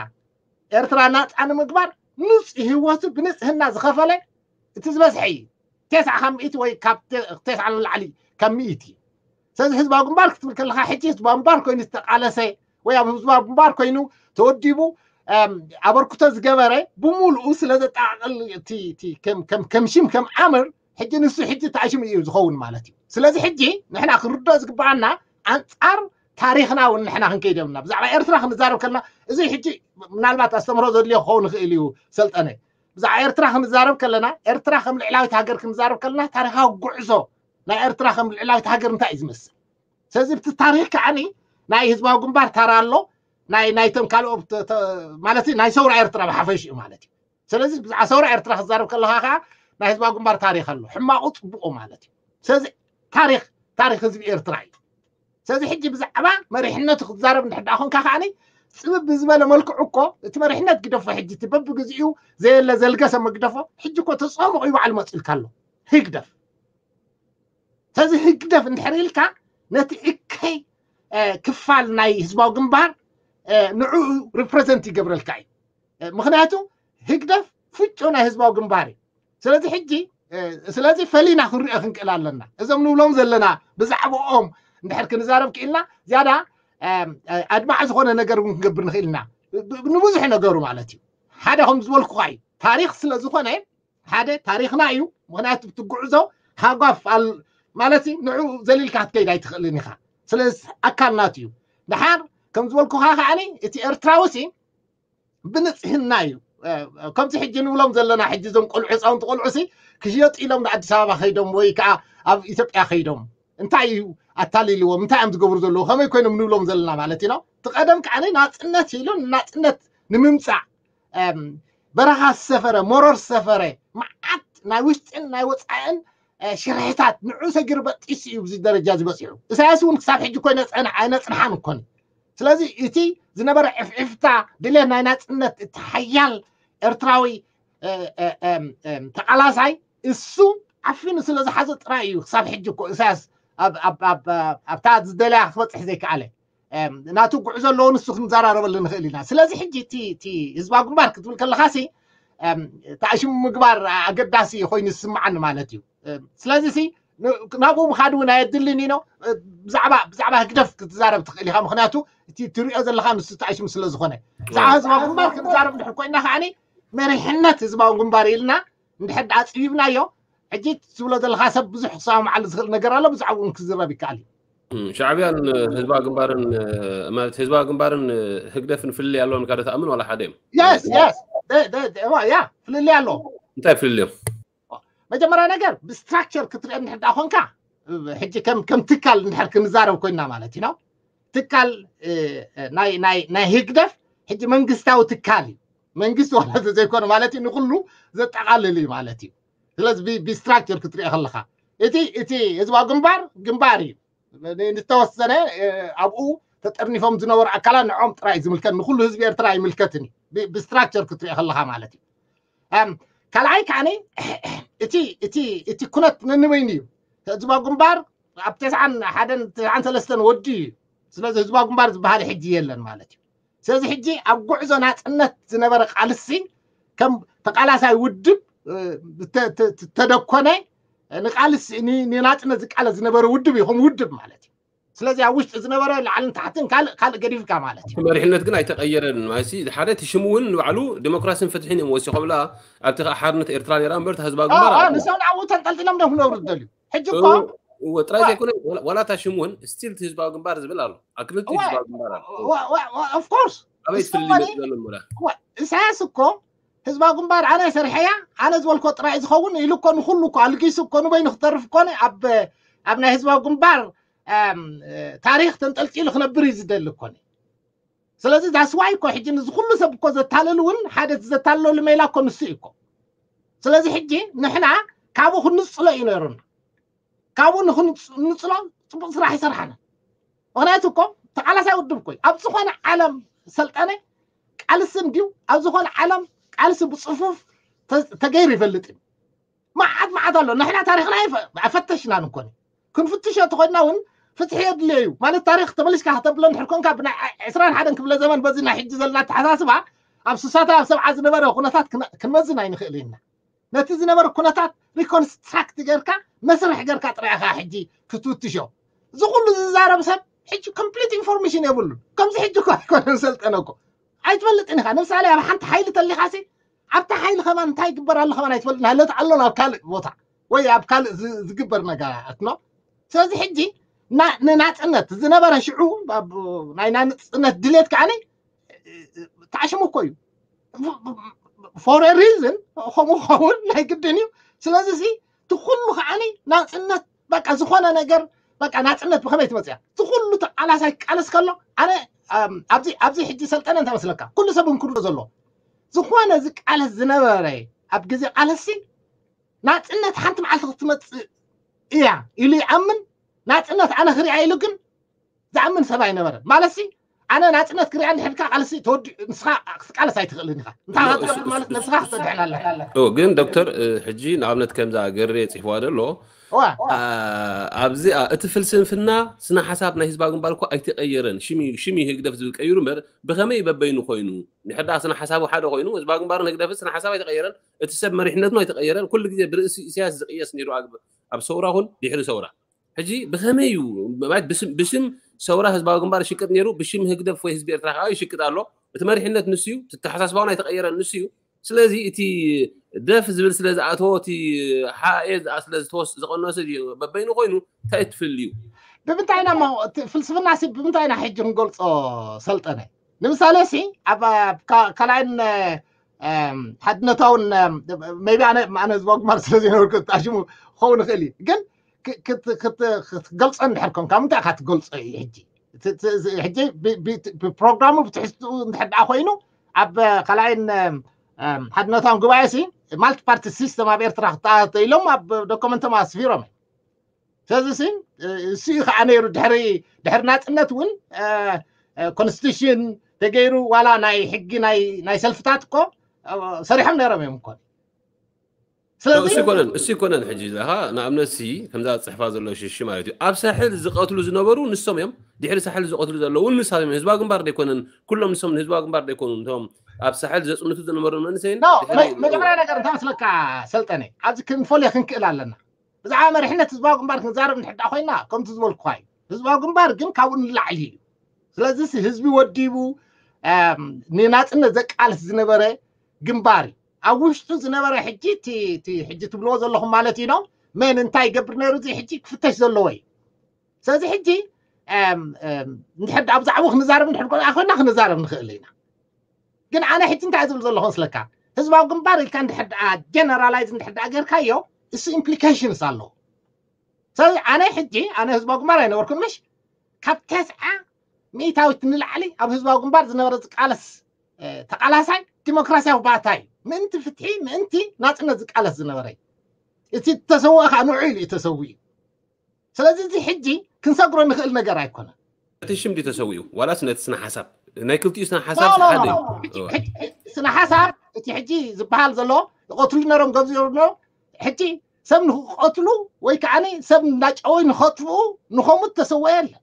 ኤርትራ ናፃ ንምግባር ንፁህ ህይወቱ ብንፅህና ዝኸፈለ እቲ ዝበዝሐ እዩ። ተስዓ ካብ ሚእቲ ወይ ካብ ተስዓ ንላዕሊ ካብ ሚእቲ እዩ። ስለዚ ህዝባዊ ግንባር ክትብል ከለካ ሕጂ ህዝባዊ ግንባር ኮይኑ ዝተቃለሰ ወይ ኣብ ህዝባዊ ግንባር ኮይኑ ተወዲቡ ኣበርክቶ ዝገበረ ብምሉኡ ስለ ዘጠቃቅል ከም ሽም ከም ዓምር ሕጂ ንሱ ሕጂ ተኣሽሙ እዩ ዝኸውን ማለት እዩ። ስለዚ ሕጂ ንሕና ክንርድኦ ዝግበኣና ኣንፃር ታሪኽና እውን ንሕና ክንከይድ የብልና። ብዛዕባ ኤርትራ ክንዛረብ ከለና እዚ ሕጂ ምናልባት ኣስተምህሮ ዘድልዮ ክኸውን ይኽእል እዩ ሰልጠነ። ብዛዕባ ኤርትራ ክንዛረብ ከለና ኤርትራ ከም ልዕላዊት ሃገር ክንዛረብ ከለና ታሪኻዊ ጉዕዞ ናይ ኤርትራ ከም ልዕላዊት ሃገር እንታይ እዩ ዝመስል? ስለዚ ብቲ ታሪኽ ከዓኒ ናይ ህዝባዊ ግንባር ታራ ኣሎ፣ ናይ ናይቶም ካልኦ ማለት ናይ ሰውራ ኤርትራ ብሓፈሽኡ ማለት እዩ። ስለዚ ብዛዕባ ሰውራ ኤርትራ ክዛረብ ከለካ ከዓ ናይ ህዝባዊ ግንባር ታሪኽ ኣሎ፣ ሕማቁ ፅቡቁ ማለት እዩ። ስለዚ ታሪኽ ታሪኽ ህዝቢ ኤርትራ እዩ። ስለዚ ሕጂ ብዛዕባ መሪሕነቱ ክትዛረብ እንድሕር ደኣ ኮንካ ከዓኒ ፅብብ ብዝበለ መልክዑ እኮ እቲ መሪሕነት ግደፎ፣ ሕጂ እቲ በብግዚኡ ዘየለ ዘልገሰ መግደፎ ሕጂ እኮ ተፀምቑ ይባዕል መፅልካ ኣሎ ህግደፍ። ስለዚ ህግደፍ እንድሕር ኢልካ ነቲ እከይ ክፋል ናይ ህዝባዊ ግንባር ንዕኡ ሪፕሬዘንት ይገብረልካ እዩ። ምክንያቱ ህግደፍ ፍጩ ናይ ህዝባዊ ግንባር እዩ። ስለዚ ሕጂ ስለዚ ፈሊና ክንሪኦ ክንክእል ኣለና። እዞም ንብሎም ዘለና ብዛዕባኦም እንድሕር ክንዛረብ ክኢልና ዝያዳ ኣድማዕ ዝኾነ ነገር እውን ክንገብር ንኽእል ኢና። ንብዙሕ ነገሩ ማለት እዩ። ሓደ ከም ዝበልኩኻ እዩ፣ ታሪኽ ስለ ዝኾነ ሓደ ታሪኽና እዩ። ምክንያቱ እቲ ጉዕዞ ሃጓፍ ማለት ንዑ ዘሊልካ ክትከይድ ኣይትኽእልን ኢኻ። ስለዚ ኣካል ናቱ እዩ። ድሓር ከም ዝበልኩኻ ከዓኒ እቲ ኤርትራዊ ሲ ብንፅህና እዩ። ከምዚ ሕጂ ንብሎም ዘለና ሕጂ እዞም ቆልዑ ህፃውንቲ ቆልዑ ሲ ክሽየጡ ኢሎም ንኣዲስ ኣበባ ከይዶም ወይ ከዓ ኣብ ኢትዮጵያ ከይዶም እንታይ እዩ ኣታሊልዎም፣ እንታይ እዮም ዝገብሩ ዘለዉ፣ ከመይ ኮይኖም ንብሎም ዘለና ማለት እዩ። እቲ ቀደም ከዓኒ ናፅነት ኢሉ ናፅነት ንምምፃእ በረኻ ዝሰፈረ መሮር ዝሰፈረ መዓት ናይ ውሽጥን ናይ ወፃእን ሽርሕታት ንዑ ሰጊሩ በጢሱ እዩ ብዚ ደረጃ ዝበፂሑ። ኢሳያስ እውን ክሳብ ሕጂ እኮ ኣይነፅሐን ኣይነፅንሓን እኮን። ስለዚ እቲ ዝነበረ ዕፍዕፍታ ድሌት ናይ ናፅነት እቲ ሓያል ኤርትራዊ ተቃላሳይ እሱ ዓፊኑ ስለ ዝሓዘ ጥራይ እዩ ክሳብ ሕጂ እኮ ኢሳያስ ኣብታ ዝደለያ ክበፅሕ ዘይከኣለ። ናቱ ጉዕዞ ኣለዎ፣ ንሱ ክንዘራረበሉ ንኽእል ኢና። ስለዚ ሕጂ እቲ ህዝባዊ ግንባር ክትብል ከለካ ሲ ተኣሽሙ ምግባር ኣገዳሲ ኮይኑ ዝስምዓኒ ማለት እዩ። ስለዚ ሲ ናብኡ ምኻድ እውን ኣየድልን ኢኖ። ብዛዕባ ብዛዕባ ህግደፍ ክትዛረብ ትኽእል ኢኻ፣ ምክንያቱ እቲ ትሪኦ ዘለካ ንሱ ተኣሽሙ ስለ ዝኾነ። ብዛዕባ ህዝባዊ ግንባር ክንዛረብ እንድሕር ኮይና ከዓኒ መሪሕነት ህዝባዊ ግንባር ኢልና እንድሕር ኣፅቢብናዮ ሕጂ ትብሎ ዘለካ ሰብ ብዙሕ ክሰማማዓሉ ዝኽእል ነገር ኣሎ፣ ብዛዕባኡ እውን ክዝረብ ይከኣል እዩ። ሻዕብያን ህዝባዊ ግንባርን ማለት ህዝባዊ ግንባርን ህግደፍን ፍልልይ ኣለዎም ኢልካ ዶ ትኣምን ዋላ ሓደ እዮም? የስ የስ ያ ፍልልይ ኣለዎም። እንታይ ፍልልዮም? መጀመርያ ነገር ብስትራክቸር ክትርኢ እንድሕር ደኣ ኮንካ ሕጂ ከም ከም ትካል እንድሕር ክንዛረብ ኮይና ማለት እዩ ነው። ትካል ናይ ህግደፍ ሕጂ መንግስታዊ ትካል እዩ። መንግስቲ ዋላ ዘይኮነ ማለት እዩ ንኩሉ ዘጠቃልል እዩ ማለት እዩ። ስለዚ ብስትራክቸር ክትሪኦ ከለካ እቲ እቲ ህዝባዊ ግንባር ግንባር እዩ። ንተወሰነ ኣብኡ ተጠርኒፎም ዝነበሩ ኣካላት ንዖም ጥራይ ዝምልከት ንኩሉ ህዝቢ ኤርትራ ኣይምልከትን እዩ። ብስትራክቸር ክትሪኦ ከለካ ማለት እዩ። ካልኣይ ከዓኒ እቲ እቲ እቲ ኩነት ነንበይኑ እዩ። ህዝባዊ ግንባር ኣብ ተስዓን ሓደን ተስዓን ሰለስተን ወዲ እዩ። ስለዚ ህዝባዊ ግንባር ዝበሃል ሕጂ የለን ማለት እዩ። ስለዚ ሕጂ ኣብ ጉዕዞ ናፅነት ዝነበረ ቃልሲ ከም ተቃላሳይ ውድብ ተደኮነ ንቃልሲ ንናፅነት ዝቃለስ ዝነበረ ውድብ እዩ ከም ውድብ ማለት እዩ። ስለዚ ኣብ ውሽጢ ዝነበረ ላዕልን ታሕትን ካልእ ካልእ ገዲፍካ ማለት እዩ። መሪሕነት ግን ኣይተቀየረን ማለት ሓደ እቲ ሽሙ እውን ንባዕሉ ዲሞክራሲን ፍትሕን እዮም ወሲኾምላ። ኣብቲ ከዓ ሓርነት ኤርትራ ነራ እምበር ህዝባዊ ግንባር ንሶም ንዓኡ ተንጠልጢሎም ዶ ክነብሩ ዝደልዩ ሕጂ እኮ ጥራይ ዘይኮነ ዋላ እታ ሽሙ እውን ስቲል ህዝባዊ ግንባር ዝብል ኣሎ። ኣክልቲ ህዝባዊ ግንባር ኣሎ። ኦፍኮርስ ኣበይ ትፍልይ ዘሎ እምበላ? ኢሳያስ እኮ ህዝባዊ ግንባር ኣነ ሰርሐያ ኣነ ዝበልኮ ጥራይ ዝኸውን ኢሉ እኮ ንኩሉ እኮ ኣልጊሱ እኮ ንበይኑ ክተርፍ እኮ ኣብ ኣብ ናይ ህዝባዊ ግንባር ታሪኽ ተንጠልጢሉ ክነብር እዩ ዝደሊ እኮ። ስለዚ that's why እኮ ሕጂ ንዚ ኩሉ ሰብ እኮ ዘታለሉ እውን ሓደ ዘታለሉ ሜላ እኮ ንሱ እዩ እኮ። ስለዚ ሕጂ ንሕና ካብኡ ክንፅሎ እዩ ነይሩና። ካብኡ ንክንፅሎ ፅቡቅ ስራሕ ይሰርሓና። ምክንያቱ እኮ ተቃላሳይ ውድብ እኮ ኣብ ዝኾነ ዓለም ሰልጠነ ቃልሲ እንድዩ ኣብ ዝኾነ ዓለም ቃልሲ ብፅፉፍ ተገይሩ ይፈልጥ እዩ። መዓት መዓት ኣሎ። ንሕና ታሪክና ኣይፈተሽናን እኮ። ክንፍትሾ ተኾይድና እውን ፍትሒ የድልዮ እዩ ማለት ታሪክ ተመሊስካ ከተብሎ እንድሕር ኮንካ ብናይ ዕስራን ሓደን ክፍለ ዘመን በዚ ናይ ሕጂ ዘለና ኣተሓሳስባ ኣብ ስሳታት ኣብ ሰብዓ ዝነበረ ኩነታት ክንመዝን ኣይንኽእል ኢና። ነቲ ዝነበረ ኩነታት ሪኮንስትራክት ጌርካ መስርሕ ጌርካ ጥራይ ኢኻ ሕጂ ክትፍትሾ። እዚ ኩሉ ዝዛረብ ሰብ ሕጂ ኮምፕሊት ኢንፎርሜሽን የብሉን። ከምዚ ሕጂ እኮ ኣይኮነን ሰልጠነ እኮ ኣይትፈልጥን ኢኻ። ንምሳሌ ኣብ ሓንቲ ሓይሊ ተሊኻሲ ኣብታ ሓይሊ ከማን እንታይ ይግበር ኣሎ ከማን ኣይትፈልጥን። ሃለት ኣሎ ናብ ካልእ ቦታ ወይ ኣብ ካልእ ዝግበር ነገራት ነው። ስለዚ ሕጂ ንናፅነት ዝነበረ ሽዑ ናይ ናፅነት ድሌት ከዓኒ ተዓሽሙ እኮ እዩ። ፎር ሪዝን ከምኡ ኸውን ናይ ግድን እዩ። ስለዚ ሲ እቲ ኩሉ ከዓኒ ናፅነት በቃ ዝኾነ ነገር በቃ ናፅነት ብኸመይ ትመፅያ እቲ ኩሉ ተቃላሳይ ክቃለስ ከሎ ኣነ ኣብዚ ሕጂ ሰልጠነ እንታይ መስለካ ኩሉ ሰብ እንክሩ ዘሎ ዝኾነ ዝቃለስ ዝነበረ ኣብ ግዜ ቃለሲ ናፅነት ሓንቲ መዓልቲ ክትመፅእ እያ ኢሉ ይኣምን። ናፅነት ኣነ ክሪኣ ኢሉ ግን ዝኣምን ሰብ ኣይነበረን ማለት ሲ ኣነ ናፅነት ክሪኣ እንድሕድካ ቃልሲ ተወዲ ንስኻ ክትቃለስ ኣይትኽእልን ኢኻ። እንታይ ክትገብር ማለት ነብስኻ ክትሰድሕን ኣለካ። ግን ዶክተር ሕጂ ንኣብነት ከምዛ ገሬ ፅሕፍዋ ዘሎ ኣብዚ እቲ ፍልስፍና ስነ ሓሳብ ናይ ህዝባዊ ግንባር እኮ ኣይተቀየረን። ሽም እዩ ህግደፍ ዝብል ቀይሩ እምበር ብከመይ በበይኑ ኮይኑ ንሕዳ ስነ ሓሳቡ ሓደ ኮይኑ ህዝባዊ ግንባርን ህግደፍን ስነ ሓሳብ ኣይተቀየረን። እቲ ሰብ መሪሕነቱ ኣይተቀየረን። ኩሉ ግዜ ብርእሲ ኢሳያስ ዝቅየስ ነይሩ ኣብ ሰውራ ኹን ድሕሪ ሰውራ ሕጂ ብኸመይ እዩ ብሽም ሰውራ ህዝባዊ ግንባር ይሽቅጥ ነይሩ ብሽም ህግደፍ ወይ ህዝቢ ኤርትራ ከዓ ይሽቅጥ ኣሎ። እቲ መሪሕነት ንሱ እዩ። ተተሓሳስባውን ኣይተቀየረን ንሱ እዩ። ስለዚ እቲ ደፍ ዝብል ስለ ዝኣተዎ እቲ ሓኤ ስለ ዝተወስ ዝቀነሱ በበይኑ ኮይኑ እንታይ ትፍል እዩ? ብምንታይ ኢና ፍልስፍና ሲ ብምንታይ ኢና ሕጂ ክንገልፆ ሰልጠነ ንምሳሌ ሲ ኣብ ካልኣይን ሓድነታውን ቢ ኣነ ህዝባዊ ግንባር ስለ ዘይነበርኩ ተጣሽሙ ክኸውን ይኽእል እዩ ግን ክትገልፆ እንድሕር ኮንካ ምንታይ ኢካ ትገልፆ እዩ ሕጂ ሕጂ ብፕሮግራሙ ብትሕዝትኡ እንድሕር ደኣ ኮይኑ ኣብ ካልኣይን ሓድነታውን ጉባኤ ሲ ማልቲ ፓርቲ ሲስተም ኣብ ኤርትራ ክተኣተ ኢሎም ኣብ ዶኮመንቶም ኣስፊሮም ስለዚ ሲ እሱ እዩ ከዓ ነይሩ ድሕሪ ድሕሪ ናፅነት እውን ኮንስቲቱሽን ተገይሩ ዋላ ናይ ሕጊ ናይ ሰልፍታት እኮ ሰሪሖም ነይሮም እዮም እኮ ስለዚ እሱ ይኮነን እሱ ይኮነን ሕጂ ኢኻ ንኣብነት ሲ ከምዛ ፅሕፋ ዘሎ ሽሽ ማለት እዩ ኣብ ሳሕል ዝቀትሉ ዝነበሩ ንሶም እዮም ድሕሪ ሳሕል ዝቀትሉ ዘለዉ ንሳብ እዮም ህዝባዊ ግንባር ደይኮነን ኩሎም ንሶም ንህዝባዊ ግንባር ደይኮኑ እቶም ኣብ ሳሕል ዘፅንቱ ዝነበሩ መንእሰይን መጀመርያ ነገር እንታይ መስለካ ሰልጠነ ኣብዚ ክንፈልዮ ክንክእል ኣለና ብዛዕባ መሪሕነት ህዝባዊ ግንባር ክንዛረብ ንሕዳ ኮይና ከምቲ ዝበልኩካ እዩ ህዝባዊ ግንባር ግን ካብኡ ንላዕሊ እዩ ስለዚ ህዝቢ ወዲቡ ንናፅነት ዘቃልስ ዝነበረ ግንባር እዩ ኣብ ውሽጡ ዝነበረ ሕጂ ሕጂ ትብልዎ ዘለኹም ማለት እዩ መን እንታይ ይገብር ነይሩ እዚ ሕጂ ክፍተሽ ዘለዎ እዩ ስለዚ ሕጂ እንድሕር ኣብ ዛዕቡ ክንዛረብ እንድሕር ኮይና ክንዛረብ ንኽእል ኢና ግን ኣነ ሕጂ እንታይ ዝብል ዘለኹ ስለካ ህዝባዊ ግንባር ኢልካ እንድሕር ጀነራላይዝ እንድሕር ጌርካዮ እሱ ኢምፕሊኬሽንስ ኣለዎ ስለዚ ኣነ ሕጂ ኣነ ህዝባዊ ግንባር ኣይነበርኩን ምሽ ካብ ተስዓ ሚእታዊት ንላዕሊ ኣብ ህዝባዊ ግንባር ዝነበረ ዝቃለስ ተቃላሳይ ዲሞክራሲያዊ ባታ እዩ ምእንቲ ፍትሒ ምእንቲ ናፅነት ዝቃለስ ዝነበረ እዩ እቲ ተሰውኦ ከዓ ንዑ ኢሉ እዩ ተሰዊኡ ስለዚ እዚ ሕጂ ክንሰግሮ ንኽእል ነገር ኣይኮነን እቲ ሽም ድዩ ተሰዊኡ ዋላስ ነቲ ስነ ሓሳብ ናይ ክልቲኡ ስነ ሓሳብ ሓደ ስነ ሓሳብ እቲ ሕጂ ዝበሃል ዘሎ ይቀትሉ ነሮም ገብዚኦም ሕጂ ሰብ ንክቀትሉ ወይ ከዓ ሰብ እንዳጨወይ ንኸጥፍኡ ንኸሙት ተሰወ የለን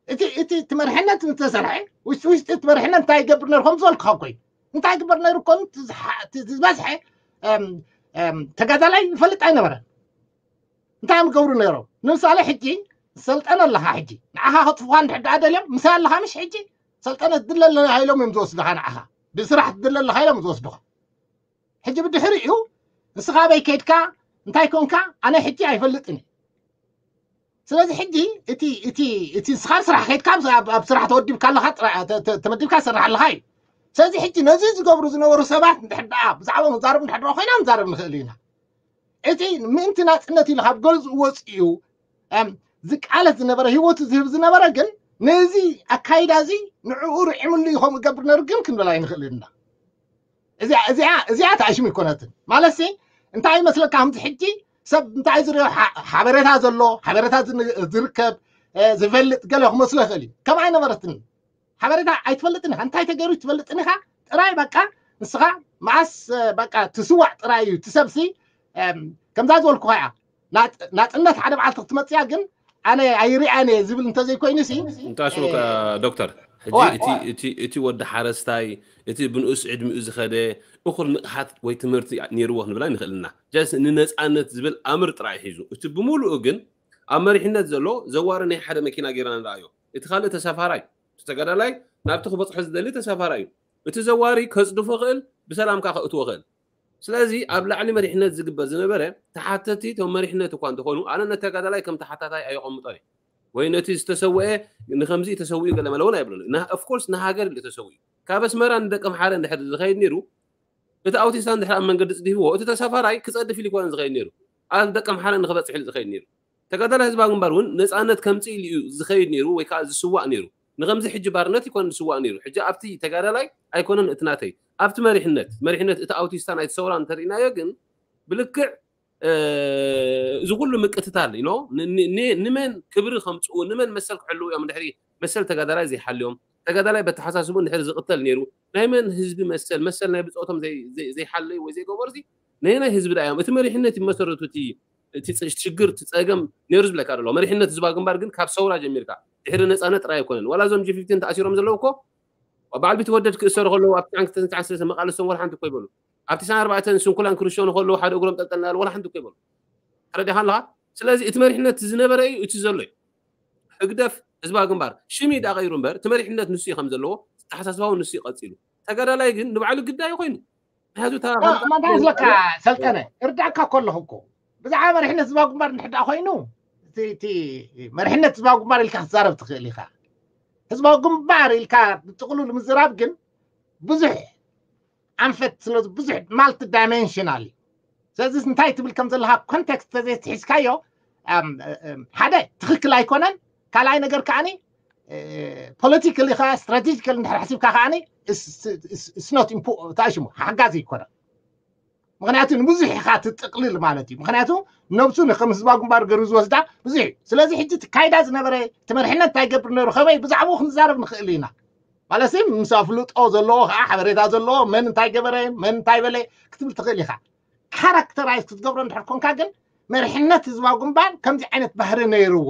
እቲ እቲ እቲ መርሕነት እንተሰርሐ ውሽጢ ውሽጢ እቲ መርሕነት እንታይ ይገብር ነሩ ከም ዝበልኩ ካብ ኮይኑ እንታይ ይግበር ነሩ ኮኑ ዝበዝሐ ተጋዳላይ ይፈልጥ ኣይነበረን እንታይ እዮም ገብሩ ነሮም ንምሳሌ ሕጂ ሰልጠነ ኣለካ ሕጂ ንዓኻ ከጥፍኳ እንድሕር ደኣ ደልዮም ምሳይ ኣለካ ምሽ ሕጂ ሰልጠነ ትድለ ኣለካ ኢሎም እዮም ዝወስድካ ንዓኻ ብስራሕ ትድለ ኣለካ ኢሎም ዝወስድካ ሕጂ ብድሕሪኡ ንስኻ ኣበይ ከይድካ እንታይ ኮንካ ኣነ ሕጂ ኣይፈልጥን እዩ ስለዚ ሕጂ እቲ እቲ እቲ ንስኻ ስራሕ ከይድካ ኣብ ስራሕ ተወዲብካ ኣለኻ ተመዲብካ ትሰርሕ ኣለኻ እዩ ስለዚ ሕጂ ነዚ ዝገብሩ ዝነበሩ ሰባት እንድሕር ደኣ ብዛዕባ ክንዛረብ እንድሕር ኮይና ክንዛረብ ንኽእል ኢና እቲ ምእንቲ ናፅነት ኢሉ ካብ ገዝኡ ወፂኡ ዝቃለስ ዝነበረ ህይወቱ ዝህብ ዝነበረ ግን ነዚ ኣካይዳ እዚ ንዕኡ ርዒምሉ እዩ ከምኡ ገብር ነሩ ግን ክንብል ኣይንኽእል ኢና እዚኣ ተኣሽሙ ይኮነትን ማለት ሲ እንታይ ይመስለካ ከምዚ ሕጂ ሰብ እንታይ ዝሪኦ ሓበሬታ ዘሎ ሓበሬታ ዝርከብ ዝፈልጥ ገለ ክመስሎ ይኽእል እዩ ከም ኣይነበረትን ሓበሬታ ኣይትፈልጥን ኢኻ እንታይ ተገይሩ ትፈልጥን ኢኻ ጥራይ በቃ ንስኻ መዓስ በቃ ትስዋዕ ጥራይ እዩ ትሰብሲ ከምዛ ዝበልኩኻ እያ ናጽነት ሓደ መዓልቲ ክትመጽያ ግን ኣነ ኣይሪኣን እየ ዝብል እንተዘይኮይኑ ሲ እንታሽወካ ዶክተር ሕጂ እቲ ወዲ ሓረስታይ እቲ ብንኡስ ዕድሚኡ ዝኸደ እኹል ንቕሓት ወይ ትምህርቲ ነይርዎ ክንብላ ንኽእል ኢና። ጀስ ንነፃነት ዝብል ኣምር ጥራይ ሒዙ እቲ ብምሉኡ ግን ኣብ መሪሕነት ዘሎ ዘዋሪ ናይ ሓደ መኪና ጌርና ንረኣዮ። እቲ ካልእ ተሳፋራይ ተጋዳላይ ናብቲ ክበፅሖ ዝደሊ ተሳፋራይ እዩ። እቲ ዘዋሪ ከፅድፎ ክእል ብሰላም ከዓ ከእትዎ ክእል። ስለዚ ኣብ ላዕሊ መሪሕነት ዝግበር ዝነበረ ተሓተቲ እቶም መሪሕነት እኳ እንተኾኑ ኣነ ነተጋዳላይ ከም ተሓታታይ ኣየቐምጦን ወይ ነቲ ዝተሰወአ ንከምዚ ተሰዊኡ ገለ መለ እውን ኣይብለሉ። ኦፍኮርስ ንሃገር ኢሉ ተሰዊኡ ካብ ኣስመራ ንደቀምሓረ እንድሕር ዝኸይድ ነይሩ እቲ ኣውቲስታ እንድሕር ኣብ መንገዲ ፅዲፍዎ እቲ ተሳፋራይ ክፀድፍ ኢሉ ይኮነን ዝኸይድ ነይሩ ኣብ ደቀምሓረ ንክበፅሕ ኢሉ ዝኸይድ ነይሩ። ተጋዳላይ ህዝባዊ ግንባር እውን ነፃነት ከምፅእ ኢሉ እዩ ዝኸይድ ነይሩ ወይ ከዓ ዝስዋእ ነይሩ። ንከምዚ ሕጂ ባርነት ይኮነን ዝስዋእ ነይሩ። ሕጂ ኣብቲ ተጋዳላይ ኣይኮነን እቲ ናተይ ኣብቲ መሪሕነት መሪሕነት እቲ ኣውቲስታ ናይቲ ሰውራ እንተርኢናዮ ግን ብልክዕ እዚ ኩሉ ምቅትታል ኢሎ ንመን ክብሪ ከምፅኡ ንመን መሰል ክሕልው እዮም ድሕሪ መሰል ተጋዳላይ ዘይሓልዮም ተጋዳላይ በተሓሳስቡ እንድሕር ዝቅተል ነይሩ ናይ መን ህዝቢ መሰል መሰል ናይ ብፆቶም ዘይሓለዩ ወይ ዘይገበሩ ነየናይ ህዝቢ ዳ እዮም እቲ መሪሕነት ይመሰረቱ እቲ ሽግር እቲ ፀገም ነይሩ ዝብለካ ደሎ መሪሕነት ህዝባዊ ግንባር ግን ካብ ሰውራ ጀሚርካ ድሕሪ ነፃነት ጥራይ ኣይኮነን ዋላ እዞም ጂ ፊፍቲን ተኣሲሮም ዘለዉ እኮ በዓል ቢትወደድ ክእሰሩ ከለዉ ኣብ ትስዓን ክልተን ትስዓን ሰለስተን መቃለስቶም ዋላ ሓንቲ እኮ ይበሉ ኣብ ትስዓን ኣርባዕተን ስንኩላን ክርሾ ንከለዉ ሓደ እግሮም ጠልጠልና ዋላ ሓንቲ እኮ ይበሉ ተረዲኻ ኣለኻ ስለዚ እቲ መሪሕነት ዝነበረ እዩ እቲ ዘሎ እዩ ህግደፍ ህዝባዊ ግንባር ሽም እዩ ዳቀይሩ እምበር እቲ መሪሕነት ንሱ እዩ ከም ዘለዎ ዝተሓሳስባዊ ንሱ እዩ ቀፂሉ ተጋዳላይ ግን ንባዕሉ ግዳይ ኮይኑ ምክንያቱ ማንታይ ዝለካ ሰልጠነ እርዳእካ ከለኹ እኮ ብዛዕባ መሪሕነት ህዝባዊ ግንባር እንድሕር ደኣ ኮይኑ እቲ መሪሕነት ህዝባዊ ግንባር ኢልካ ክትዛረብ ትኽእል ኢኻ ህዝባዊ ግንባር ኢልካ ብጥቕሉ ንምዝራብ ግን ብዙሕ ኣንፈት ስለ ብዙሕ ማልቲ ዳይሜንሽናል እዩ ስለዚ እንታይ ትብል ከም ዘለካ ኮንቴክስት ተዘይትሒዝካዮ ሓደ ትኽክል ኣይኮነን ካልኣይ ነገር ከዓኒ ፖለቲካሊ ከ ስትራቴጂካል እንድሕር ሓሲብካ ከዓኒ ስኖት እንታይ ሽሙ ሓጋዚ ይኮነ ምክንያቱ ንብዙሕ ኢካ ትጥቅልል ማለት እዩ ምክንያቱ ነብሱ ንከም ህዝባዊ ግንባር ገሩ ዝወስዳ ብዙሕ እዩ ስለዚ ሕጂ ትካይዳ ዝነበረ እቲ መርሕነት እንታይ ገብር ነሩ ከመይ ብዛዕባኡ ክንዛረብ ንክእል ኢና ማለት ምስ ኣፍልጦ ዘለዎ ከዓ ሓበሬታ ዘለዎ መን እንታይ ገበረ መን እንታይ በለ ክትብል ትክእል ኢካ ካራክተራይዝ ክትገብሮ እንድሕር ኮንካ ግን መርሕነት ህዝባዊ ግንባር ከምዚ ዓይነት ባህሪ ነይርዎ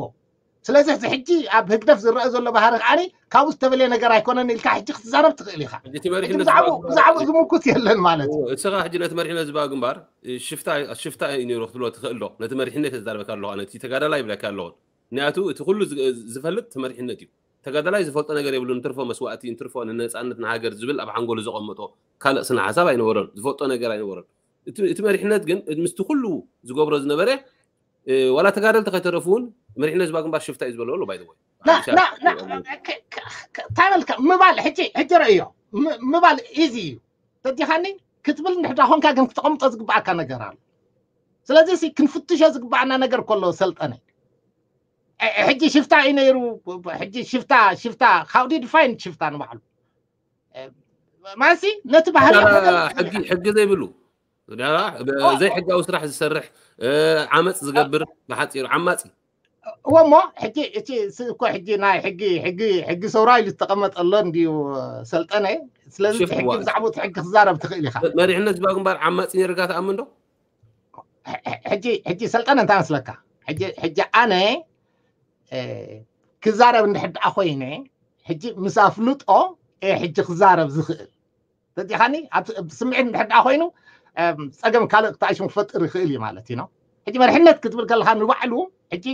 ስለዚ እዚ ሕጂ ኣብ ህግደፍ ዝረአ ዘሎ ባህሪ ከዓኒ ካብኡ ዝተበለየ ነገር ኣይኮነን ኢልካ ሕጂ ክትዛረብ ትኽእል ኢኻ ብዛዕባኡ ዝምኩት የለን ማለት እዩ እስኻ ሕጂ ነቲ መሪሕነት ህዝባዊ ግንባር ሽፍታ እዩ ነይሩ ክትብሎ ትኽእል ዶ ነቲ መሪሕነት ተዛርበካ ኣለኹ ነቲ ተጋዳላይ ይብለካ ኣለኹ ምክንያቱ እቲ ኩሉ ዝፈልጥ እቲ መሪሕነት እዩ ተጋዳላይ ዝፈልጦ ነገር የብሉ ንትርፎ መስዋእቲ ንትርፎ ንነፃነት ንሃገር ዝብል ኣብ ሓንጎሉ ዘቐመጦ ካልእ ስነ ሓሳብ ኣይነበሮን ዝፈልጦ ነገር ኣይነበሮን እቲ መሪሕነት ግን ምስቲ ኩሉ ዝገብሮ ዝነበረ ዋላ ተጋደልቲ ከይተረፉ እውን መሪሕነት ህዝባዊ ግንባር ሽፍታ እዩ ዝበሎ ኣሎ ባይዘወይ እንታይ በልካ ምባል ሕጂ ሕጂ ረእዮ ምባል ኢዚ እዩ ተዲኻኒ ክትብል እንድሕዳ ኮንካ ግን ክተቐምጦ ዝግባኣካ ነገር ኣሎ ስለዚ ክንፍትሾ ዝግባኣና ነገር ከሎ ሰልጠነ ሕጂ ሽፍታ እዩ ነይሩ ሕጂ ሽፍታ ሽፍታ how do you define ሽፍታ ንባዕሉ ማሲ ነቲ ባህሪ ሕጊ ዘይብሉ ዘይሕጋዊ ስራሕ ዝሰርሕ ዓመፅ ዝገብር ብሓፂሩ ዓማፂ እወ እሞ ሕጂ እቲ እኮ ሕጂ ናይ ሕጊ ሕጊ ሕጊ ሰውራ ኢሉ ዝተቐመጠ ኣሎ እንድዩ ሰልጠነ ስለዚ ሕጊ ብዛዕባ እቲ ሕጊ ክዛረብ ትኽእል ኢኻ መሪሕነት ህዝባዊ ግንባር ዓማፂ ነርካ ተኣምን ዶ ሕጂ ሕጂ ሰልጠነ እንታይ መስለካ ሕጂ ኣነ ክዛረብ እንድሕር ደኣ ኮይነ ሕጂ ምስ ኣፍልጦ ሕጂ ክዛረብ ዝኽእል ተዲኻኒ ስምዒት እንድሕር ደኣ ኮይኑ ፀገም ካልእ ክተኣሽም ክፈጥር ይኽእል እዩ ማለት እዩ ሕጂ መርሕነት ክትብል ከለካ ንባዕሉ ሕጂ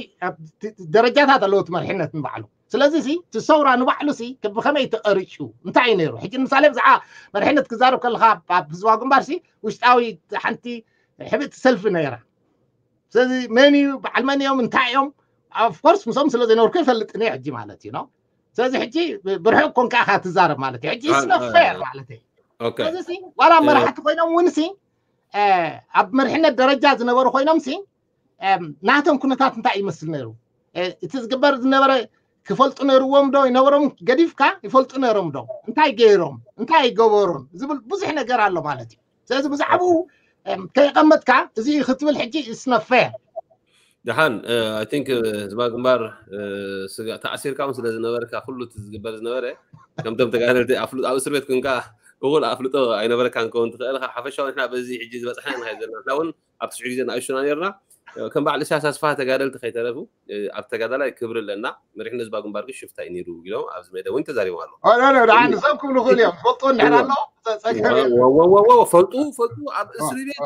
ደረጃታት ኣለዎ እቲ መርሕነት ንባዕሉ ስለዚ ሲ እቲ ሰውራ ንባዕሉ ሲ ብከመይ ተቀሪጩ እንታይ እዩ ነይሩ ሕጂ ንምሳሌ ብዛዕባ መርሕነት ክዛረብ ከለካ ኣብ ህዝባዊ ግንባር ሲ ውሽጣዊ ሓንቲ ሕብእቲ ሰልፊ ነይራ ስለዚ መን እዩ በዓል መን እዮም እንታይ እዮም ኦፍኮርስ ምስኦም ስለ ዘይነበርኩ ይፈልጥን እየ ሕጂ ማለት እዩ ስለዚ ሕጂ ብርሑቅ ኮንካ ኢካ ትዛረብ ማለት እዩ ሕጂ ስነፌር ማለት እዩ ስለዚ ዋላ መራሕቲ ኮይኖም እውን ሲ ኣብ መርሕነት ደረጃ ዝነበሩ ኮይኖም ሲ ናቶም ኩነታት እንታይ ይመስል ነይሩ እቲ ዝግበር ዝነበረ ክፈልጡ ነርዎም ዶ ይነበሮም ገዲፍካ ይፈልጡ ነሮም ዶ እንታይ ገይሮም እንታይ ኣይገበሩን ዝብል ብዙሕ ነገር ኣሎ ማለት እዩ ስለዚ ብዛዕባኡ ከይቐመጥካ እዚ ክትብል ሕጂ ስነፌር ደሓን ኣይ ቲንክ ህዝባ ግንባር ተኣሲርካ እውን ስለ ዝነበርካ ኩሉ እቲ ዝግበር ዝነበረ ከምቶም ተጋደልቲ ኣብ እስር ቤት ኮንካ እኹል ኣፍልጦ ኣይነበረካን ክኸውን ትኽእል ኢኻ ሓፈሻዊ ንሕና በዚ ሕጂ ዝበፅሐና ንኸይድ ዘለና ንሕና እውን ኣብቲ ሽዑ ግዜ ንኣሽቱና ነርና ከም በዓል እሳያስ ኣስፋ ተጋደልቲ ከይተረፉ ኣብ ተጋዳላይ ክብሪ ኣለና፣ መሪሕነት ህዝባዊ ግንባር ግን ሽፍታ እዩ ነይሩ ኢሎም ኣብዚ መደብ እውን ተዛሪቦም ኣለዉ። ንሶም ክብሉ ክእል እዮም። ዝፈልጥዎ እንድሕር ኣሎ ጸገም ፈልጡ ፈልጡ ኣብ እስሪ ቤት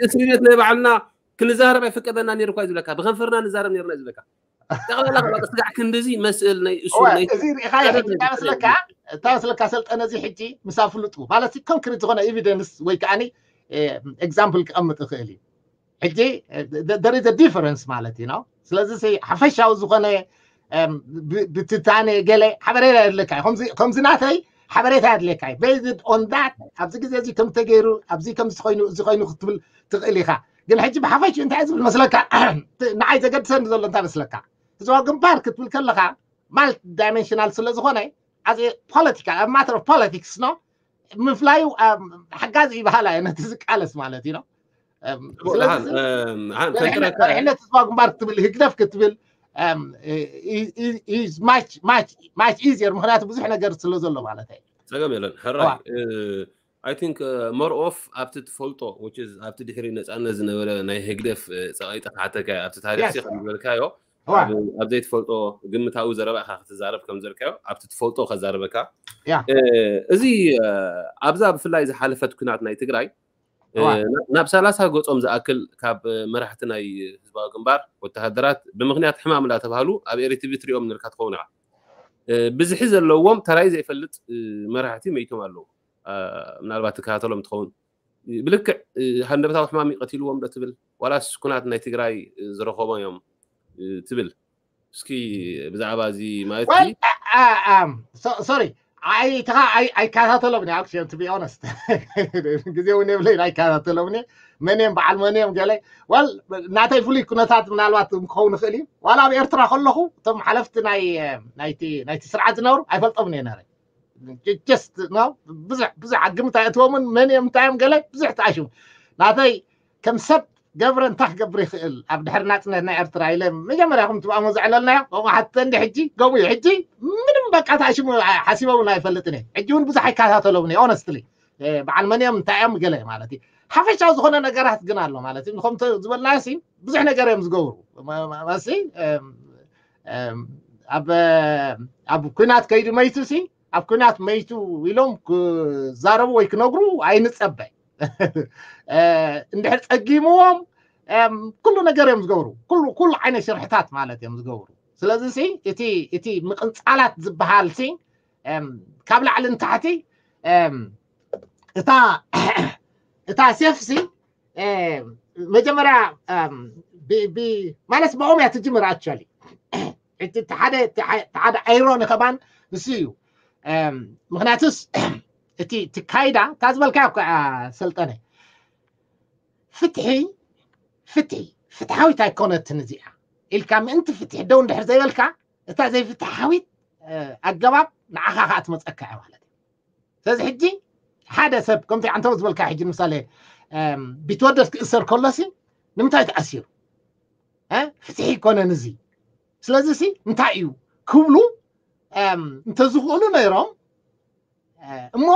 እስሪ ቤት ናይ ባዕልና ክንዛረብ ኣይፍቀደና ነይሩ እኳ ዝብለካ፣ ብከንፈርና ንዛረብ ነርና ዝብለካ። ጠቕላላ ስጋዕ ክንድዚ መስእል ናይ እሱ ናይ እዚ ርኢኻዮ። ሕጂ እንታይ መስለካ፣ እንታይ መስለካ ሰልጠነ፣ እዚ ሕጂ ምሳብ ፍልጡ ማለት ኮንክሪት ዝኾነ ኤቪደንስ ወይ ከዓኒ ኤግዛምፕል ክቐምጥ ይኽእል እዩ። ሕጂ there is a difference ማለት እዩ ነው። ስለዚ ሓፈሻዊ ዝኾነ ብትንታነ ገለ ሓበሬታ የድልየካ እዩ። ከምዚ ናተይ ሓበሬታ የድልየካ እዩ። Based on that ኣብዚ ግዜ እዚ ከም ተገይሩ፣ ኣብዚ ከምዚ ኮይኑ፣ እዚ ኮይኑ ክትብል ትኽእል ኢኻ። ግን ሕጂ ብሓፈሽኡ እንታይ ዝብል መስለካ፣ ንዓይ ዘገድሰኒ ዘሎ እንታይ መስለካ፣ ህዝባዊ ግንባር ክትብል ከለኻ ማልቲ ዳይሜንሽናል ስለ ዝኾነ፣ as a political, a matter of politics ነው፣ ምፍላዩ ሓጋዚ ይበሃላ እየ ነቲ ዝቃለስ ማለት እዩ ነው። መሪሕነት ህዝባዊ ግንባር ክትብል፣ ህግደፍ ክትብል ማች ኢዚየር፣ ምክንያቱ ብዙሕ ነገር ስለ ዘሎ ማለት እዩ። ጸገም የለን። ሕራይ I think more of ኣብቲ ትፈልጦ፣ which is ኣብቲ ድሕሪ ነጻነት ዝነበረ ናይ ህግደፍ ጸቓይጠ ክሓተካ ኣብቲ ታሪክ ሲ ከም ዝበልካዮ፣ ኣብ ዘይትፈልጦ ግምታዊ ዘረባ ኢኻ ክትዛረብ ከም ዘልካዮ፣ ኣብቲ ትፈልጦ ከዛርበካ። እዚ ኣብዛ ብፍላይ ዝሓለፈት ኩናት ናይ ትግራይ ናብ ሰላሳ ገጾም ዝኣክል ካብ መራሕቲ ናይ ህዝባዊ ግንባር ወተሃደራት ብምኽንያት ሕማም እንዳተባህሉ ኣብ ኤሪቲቪ ትሪኦም ነርካ ትኸውን ኢኻ። ብዝሒ ዘለዎም ተራይ ዘይፈልጥ መራሕቲ መይቶም ኣለዉ። ምናልባት ትከታተሎም ትኸውን። ብልክዕ ሃንደበታዊ ሕማም ይቀትልዎም ዶ ትብል፣ ዋላስ ኩናት ናይ ትግራይ ዝረኸቦ እዮም ትብል? እስኪ ብዛዕባ እዚ ማለት ሶሪ ኣይከታተሎም actually, to be honest። ግዜ እውን የብለይን ኣይከታተሎም። መን እዮም በዓል መን እዮም ገለ ወል ናተይ ፍሉይ ኩነታት ምናልባት ክኸውን ይኽእል እዩ። ዋላ ኣብ ኤርትራ ከለኹ እቶም ሓለፍቲ ናይቲ ስርዓት ዝነብሩ ኣይፈልጦምን እየ ነረ። ብዙሕ ብዙሕ ግምት ኣይእትዎምን። መን እዮም እንታይ እዮም ገለ ብዙሕ ተኣሽሙ። ናተይ ከም ሰብ ገብረ እንታይ ክገብር ይኽእል ኣብ ድሕሪ ናፅነት ናይ ኤርትራ ኢለ መጀመርያ ከም ትብኣሞ ዘዕለልናዮ ከምኡ ሓተ እንዲ ሕጂ ገቡ እዩ። ሕጂ ምንም በቃ ተኣሽሙ ሓሲበ እውን ኣይፈልጥን እየ። ሕጂ እውን ብዙሕ ኣይከታተሎም እየ honestly። በዓል መን እዮም እንታይ እዮም ገለ ማለት እዩ። ሓፈሻዊ ዝኾነ ነገራት ግን ኣሎ ማለት እዩ። ከም ዝበልናዮ ሲ ብዙሕ ነገር እዮም ዝገብሩ መሲ ኣብ ኩናት ከይዱ መይቱ ሲ ኣብ ኩናት መይቱ ኢሎም ክዛረቡ ወይ ክነግሩ ኣይንጸበ። እንድሕር ጸጊምዎም ኩሉ ነገር እዮም ዝገብሩ። ኩሉ ዓይነት ሽርሕታት ማለት እዮም ዝገብሩ። ስለዚ እቲ ምቕንጻላት ዝበሃል ሲ ካብ ላዕሊ ንታሕቲ እታ እታ ሴፍ ሲ መጀመርያ ማለት ብኦም እያ ትጅምር። Actually እቲ ሓደ ኣይሮኒ ከማን ንሱ እዩ። ምክንያቱስ እቲ ካይዳ እታ ዝበልካ ሰልጠነ ፍትሒ ፍትሒ ፍትሓዊት ኣይኮነትን እዚኣ ኢልካ ምእንቲ ፍትሒ ደው እንድሕር ዘይበልካ እታ ዘይፍትሓዊት ኣገባብ ንዓኻ ከዓ ትመፀካ እያ ማለት እዩ። ስለዚ ሕጂ ሓደ ሰብ ከምቲ ዓንተው ዝበልካ ሕጂ ንምሳሌ ቢትወደድ ክእሰር ከሎሲ ንምንታይ ተኣሲሩ? ፍትሒ ይኮነን እዚ። ስለዚ ሲ እንታይ እዩ ክብሉ እንተዝኽእሉ ነይሮም እሞ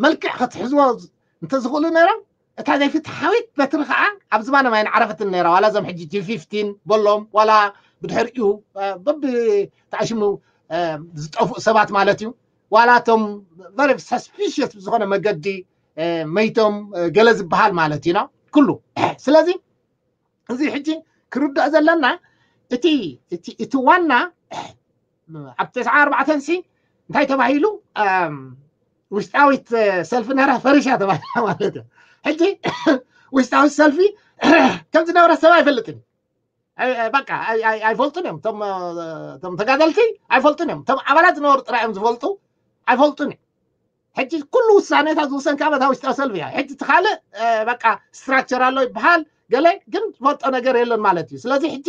መልክዕ ክትሕዝዎ እንተዝኽእሉ ነይሮም እታ ዘይፍትሓዊት በትሪ ከዓ ኣብ ዝባኖም ኣይንዓረፈትን ነይራ። ዋላ እዞም ሕጂ ጂ ፊፍቲን በሎም ዋላ ብድሕሪኡ በቢ ተኣሽሙ ዝጠፍኡ ሰባት ማለት እዩ። ዋላ እቶም very suspicious ብዝኾነ መገዲ መይቶም ገለ ዝበሃል ማለት እዩ ኩሉ። ስለዚ እዚ ሕጂ ክርዳእ ዘለና እቲ ዋና ኣብ ተስዓ ኣርባዕተን ሲ እንታይ ተባሂሉ ውሽጣዊት ሰልፊ ነራ ፈሪሻ ተባሂላ ማለት እዩ። ሕጂ ውሽጣዊት ሰልፊ ከም ዝነበረ ሰብ ኣይፈልጥን። በቃ ኣይፈልጡን እዮም። እቶም ተጋደልቲ ኣይፈልጡን እዮም። እቶም ኣባላት ዝነበሩ ጥራይ እዮም ዝፈልጡ። ኣይፈልጡን እዮም። ሕጂ ኩሉ ውሳኔታት ዝውሰን ካብ እታ ውሽጣዊ ሰልፊ እያ። ሕጂ እቲ ካልእ በቃ ስትራክቸር ኣሎ ይበሃል ገለ ግን ዝፈልጦ ነገር የለን ማለት እዩ። ስለዚ ሕጂ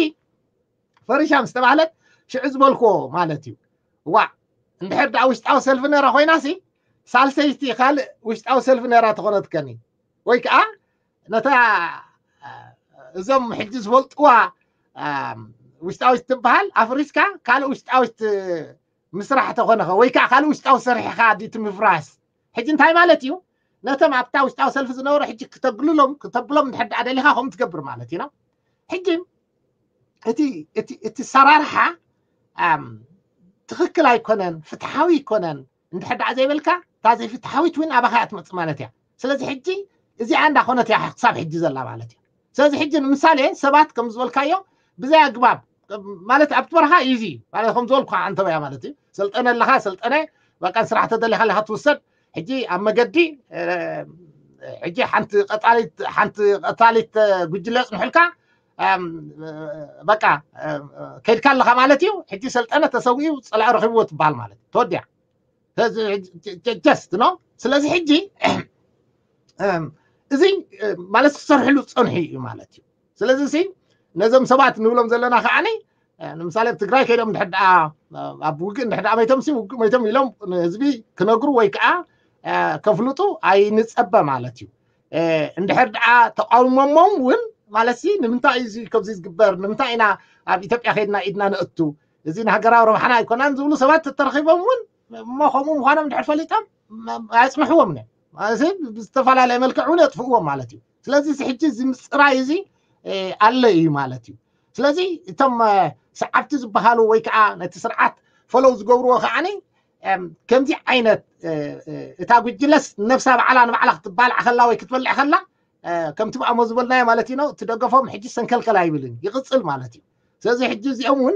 ፈሪሻ ምስ ተባህለት ሽዑ ዝበልክዎ ማለት እዩ። ዋ እንድሕር ደኣ ውሽጣዊ ሰልፊ ነራ ኮይና ሲ ሳልሰይቲ ካልእ ውሽጣዊ ሰልፊ ነራ ተኾነትከኒ ወይ ከዓ ነታ እዞም ሕጂ ዝፈልጥዋ ውሽጣዊት ትበሃል ኣፍሪስካ ካልእ ውሽጣዊት ምስራሕ ተኾነኸ ወይ ከዓ ካልእ ውሽጣዊ ሰሪሕኻ ድቲ ምፍራስ ሕጂ እንታይ ማለት እዩ? ነቶም ኣብታ ውሽጣዊ ሰልፊ ዝነበሩ ሕጂ ክተግልሎም ክተብሎም እንድሕር ደኣ ደሊኻ ከምኡ ትገብር ማለት እዩ ነው። ሕጂ እቲ እቲ እቲ ሰራርሓ ትኽክል ኣይኮነን፣ ፍትሓዊ ኣይኮነን እንድሕር ደኣ ዘይበልካ፣ እታ ዘይፍትሓዊት እውን ኣባኻ እያ ትመፅእ ማለት እያ። ስለዚ ሕጂ እዚኣ እንዳኾነት እያ ክሳብ ሕጂ ዘላ ማለት እዩ። ስለዚ ሕጂ ንምሳሌ ሰባት ከም ዝበልካዮ ብዘይ ኣግባብ ማለት ኣብቲ በረኻ እዩ እዚ ማለት ከም ዝበልኩ ኣንተበያ ማለት እዩ። ሰልጠነ ኣለኻ ሰልጠነ በቃ ስራሕ ተደሊኻ ኣለኻ ትውሰድ። ሕጂ ኣብ መገዲ ሕጂ ሓንቲ ቀጣሊት ሓንቲ ቀጣሊት ጉጅለ ጽንሑልካ በቃ ከይድካ ኣለኻ ማለት እዩ። ሕጂ ሰልጠነ ተሰዊኡ ጸላኢ ረኺብዎ ትበሃል ማለት ተወዲያ። ጀስት ነው። ስለዚ ሕጂ እዚ ማለት ክሰርሕሉ ጸንሑ እዩ ማለት እዩ። ስለዚ ነዞም ሰባት ንብሎም ዘለና ከዓኒ ንምሳሌ ኣብ ትግራይ ከይዶም ድሕር ደኣ ኣብ ውግእ እንድሕር ደኣ መይቶም ሲ ውግእ መይቶም ኢሎም ንህዝቢ ክነግሩ ወይ ከዓ ከፍልጡ ኣይንጸበ ማለት እዩ። እንድሕር ደኣ ተቃውሞሞም እውን ማለት ሲ ንምንታይ እዩ እዚ ከብዚ ዝግበር ንምንታይ ኢና ኣብ ኢትዮጵያ ከይድና ኢድና ነእቱ እዚ ንሃገራዊ ረብሓና ኣይኮናን ዝብሉ ሰባት ተተረኺቦም እውን እሞ ከምኡ ምዃኖም ድሕር ፈሊጦም ኣያጽንሕዎም ነ ብዝተፈላለየ መልክዕ እውን የጥፍእዎም ማለት እዩ። ስለዚ እዚ ሕጂ እዚ ምፅራይ እዚ ኣለ እዩ ማለት እዩ። ስለዚ እቶም ሰዓብቲ ዝበሃሉ ወይ ከዓ ነቲ ስርዓት ፈለው ዝገብርዎ ከዓኒ ከምዚ ዓይነት እታ ጉጅለስ ነብሳ ባዕላ ንባዕላ ክትባልዓ ከላ ወይ ክትበልዕ ከላ ከምቲ ብኣሞ ዝበልናዮ ማለት እዩ ነው ትደገፎም ሕጂ ሰንከልከል ኣይብልን ይቕፅል ማለት እዩ። ስለዚ ሕጂ እዚኦም እውን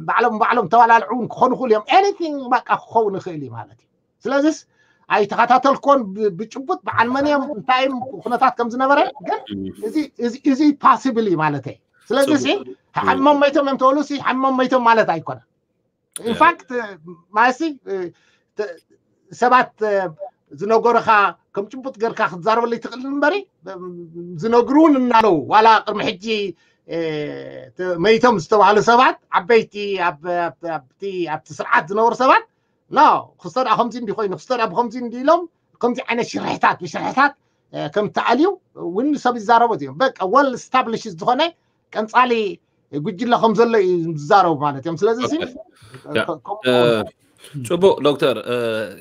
ባዕሎም ባዕሎም ተባላልዑ እውን ክኾኑ ክእሉ እዮም። ኤኒቲንግ በቃ ክኸውን ይኽእል እዩ ማለት እዩ። ስለዚስ ኣይተኸታተልኮን ብጭቡጥ በዓል መን እዮም እንታይ ኩነታት ከም ዝነበረ ግን እዚ ፓስብል እዩ ማለት እዩ። ስለዚ ሲ ሓሚሞም መይቶም እዮም ተበሉ ሲ ሓሚሞም መይቶም ማለት ኣይኮነን። ኢንፋክት ማለት ሰባት ዝነገሩኻ ከም ጭቡጥ ገርካ ክትዛረበሉ ይትኽእል እምበሪ ዝነግሩን እናለው ዋላ ቅድሚ ሕጂ መይቶም ዝተባሃሉ ሰባት ዓበይቲ ኣብቲ ስርዓት ዝነበሩ ሰባት ኖ ክስቶ ደኣ ከምዚ እንዲ ኮይኑ ክስቶ ደኣ ብከምዚ እንዲ ኢሎም ከምዚ ዓይነት ሽርሕታት ብሽርሕታት ከም ተኣልዩ እውን ሰብ ይዛረቡ እዮም። በቃ ወል ስታብሊሽ ዝኾነ ቀንፃሊ ጉጅለ ከም ዘሎ እዩ ዝዛረቡ ማለት እዮም። ስለዚ ጽቡቅ ዶክተር፣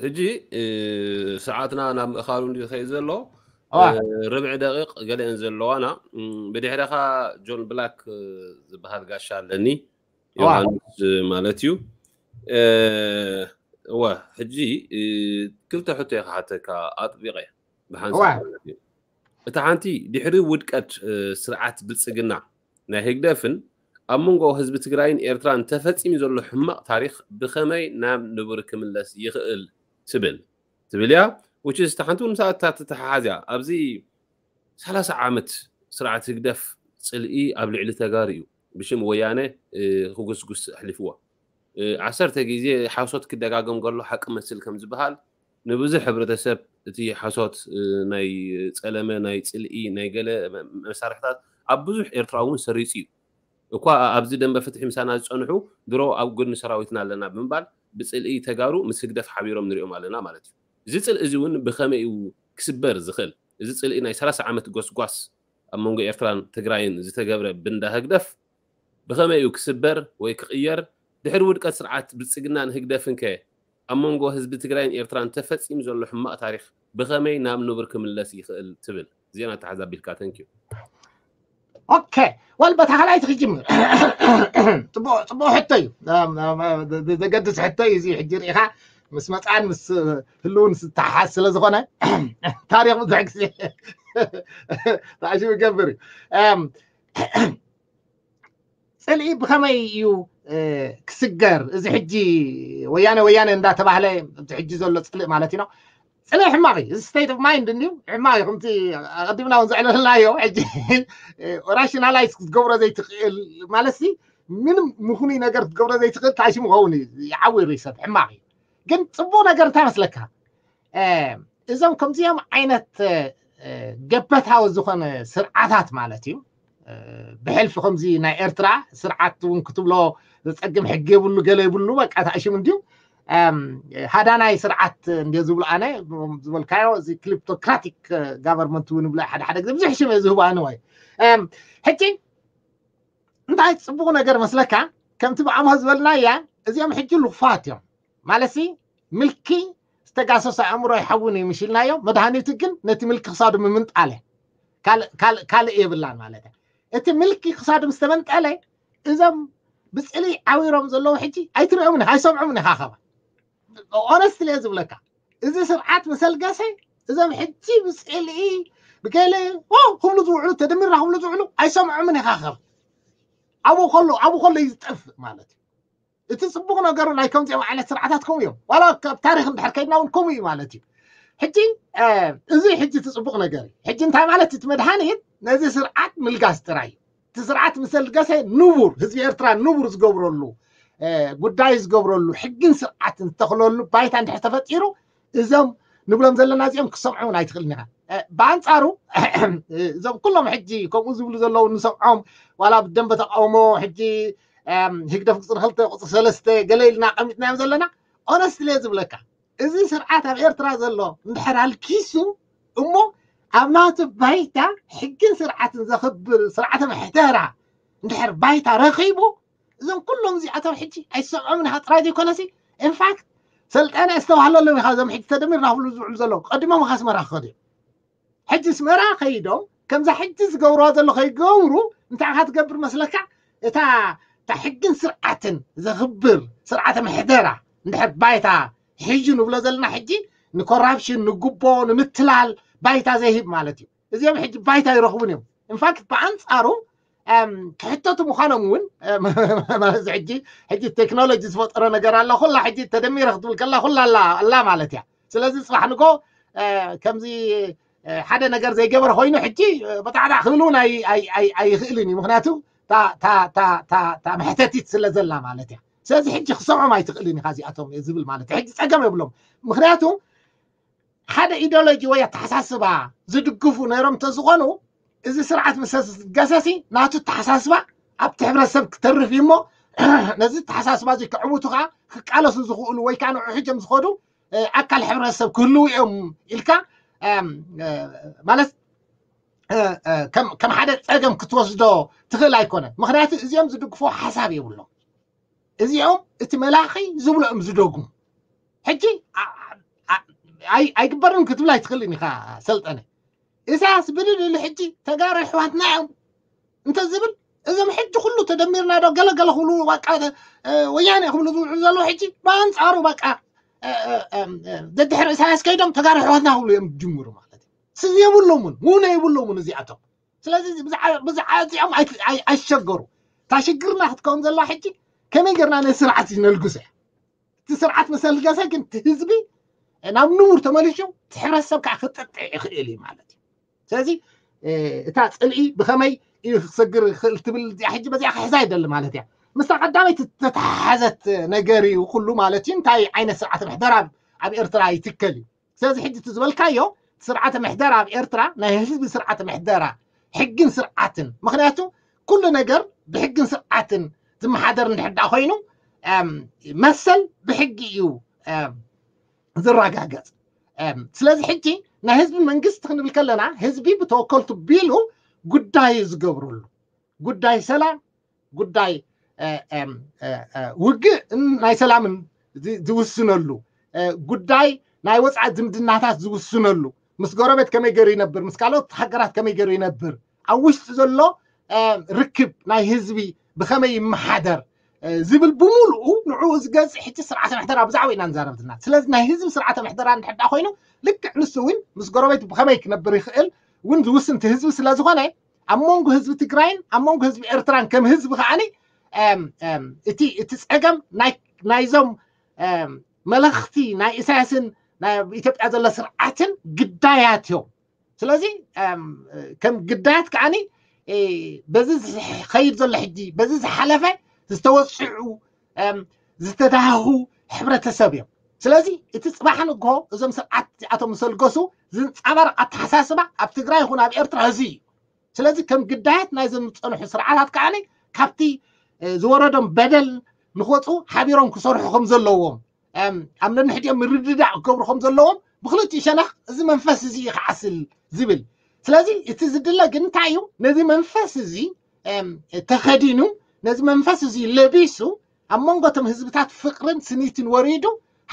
ሕጂ ሰዓትና ናብ ምእኻሉ እንዲ ዝኸይድ ዘሎ ርብዒ ደቂቕ ገለአን ዘለዋና ብድሕረኻ ጆን ብላክ ዝበሃል ጋሻ ኣለኒ ዮሃንስ ማለት እዩ። እወ ሕጂ ክልተ ሕቶ እየ ክሓተካ ኣጥቢቐ ብሓንሳብ ማለት እዩ። እታ ሓንቲ ድሕሪ ውድቀት ስርዓት ብልፅግና ናይ ህግደፍን ኣብ መንጎ ህዝቢ ትግራይን ኤርትራን ተፈፂሙ ዘሎ ሕማቕ ታሪክ ብኸመይ ናብ ንቡር ክምለስ ይኽእል ትብል ትብል እያ። ውችስ እታ ሓንቲ እውን ምሳታ ትተሓሓዝ እያ። ኣብዚ ሰላሳ ዓመት ስርዓት ህግደፍ ፅልኢ ኣብ ልዕሊ ተጋሩ እዩ ብሽም ወያነ ክጉስጉስ ኣሕሊፍዎ። ዓሰርተ ግዜ ሓሶት ክደጋገም ከሎ ሓቂ መስል ከም ዝበሃል ንብዙሕ ሕብረተሰብ እቲ ሓሶት ናይ ፀለመ ናይ ፅልኢ ናይ ገለ መሳርሕታት ኣብ ብዙሕ ኤርትራ እውን ሰሪፁ እዩ። እኳ ኣብዚ ደንበ ፍትሒ ምሳና ዝፀንሑ ድሮ ኣብ ጎድኒ ሰራዊትና ኣለና ብምባል ብፅልኢ ተጋሩ ምስ ህግደፍ ሓቢሮም ንሪኦም ኣለና ማለት እዩ። እዚ ፅልኢ እዚ እውን ብኸመይ እዩ ክስበር ዝኽእል? እዚ ፅልኢ ናይ ሰላሳ ዓመት ጎስጓስ ኣብ መንጎ ኤርትራን ትግራይን ዝተገብረ ብንዳ ህግደፍ ብኸመይ እዩ ክስበር ወይ ክቕየር? ድሕሪ ውድቀት ስርዓት ብልፅግናን ህግደፍን ከ ኣብ መንጎ ህዝቢ ትግራይን ኤርትራን ተፈፂሙ ዘሎ ሕማቕ ታሪክ ብኸመይ ናብ ንቡር ክምለስ ይኽእል ትብል? ዜና ተሓዛቢልካ ተንኪዩ። ኦኬ ወል በታ ካልኣይቲ ክጅምር። ፅቡቅ ሕቶ እዩ። ዘገድስ ሕቶ እዩ እዚ ሕጂ ርኢኻ ምስ መፅኣን ምስ ህልውን ዝተሓሓዝ ስለ ዝኾነ ታሪክ ብዙሕ ግዜ ተዓሽቡ ይገብር እዩ። ፅልኢ ብኸመይ እዩ ክስገር? እዚ ሕጂ ወያነ ወያነ እንዳተባህለ እዚ ሕጂ ዘሎ ፅልኢ ማለት እዩ። ፅልኢ ሕማቕ እዩ። እዚ ስቴት ኦፍ ማይንድ እንድዩ ሕማቕ እዩ። ከምቲ ኣቐዲምና እውን ዘዕለልናዮ ሕጂ ራሽናላይዝ ክትገብሮ ዘይትኽእል ማለት ምንም ምኽኑይ ነገር ክትገብሮ ዘይትኽእል ታሽሙ ኸውን እዩ። ይዓውር እዩ ሰብ ሕማቕ እዩ። ግን ፅቡቅ ነገር እንታይ መስለካ? እዞም ከምዚኦም ዓይነት ገበታዊ ዝኾነ ስርዓታት ማለት እዩ። ብሕልፊ ከምዚ ናይ ኤርትራ ስርዓት እውን ክትብሎ ዘፀግም ሕጊ የብሉ ገለ የብሉ በቃ ታእሽም እንድዩ። ሃዳናይ ስርዓት እንደ ዝብሉ ኣነ ዝበልካዮ እዚ ክሊፕቶክራቲክ ጋቨርንመንት እውን ይብሎ ሓደ ሓደ ግዜ ብዙሕ ሽም እየ ዝህቡ ኣነ ወይ ሕጂ እንታይ ፅቡቅ ነገር መስለካ? ከምቲ ብኣምሆ ዝበልናያ እዚኦም ሕጂ ልኹፋት እዮም ማለት ምልኪ ዝተጋሰሰ ኣእምሮ ይሓውን እዩ ምሽልናዮ። መድሃኒቱ ግን ነቲ ምልኪ ክሳዱ ምምንጣለ ካልእ የብላን ማለት እዩ። እቲ ምልኪ ክሳዱ ምስ ተመንጠለ እዞም ብፅሊ ዓዊሮም ዘለዉ ሕጂ ኣይትሪኦምን ኢኻ ኣይሰምዖምን ኢኻ። ከባ ኦነስት እየ ዝብለካ፣ እዚ ስርዓት መሰልገሰ እዞም ሕጂ ብፅልኢ ብገለ ክብሉ ዝውዕሉ ተደሚርና ክብሉ ዝውዕሉ ኣይሰምዖምን ኢኻ። ከባ ኣብኡ ከሎ ኣብኡ ከሎ እዩ ዝጠፍእ ማለት እዩ። እቲ ፅቡቅ ነገሩ ናይ ከምዚኦም ዓይነት ስርዓታት ከምኡ እዮም። ዋላ ካብ ታሪክ እንድሕር ከይድና እውን ከምኡ እዩ ማለት እዩ። ሕጂ እዚ ሕጂ እቲ ፅቡቅ ነገር እዩ። ሕጂ እንታይ ማለት እቲ መድሃኒት ነዚ ስርዓት ምልጋስ ጥራይ እዩ። እቲ ስርዓት ምሰልገሰ ንቡር ህዝቢ ኤርትራ ንቡር ዝገብረሉ ጉዳይ ዝገብረሉ ሕግን ስርዓትን ዝተኽለሉ ባይታ እንድሕር ተፈጢሩ እዞም ንብሎም ዘለና እዚኦም ክሰምዑ እውን ኣይትኽእልን ኢኻ። ብኣንፃሩ እዞም ኩሎም ሕጂ ከምኡ ዝብሉ ዘለዉ ንሰምዖም ዋላ ብደንበ ተቃውሞ ሕጂ ህግደፍ ቁፅሪ ክልተ ቁፅሪ ሰለስተ ገለ ኢልና ኣቐሚጥናዮም ዘለና ኦነስት እየ ዝብለካ እዚ ስርዓት ኣብ ኤርትራ ዘሎ እንድሕር ኣልኪሱ እሞ ኣብ ናቱ ባይታ ሕግን ስርዓትን ዘኽብር ስርዓተ ምሕደራ እንድሕር ባይታ ረኺቡ እዞም ኩሎም እዚኣቶም ሕጂ ኣይሰምዖምን ኢኻ ጥራይ ዘይኮነሲ ኢንፋክት ሰልጠነ ኣስተባህለሎም ኢኻ እዞም ሕጂ ተደሚርና ክብሉ ዝውዕሉ ዘለዉ ቀዲሞም ኢኻ ኣስመራ ክኸዱ እዮም። ሕጂ ኣስመራ ከይዶም ከምዛ ሕጂ ዝገብርዋ ዘሎ ከይገብሩ እንታይ ኢኻ ትገብር መስለካ? እታ እታ ሕግን ስርዓትን ዘኽብር ስርዓተ ምሕደራ እንድሕር ባይታ ሒዙ ንብሎ ዘለና ሕጂ ንኮራፕሽን ንጉቦ ንምትላል ባይታ ዘይህብ ማለት እዩ። እዚኦም ሕጂ ባይታ ይረኽቡን እዮም። ኢንፋክት ብኣንፃሩ ክሕተቱ ምዃኖም እውን ሕጂ ሕጂ ቴክኖሎጂ ዝፈጠሮ ነገር ኣላ ኩላ ሕጂ ተደሚረ ክትብል ከላ ኩላ ኣላ ማለት እያ። ስለዚ ፅባሕ ንጎ ከምዚ ሓደ ነገር ዘይገበረ ኮይኑ ሕጂ በጣዕጣዕ ክብል እውን ኣይኽእልን እዩ። ምክንያቱ እታ መሕተቲት ስለ ዘላ ማለት እያ። ስለዚ ሕጂ ክሰምዖም ኣይትኽእልን ኢኻ እዚኣቶም ዝብል ማለት እዩ። ሕጂ ፀገም የብሎም። ምክንያቱ ሓደ ኢዲዮሎጂ ወይ ኣተሓሳስባ ዝድግፉ ነይሮም እንተዝኾኑ እዚ ስርዓት ምስ ገሰሲ ናቱ ኣተሓሳስባ ኣብቲ ሕብረተሰብ ክተርፍ እዩ እሞ ነዚ ኣተሓሳስባ እዚ ክዕውቱ ከዓ ክቃለሱ ዝኽእሉ ወይ ከዓ ንዕኡ ሕጆም ዝኸዱ ኣካል ሕብረተሰብ ክህልዉ እዮም ኢልካ ማለት ከም ሓደ ፀገም ክትወስዶ ትኽእል ኣይኮነን። ምክንያቱ እዚኦም ዝድግፎ ሓሳብ የብሎም። እዚኦም እቲ መላኺ ዝብሎ እዮም ዝደግሙ። ሕጂ ኣይግበርን ክትብል ኣይትኽእልን ኢኻ ሰልጠነ። ኢሳያስ ብድል ኢሉ ሕጂ ተጋሩ ኣሕዋትና እዮም እንተዝብል እዞም ሕጂ ኩሉ ተደሚርና ዶ ገለገለ ክብሉ በቃ ወያነ ክብሉ ዝውዕሉ ዘለዉ ሕጂ ብኣንፃሩ በቃ ደድሕሪ ኢሳያስ ከይዶም ተጋሩ ኣሕዋትና ክብሉ እዮም ዝጅምሩ ማለት እዩ። ስዚ የብሎምን ውነ የብሎምን እዚኣቶም። ስለዚ ብዛዕባዚኦም ኣይሸገሩ። እታ ሽግርና ክትከውን ዘላ ሕጂ ከመይ ጌርና ነዚ ስርዓት ነልግሶ እያ። እቲ ስርዓት መሰልገሰ ግን እቲ ህዝቢ ናብ ንቡር ተመሊሹ እቲ ሕብረተሰብ ከዓ ክጥጥዕ ይኽእል እዩ ማለት እዩ። ስለዚ እታ ፅልኢ ብኸመይ እዩ ክሰግር ይኽእል ትብል እዚኣ ሕጂ በዚኣ ክሕዛ ይደሊ ማለት እያ። ምስታ ቀዳመይቲ ዝተተሓሓዘት ነገር እዩ ኩሉ ማለት እዩ። እንታይ ዓይነት ስርዓት ምሕደራ ኣብ ኤርትራ ይትከል እዩ። ስለዚ ሕጂ እቲ ዝበልካዮ ስርዓተ ምሕደራ ኣብ ኤርትራ ናይ ህዝቢ ስርዓተ ምሕደራ ሕግን ስርዓትን ምክንያቱ ኩሉ ነገር ብሕግን ስርዓትን ዝመሓደር እንድሕር ደኣ ኮይኑ መሰል ብሕጊ እዩ ዝረጋገፅ። ስለዚ ሕጂ ናይ ህዝቢ መንግስቲ ክንብል ከለና ህዝቢ ብተወከልቱ ቢሉ ጉዳይ ዝገብረሉ ጉዳይ ሰላም ጉዳይ ውግእ ናይ ሰላምን ዝውስነሉ ጉዳይ ናይ ወፃኢ ዝምድናታት ዝውስነሉ ምስ ጎረቤት ከመይ ገይሩ ይነብር ምስ ካልኦት ሃገራት ከመይ ገይሩ ይነብር ኣብ ውሽጢ ዘሎ ርክብ ናይ ህዝቢ ብኸመይ ይመሓደር ዝብል ብምሉኡ ንዕኡ ዝገዝእ ሕጂ ስርዓተ ምሕደራ ብዛዕባ ኢና ንዛረብ ዘለና። ስለዚ ናይ ህዝቢ ስርዓተ ምሕደራ እንድሕር ደኣ ኮይኑ ልክዕ ንሱ እውን ምስ ጎረቤት ብኸመይ ክነብር ይኽእል እውን ዝውስን እቲ ህዝቢ ስለ ዝኾነ ኣብ መንጎ ህዝቢ ትግራይን ኣብ መንጎ ህዝቢ ኤርትራን ከም ህዝቢ ከዓኒ እቲ እቲ ፀገም ናይዞም መለኽቲ ናይ ኢሳያስን ናይ ኢትዮጵያ ዘሎ ስርዓትን ግዳያት እዮም። ስለዚ ከም ግዳያት ከዓኒ በዚ ዝኸይድ ዘሎ ሕጂ በዚ ዝሓለፈ ዝተወፅዑ ዝተዳህኹ ሕብረተሰብ እዮም። ስለዚ እቲ ፅባሕ ንግሆ እዞም ስርዓት እዚኣቶም ዝሰልገሱ ዝንፃባረቕ ኣተሓሳስባ ኣብ ትግራይ ይኹን ኣብ ኤርትራ እዚ እዩ። ስለዚ ከም ግዳያት ናይዞም ዝፀንሑ ስርዓታት ከዓኒ ካብቲ ዝወረዶም በደል ንክወፁ ሓቢሮም ክሰርሑ ከም ዘለዎም ኣብ ነንሕድኦም ምርድዳእ ክገብሩ ከም ዘለዎም ብክልቲኡ ሸነኽ እዚ መንፈስ እዚ እዩ ክዓስል ዝብል። ስለዚ እቲ ዝድለ ግን እንታይ እዩ? ነዚ መንፈስ እዚ ተኸዲኑ ነዚ መንፈስ እዚ ለቢሱ ኣብ መንጎ እቶም ህዝብታት ፍቅርን ስኒትን ወሪዱ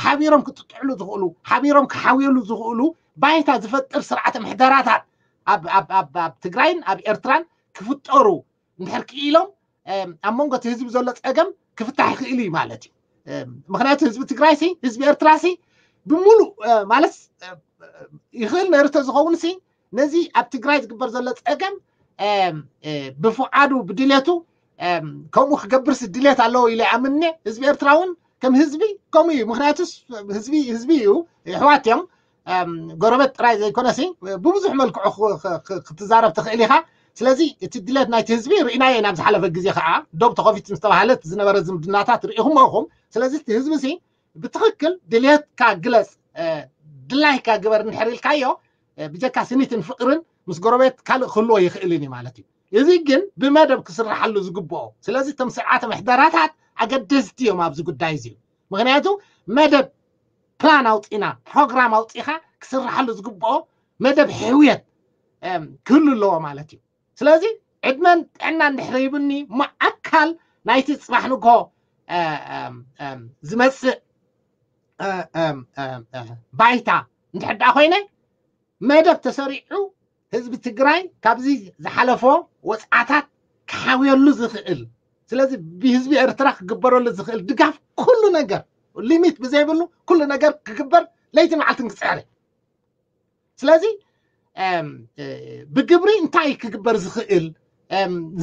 ሓቢሮም ክጥጥዕሉ ዝኽእሉ፣ ሓቢሮም ክሓውየሉ ዝኽእሉ ባይታ ዝፈጥር ስርዓተ ምሕደራታት ኣብ ትግራይን ኣብ ኤርትራን ክፍጠሩ እንድሕር ክኢሎም ኣብ መንጎ እቲ ህዝቢ ዘሎ ፀገም ክፍታሕ ይኽእል እዩ ማለት እዩ። ምክንያቱ ህዝቢ ትግራይ ሲ ህዝቢ ኤርትራ ሲ ብምሉእ ማለት ይኽእል ነርተ ዝኸውን ሲ ነዚ ኣብ ትግራይ ዝግበር ዘሎ ፀገም ብፍዓዱ ብድሌቱ ከምኡ ክገብርስ ድሌት ኣለዎ ኢለ ኣምነ ህዝቢ ኤርትራ እውን ከም ህዝቢ ከምኡ እዩ። ምክንያቱስ ህዝቢ ህዝቢ እዩ፣ ይሕዋት እዮም። ጎረበት ጥራይ ዘይኮነሲ ብብዙሕ መልክዑ ክትዛረብ ትኽእል ኢኻ። ስለዚ እቲ ድሌት ናይቲ ህዝቢ ርኢናዮ ናብ ዝሓለፈ ግዜ ከዓ ዶብ ተኸፊቱ ዝተባሃለት ዝነበረ ዝምድናታት ርኢኹሞ ኢኹም። ስለዚ እቲ ህዝቢ ሲ ብትኽክል ድሌትካ ግለፅ፣ ድላይካ ግበር እንድሕር ኢልካዮ ብጀካ ስኒትን ፍቅርን ምስ ጎረቤት ካልእ ክህልዎ ይኽእልን እዩ ማለት እዩ። እዚ ግን ብመደብ ክስርሓሉ ዝግብኦ። ስለዚ እቶም ስርዓተ ምሕደራታት ኣገደስቲ እዮም ኣብዚ ጉዳይ እዚ። ምክንያቱ መደብ ፕላን ኣውፂና ፕሮግራም ኣውፂኻ ክስርሓሉ ዝግብኦ መደብ ሕውየት ክህሉ ኣለዎ ማለት እዩ። ስለዚ ዕድመን ጥዕና እንድሕር ይብኒ ማኣካል ናይቲ ፅባሕ ንግሆ ዝመፅእ ባይታ እንድሕር ደኣ ኮይነ መደብ ተሰሪዑ ህዝቢ ትግራይ ካብዚ ዝሓለፎ ወፅዓታት ክሓውየሉ ዝኽእል፣ ስለዚ ብህዝቢ ኤርትራ ክግበረሉ ዝኽእል ድጋፍ ኩሉ ነገር ሊሚት ብዘይብሉ ኩሉ ነገር ክግበር ለይቲ መዓልትን ክፅዕር። ስለዚ ብግብሪ እንታይ ክግበር ዝኽእል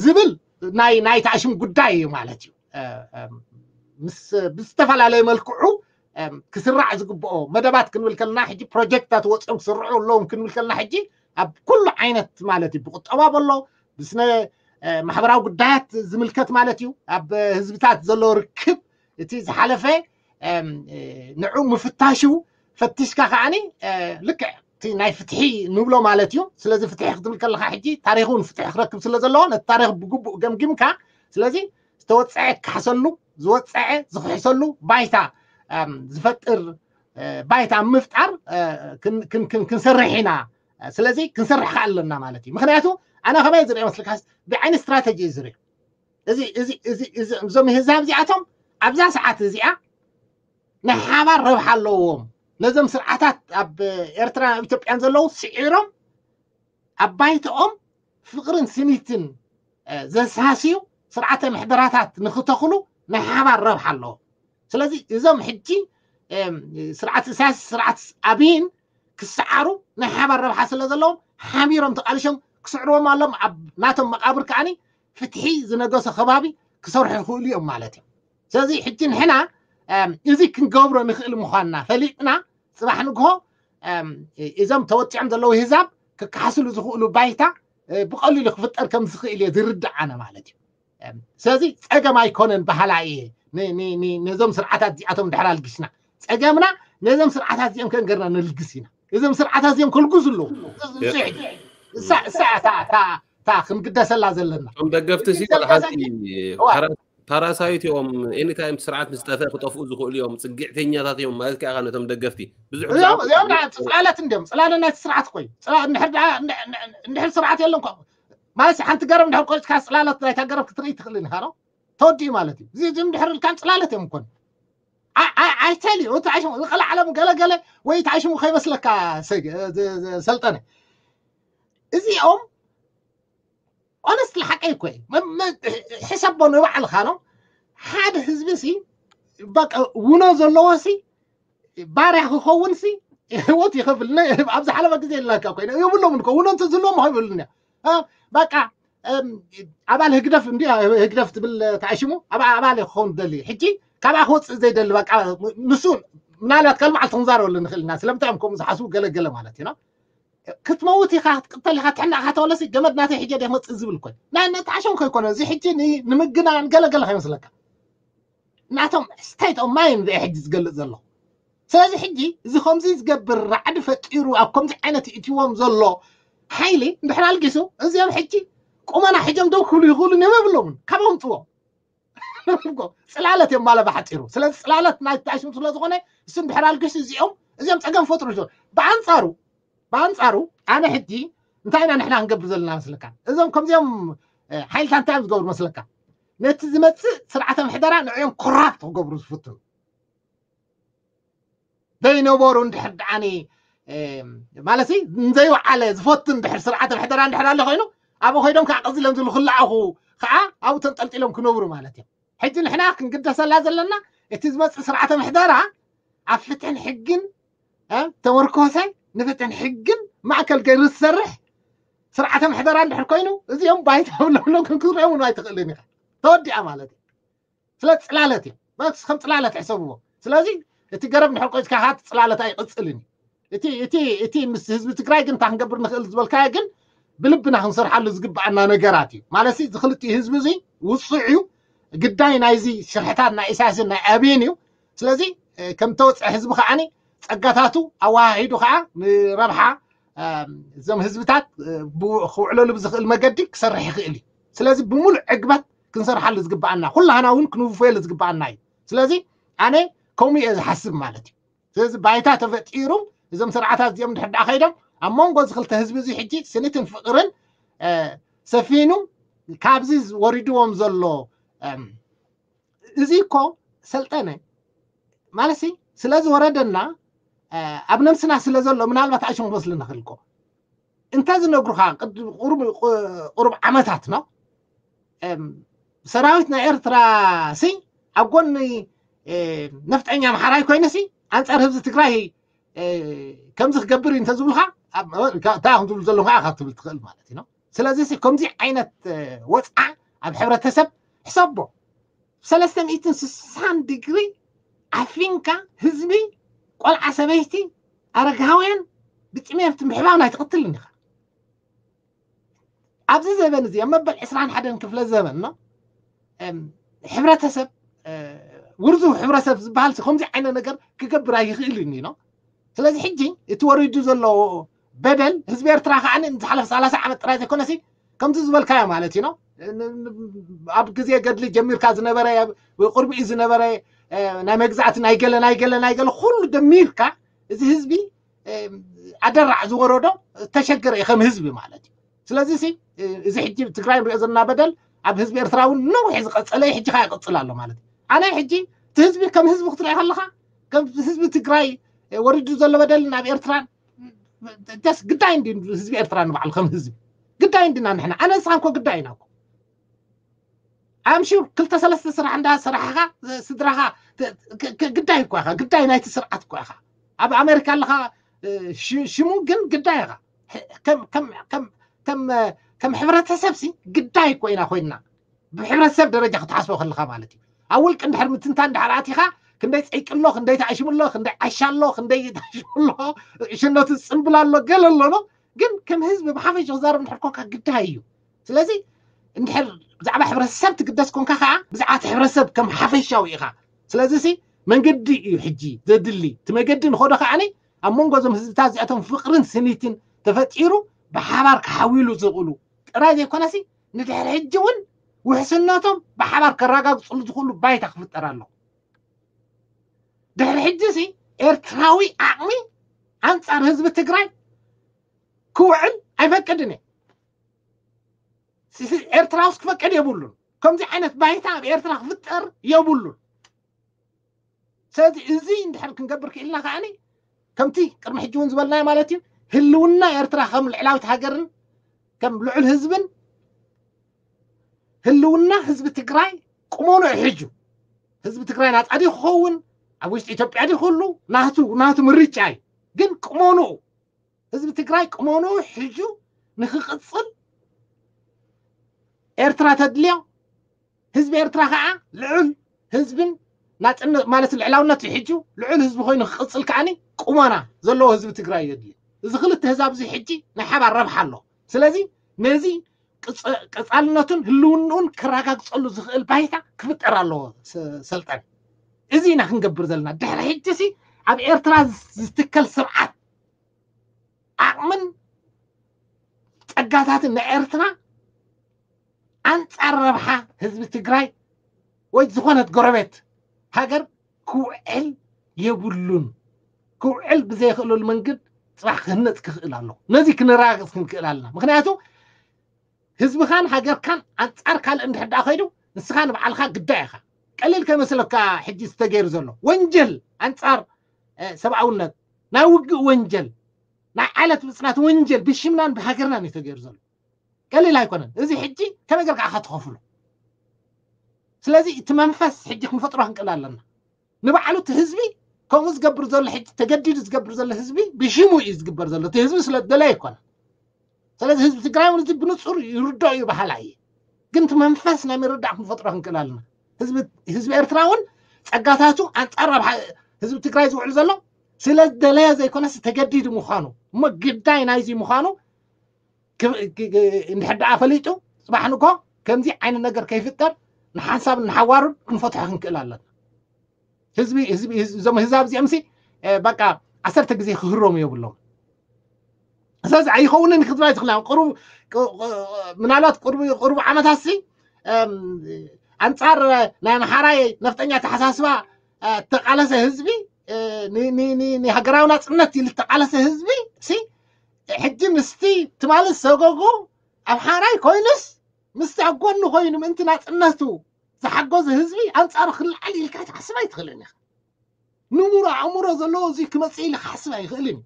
ዝብል ናይ ናይ ተኣሽም ጉዳይ እዩ ማለት እዩ። ምስ ብዝተፈላለየ መልክዑ ክስራዕ ዝግብኦ መደባት ክንብል ከለና ሕጂ ፕሮጀክትታት ወፂኦም ክስርዑ ኣለዎም ክንብል ከለና ሕጂ ኣብ ኩሉ ዓይነት ማለት እዩ ብቁጠባ በሎ ብስነ ማሕበራዊ ጉዳያት ዝምልከት ማለት እዩ ኣብ ህዝብታት ዘሎ ርክብ እቲ ዝሓለፈ ንዑ ምፍታሹ ፈቲሽካ ከዓኒ ልክዕ እቲ ናይ ፍትሒ ንብሎ ማለት እዩ። ስለዚ ፍትሒ ክትብል ከለካ ሕጂ ታሪክ እውን ፍትሒ ክረክብ ስለ ዘለዎ ነቲ ታሪክ ብግቡእ ገምጊምካ ስለዚ ዝተወፀዐ ክካሕሰሉ ዝወፀዐ ዝክሕሰሉ ባይታ ዝፈጥር ባይታ ምፍጣር ክንሰርሕ ኢና። ስለዚ ክንሰርሕ ከ ኣለና ማለት እዩ። ምክንያቱ ኣነ ከመይ ዝርኢ መስልካ ብዓይኒ ስትራተጂ እዩ ዝርኢ። እዞም ህዛብ እዚኣቶም ኣብዛ ሰዓት እዚኣ ናይ ሓባር ረብሓ ኣለዎም። ነዞም ስርዓታት ኣብ ኤርትራን ኣብ ኢትዮጵያን ዘለዉ ስዒሮም ኣብ ባይተኦም ፍቅርን ስኒትን ዘሳስዩ ስርዓተ ምሕደራታት ንክተኽሉ ናይ ሓባር ረብሓ ኣለዎም። ስለዚ እዞም ሕጂ ስርዓት ኢሳያስ ስርዓት ኣብይን ክሰዓሩ ናይ ሓባር ረብሓ ስለ ዘለዎም ሓቢሮም ተቃሊሾም ክስዕርዎም ኣሎም ኣብ ናቶም መቃብር ከዓኒ ፍትሒ ዝነገሶ ከባቢ ክሰርሑ ይኽእሉ እዮም ማለት እዮም። ስለዚ ሕጂ ንሕና እዚ ክንገብሮ ንኽእል ምዃንና ፈሊጥና ፅባሕ ንግሆ እዞም ተወፂዖም ዘለዉ ህዛብ ክከሓስሉ ዝኽእሉ ባይታ ብቐሊሉ ክፍጠር ከም ዝኽእል እየ ዝርዳእ ኣነ ማለት እዩ። ስለዚ ፀገም ኣይኮነን በሃላ እየ ነዞም ስርዓታት እዚኣቶም ድሕር ኣልግስና ፀገምና ነዞም ስርዓታት እዚኦም ከንገርና ነልግስ ኢና። እዞም ስርዓታት እዚኦም ከልግሱ ኣለዉ። እሳ እሳ እታ እታ እታ ክንግደሰላ ዘለና እቶም ደገፍቲ ሲ ወላ ሓንቲ ፓራሳይት እዮም። ኤኒታይም ስርዓት ምስ ጠፍአ ክጠፍኡ ዝኽእሉ እዮም። ፅግዕተኛታት እዮም ማለት ከዓ ነቶም ደገፍቲ ብዙሕ እዚኦም እዚኦም ጽላለት እንዲዮም። ጽላለ ናይቲ ስርዓት እኮ እዩ። እንድሕር ስርዓት የለን ማለት ሓንቲ ገረብ እንድሕር ቆጭካ ጽላለት ናይታ ገረብ ክትርኢ ትኽእል ኢኻ ነው ተወዲኡ ማለት እዩ። እዚ እንድሕር ኢልካን ጽላለት እዮም እኮን ኣይተልዩ ተዓሽሙ ዝኸልዓለም ገለገለ ወይ ተዓሽሙ ከይመስለካ ሰልጠነ እዚኦም ኦነስትሊ ሓቀይ እኮ እዩ። ሕሰቦ ንባዕልኻ ነው ሓደ ህዝቢ ሲ በቃ ውኖ ዘለዎ ሲ ባርያ ክኸውን ሲ ህይወት ይኸፍል። ኣብዚ ሓለፈ ግዜ ኢልናካ ኮይነ የብሎም እኮ ውኖ እንተ ዝህልዎም ይኸብሉን እያ በቃ ኣባል ህግደፍ እንዲ ህግደፍ ትብል ተኣሽሙ ኣባል ክኸውን ደሊ ሕጂ ካብኣ ክወፅእ ዘይደሊ በቃ ንሱ ምናልባት ካልመዓልቲ ክንዛረበሉ ንኽእል ኢና። ስለምንታይ እዮም ከምኡ ዝሓስቡ ገለገለ ማለት እዩ። ክትመውት ኢኻ ክትቅተል ኢኻ ትሕናእካ ተወለሲ ገመድ ናተይ ሕጀ ደ መፅእ ዝብል ኮይ ናይ ነጣዕሾም ከይኮነ እዚ ሕጂ ንምግናን ገለገለ ከይመስለካ ናቶም ስቴት ኦፍ ማይንድ ሕጂ ዝገልፅ ዘሎ። ስለዚ ሕጂ እዚ ከምዚ ዝገብር ራዕዲ ፈጢሩ ኣብ ከምዚ ዓይነት ይእትዎም ዘሎ ሓይሊ እንድሕር ኣልጊሱ እዚኦም ሕጂ ቁመና ሕጆም ደው ክብሉ ይኽእሉ እዮም የብሎምን ካብ ኣምፅዎም ጽላለት እዮም ማለ ብሓፂሩ። ስለዚ ጽላለት ናይ ተኣሽሙ ስለ ዝኾነ እሱ እንድሕር ኣልጊሱ እዚኦም እዚኦም ፀገም ፈጥሩ። ብኣንፃሩ ብኣንፃሩ ኣነ ሕጂ እንታይ ኢና ንሕና ክንገብር ዘለና መስለካ? እዞም ከምዚኦም ሓይልታት እንታይ እዮም ዝገብሩ መስለካ? ነቲ ዝመፅእ ስርዓተ ምሕደራ ንዕኦም ኮራፕት ክገብሩ ዝፍትኑ ዘይነበሩ እንድሕር ደኣኒ ማለት ንዘይወዓለ ዝፈቱ እንድሕር ስርዓተ ምሕደራ እንድሕር ኣሎ ኮይኑ ኣብኡ ኮይዶም ከዓ ቀፂሎም ዝሉ ክለኣኹ ከዓ ኣብኡ ተንጠልጢሎም ክነብሩ ማለት እዮም። ሕጂ ንሕና ክንግደሰላ ዘለና እቲ ዝመፅእ ስርዓተ ምሕደራ ኣብ ፍትሕን ሕግን ተመርኮሰ ንፍትሕን ሕግን ማእከል ገይሩ ዝሰርሕ ስርዓተ ምሕደራ እንድሕር ኮይኑ እዚኦም ባይታ ብለብሎም ክንክርኦም እውን ኣይትኽእልን ኢኻ። ተወዲኣ ማለት እዩ። ስለ ፅላለት እዮም። በስ ከም ፅላለት ሕሰብዎ። ስለዚ እቲ ገረብ እንድሕር ቆይፅካ ከዓ እቲ ፅላለት ኣይቕፅልን እዩ። እቲ እቲ እቲ ምስ ህዝቢ ትግራይ ግን እንታይ ክንገብር ንኽእል ዝበልካዮ ግን ብልብና ክንሰርሓሉ ዝግብኣና ነገራት እዩ። ማለት እዚ ክልቲኡ ህዝቢ እዚ ውፁዕ እዩ። ግዳይ ናይዚ ሽርሕታት ናይ ኢሳያስን ናይ ኣብይን እዩ። ስለዚ ከም ተወፅአ ህዝቢ ከዓኒ ፀጋታቱ ኣወሃሂዱ ከዓ ንረብሓ እዞም ህዝብታት ክውዕለሉ ብዝኽእል መገዲ ክሰርሕ ይኽእል እዩ። ስለዚ ብምሉእ ዕግበት ክንሰርሓሉ ዝግብኣና ኩላህና እውን ክንውፈየሉ ዝግብኣና እዩ። ስለዚ ኣነ ከምኡ እየ ዝሓስብ ማለት እዩ። ስለዚ ባይታ ተፈጢሩ እዞም ስርዓታት እዚኦም ድሕር ደኣ ከይዶም ኣብ መንጎ እዚ ክልተ ህዝቢ እዚ ሕጂ ስኒትን ፍቕርን ሰፊኑ ካብዚ ወሪድዎም ዘሎ እዚ እኮ ሰልጠነ ማለት ሲ ስለዚ ወረደና ኣብ ነብስና ስለ ዘሎ ምናልባት ኣይሽም ክመስልና ክልኮ እንተ ዝነግሩኻ ቁሩብ ዓመታት ነው ሰራዊት ናይ ኤርትራ ሲ ኣብ ጎኒ ነፍጠኛ ኣምሓራይ ኮይኑ ሲ ኣንፃር ህዝቢ ትግራይ ከምዚ ክገብር እዩ እንተዝብሉካ እንታይ ከም ዝብሉ ዘለኹ ኢኻ ክትብል ትኽእል ማለት እዩ። ስለዚ ሲ ከምዚ ዓይነት ወፅዓ ኣብ ሕብረተሰብ ሕሰቦ ሰለስተ ሚእትን ስሳን ዲግሪ ዓፊንካ ህዝቢ ቆልዓ ሰበይቲ ኣረጋውያን ብጥሜት ምሕባብ ናይ ትቕትልን ኢኻ። ኣብዚ ዘበን እዚ ኣብ መበል ዕስራን ሓደን ክፍለ ዘበን ነው ሕብረተሰብ ውርዙ ሕብረተሰብ ዝበሃል ከምዚ ዓይነት ነገር ክገብር ኣይኽእልን እዩ ነው። ስለዚ ሕጂ እቲ ወሪዱ ዘሎ በደል ህዝቢ ኤርትራ ከዓ ዝሓለፈ ሰላሳ ዓመት ጥራይ ዘይኮነሲ ከምዚ ዝበልካዮ ማለት እዩ ነው። ኣብ ግዜ ገድሊ ጀሚርካ ዝነበረ ቅድሚኡ ዝነበረ ናይ መግዛእቲ ናይ ገለ ናይ ገለ ናይ ገለ ኩሉ ደሚርካ እዚ ህዝቢ ኣደራዕ ዝወረዶ ተሸገረ እዩ ከም ህዝቢ ማለት እዩ። ስለዚ ሲ እዚ ሕጂ ትግራይ ንሪኦ ዘለና በደል ኣብ ህዝቢ ኤርትራ እውን ነዊሕ ዝቀፀለ እዩ። ሕጂ ከዓ ይቅፅል ኣሎ ማለት እዩ። ኣነ ሕጂ እቲ ህዝቢ ከም ህዝቢ ክትሪኦ ከለካ ከም ህዝቢ ትግራይ ወሪዱ ዘሎ በደል ናብ ኤርትራ ደስ ግዳይ እንዲ ህዝቢ ኤርትራ ንባዕሉ ከም ህዝቢ ግዳይ እንዲና ንሕና ኣነ ንስኻ እኮ ግዳይ ኢና እኮ ኣምሹር ክልተ ሰለስተ ስራሕ እንዳ ስራሕኻ ስድራኻ ግዳይ እኳ ኢኻ ግዳይ ናይቲ ስርዓት እኳ ኢኻ ኣብ ኣሜሪካ ኣለኻ ሽሙ ግን ግዳይ ኢኻ ከም ሕብረተሰብ ሲ ግዳይ እኮ ኢና ኮይንና ብሕብረተሰብ ደረጃ ክትሓስቦ ከለኻ ማለት እዩ ኣብ ውልቂ እንድሕር ምትንታ እንድሕር ኣቲኻ ክንደይ ፀይቂ ኣሎ ክንደይ ተኣሽሙ ኣሎ ክንደይ ዓሻ ኣሎ ክንደይ ተኣሽሙ ኣሎ ሽነቱ ፅምብል ኣሎ ገለ ኣሎ ግን ከም ህዝቢ ብሓፈሽ ክዛረብ እንድሕር ኮንካ ግዳይ እዩ ስለዚ እንድሕር ብዛዕባ ሕብረተሰብ ትግደስ ኮንካ ከዓ ብዛዕባ እቲ ሕብረተሰብ ከም ሓፈሻዊ ኢኻ ስለዚ ሲ መንገዲ እዩ ሕጂ ዘድሊ እቲ መገዲ ንኸዶ ከዓኒ ኣብ መንጎ እዞም ህዝብታት እዚኣቶም ፍቅርን ስኒትን ተፈጢሩ ብሓባር ክሓውሉ ዝኽእሉ ጥራይ ዘይኮነሲ ንድሕሪ ሕጂ እውን ውሕስነቶም ብሓባር ከረጋግፅሉ ዝኽእሉ ባይታ ክፍጠር ኣሎ ድሕሪ ሕጂ ሲ ኤርትራዊ ዓቕሚ ኣንፃር ህዝቢ ትግራይ ክውዕል ኣይፈቅድን እየ ኤርትራ ውስጥ ክፈቅድ የብሉን ከምዚ ዓይነት ባይታ ኣብ ኤርትራ ክፍጠር የብሉን ስለዚ እዚ እንድሕር ክንገብር ክኢልና ከዓኒ ከምቲ ቅድሚ ሕጂ እውን ዝበልናዮ ማለት እዩ ህልውና ኤርትራ ከም ልዕላዊት ሃገርን ከም ልዑል ህዝብን ህልውና ህዝቢ ትግራይ ቁመኖ ሕጁ ህዝቢ ትግራይ ናፃ ድዩ ክኸውን ኣብ ውሽጢ ኢትዮጵያ ድዩ ክህሉ ናቱ ናቱ ምርጫ እዩ ግን ቁመኖኡ ህዝቢ ትግራይ ቁመኖኡ ሕጁ ንክቅፅል ኤርትራ ተድልዮ ህዝቢ ኤርትራ ከዓ ልዑል ህዝብን ናፅነት ማለት ልዕላውነት ሕጁ ልዑል ህዝቢ ኮይኑ ክቅፅል ከዓኒ ቁመና ዘለዎ ህዝቢ ትግራይ የድልዮ እዚ ክልተ ህዛብ እዚ ሕጂ ናይ ሓባር ረብሓ ኣሎ ስለዚ ነዚ ቀፃልነቱን ህልውንኡን ክረጋግፀሉ ዝኽእል ባይታ ክፍጠር ኣለዎ ሰልጠን እዚ ኢና ክንገብር ዘለና ድሕሪ ሕጂ ሲ ኣብ ኤርትራ ዝትከል ስርዓት ዓቕምን ፀጋታትን ናይ ኤርትራ ኣንፃር ረብሓ ህዝቢ ትግራይ ወይ ዝኾነት ጎረቤት ሃገር ክውዕል የብሉን ክውዕል ብዘይኽእለሉ መንገድ ፅባሕ ክህነፅ ክኽእል ኣሎ ነዚ ክንረጋግፅ ክንክእል ኣለና ምክንያቱ ህዝብኻን ሃገርካን ኣንፃር ካልእ እንድሕር ደኣ ከይዱ ንስኻ ንባዕልኻ ግዳይ ኢኻ ቀሊል ከይመስለካ ሕጂ ዝተገይሩ ዘሎ ወንጀል ኣንፃር ሰብኣውነት፣ ናይ ውግእ ወንጀል፣ ናይ ዓለት ምፅናት ወንጀል ብሽምናን ብሃገርናን እዩ ተገይሩ ዘሎ። ቀሊል ኣይኮነን። እዚ ሕጂ ከመይ ጌርካ ኢኻ ትኸፍሎ? ስለዚ እቲ መንፈስ ሕጂ ክንፈጥሮ ክንክእል ኣለና። ንባዕሉ እቲ ህዝቢ ከምኡ ዝገብር ዘሎ ሕጂ ተገዲዱ ዝገብር ዘሎ ህዝቢ ብሽሙ እዩ ዝግበር ዘሎ። እቲ ህዝቢ ስለ ዝደለየ ኣይኮነን። ስለዚ ህዝቢ ትግራይ እውን እዚ ብንፁር ይርዶ እዩ በሃላ እየ። ግን እቲ መንፈስ ናይ ምርዳእ ክንፈጥሮ ክንክእል ኣለና። ህዝቢ ኤርትራ እውን ፀጋታቱ ኣንፃር ኣብ ህዝቢ ትግራይ ዝውዕል ዘሎ ስለ ዝደለየ ዘይኮነስ ተገዲዱ ምዃኑ እሞ ግዳይ ናይዚ ምዃኑ እንድሕር ደኣ ፈሊጡ ፅባሕ ንግሆ ከምዚ ዓይነት ነገር ከይፍጠር ንሓንሳብ ንሓዋሩን ክንፈትሖ ክንክእል ኣለና። ህዝቢ ህዝቢ እዞም ህዛብ እዚኦም ሲ በቃ ዓሰርተ ግዜ ክህሮም የብሎም። ስለዚ ኣይኸውንን ክትብላ ትኽእላ። ቅሩብ ምናልባት ቅሩብ ዓመታት ሲ ኣንፃር ናይ ኣምሓራይ ነፍጠኛ ተሓሳስባ ተቃለሰ ህዝቢ ንሃገራዊ ናፅነት ኢሉ ተቃለሰ ህዝቢ ሲ ሕጂ ምስቲ ትማሊ ሰጎጎ ኣምሓራይ ኮይኑስ ምስቲ ኣብ ጎኒ ኮይኑ ምእንቲ ናፅነቱ ዝሓገዘ ህዝቢ ኣንፃሩ ክልዓል ኢልካ ክትሓስብ ኣይትኽእልን ኢኻ። ንሙሮ ኣእምሮ ዘለዎ እዚ ክመፅእ ኢሉ ክሓስብ ኣይኽእልን እዩ።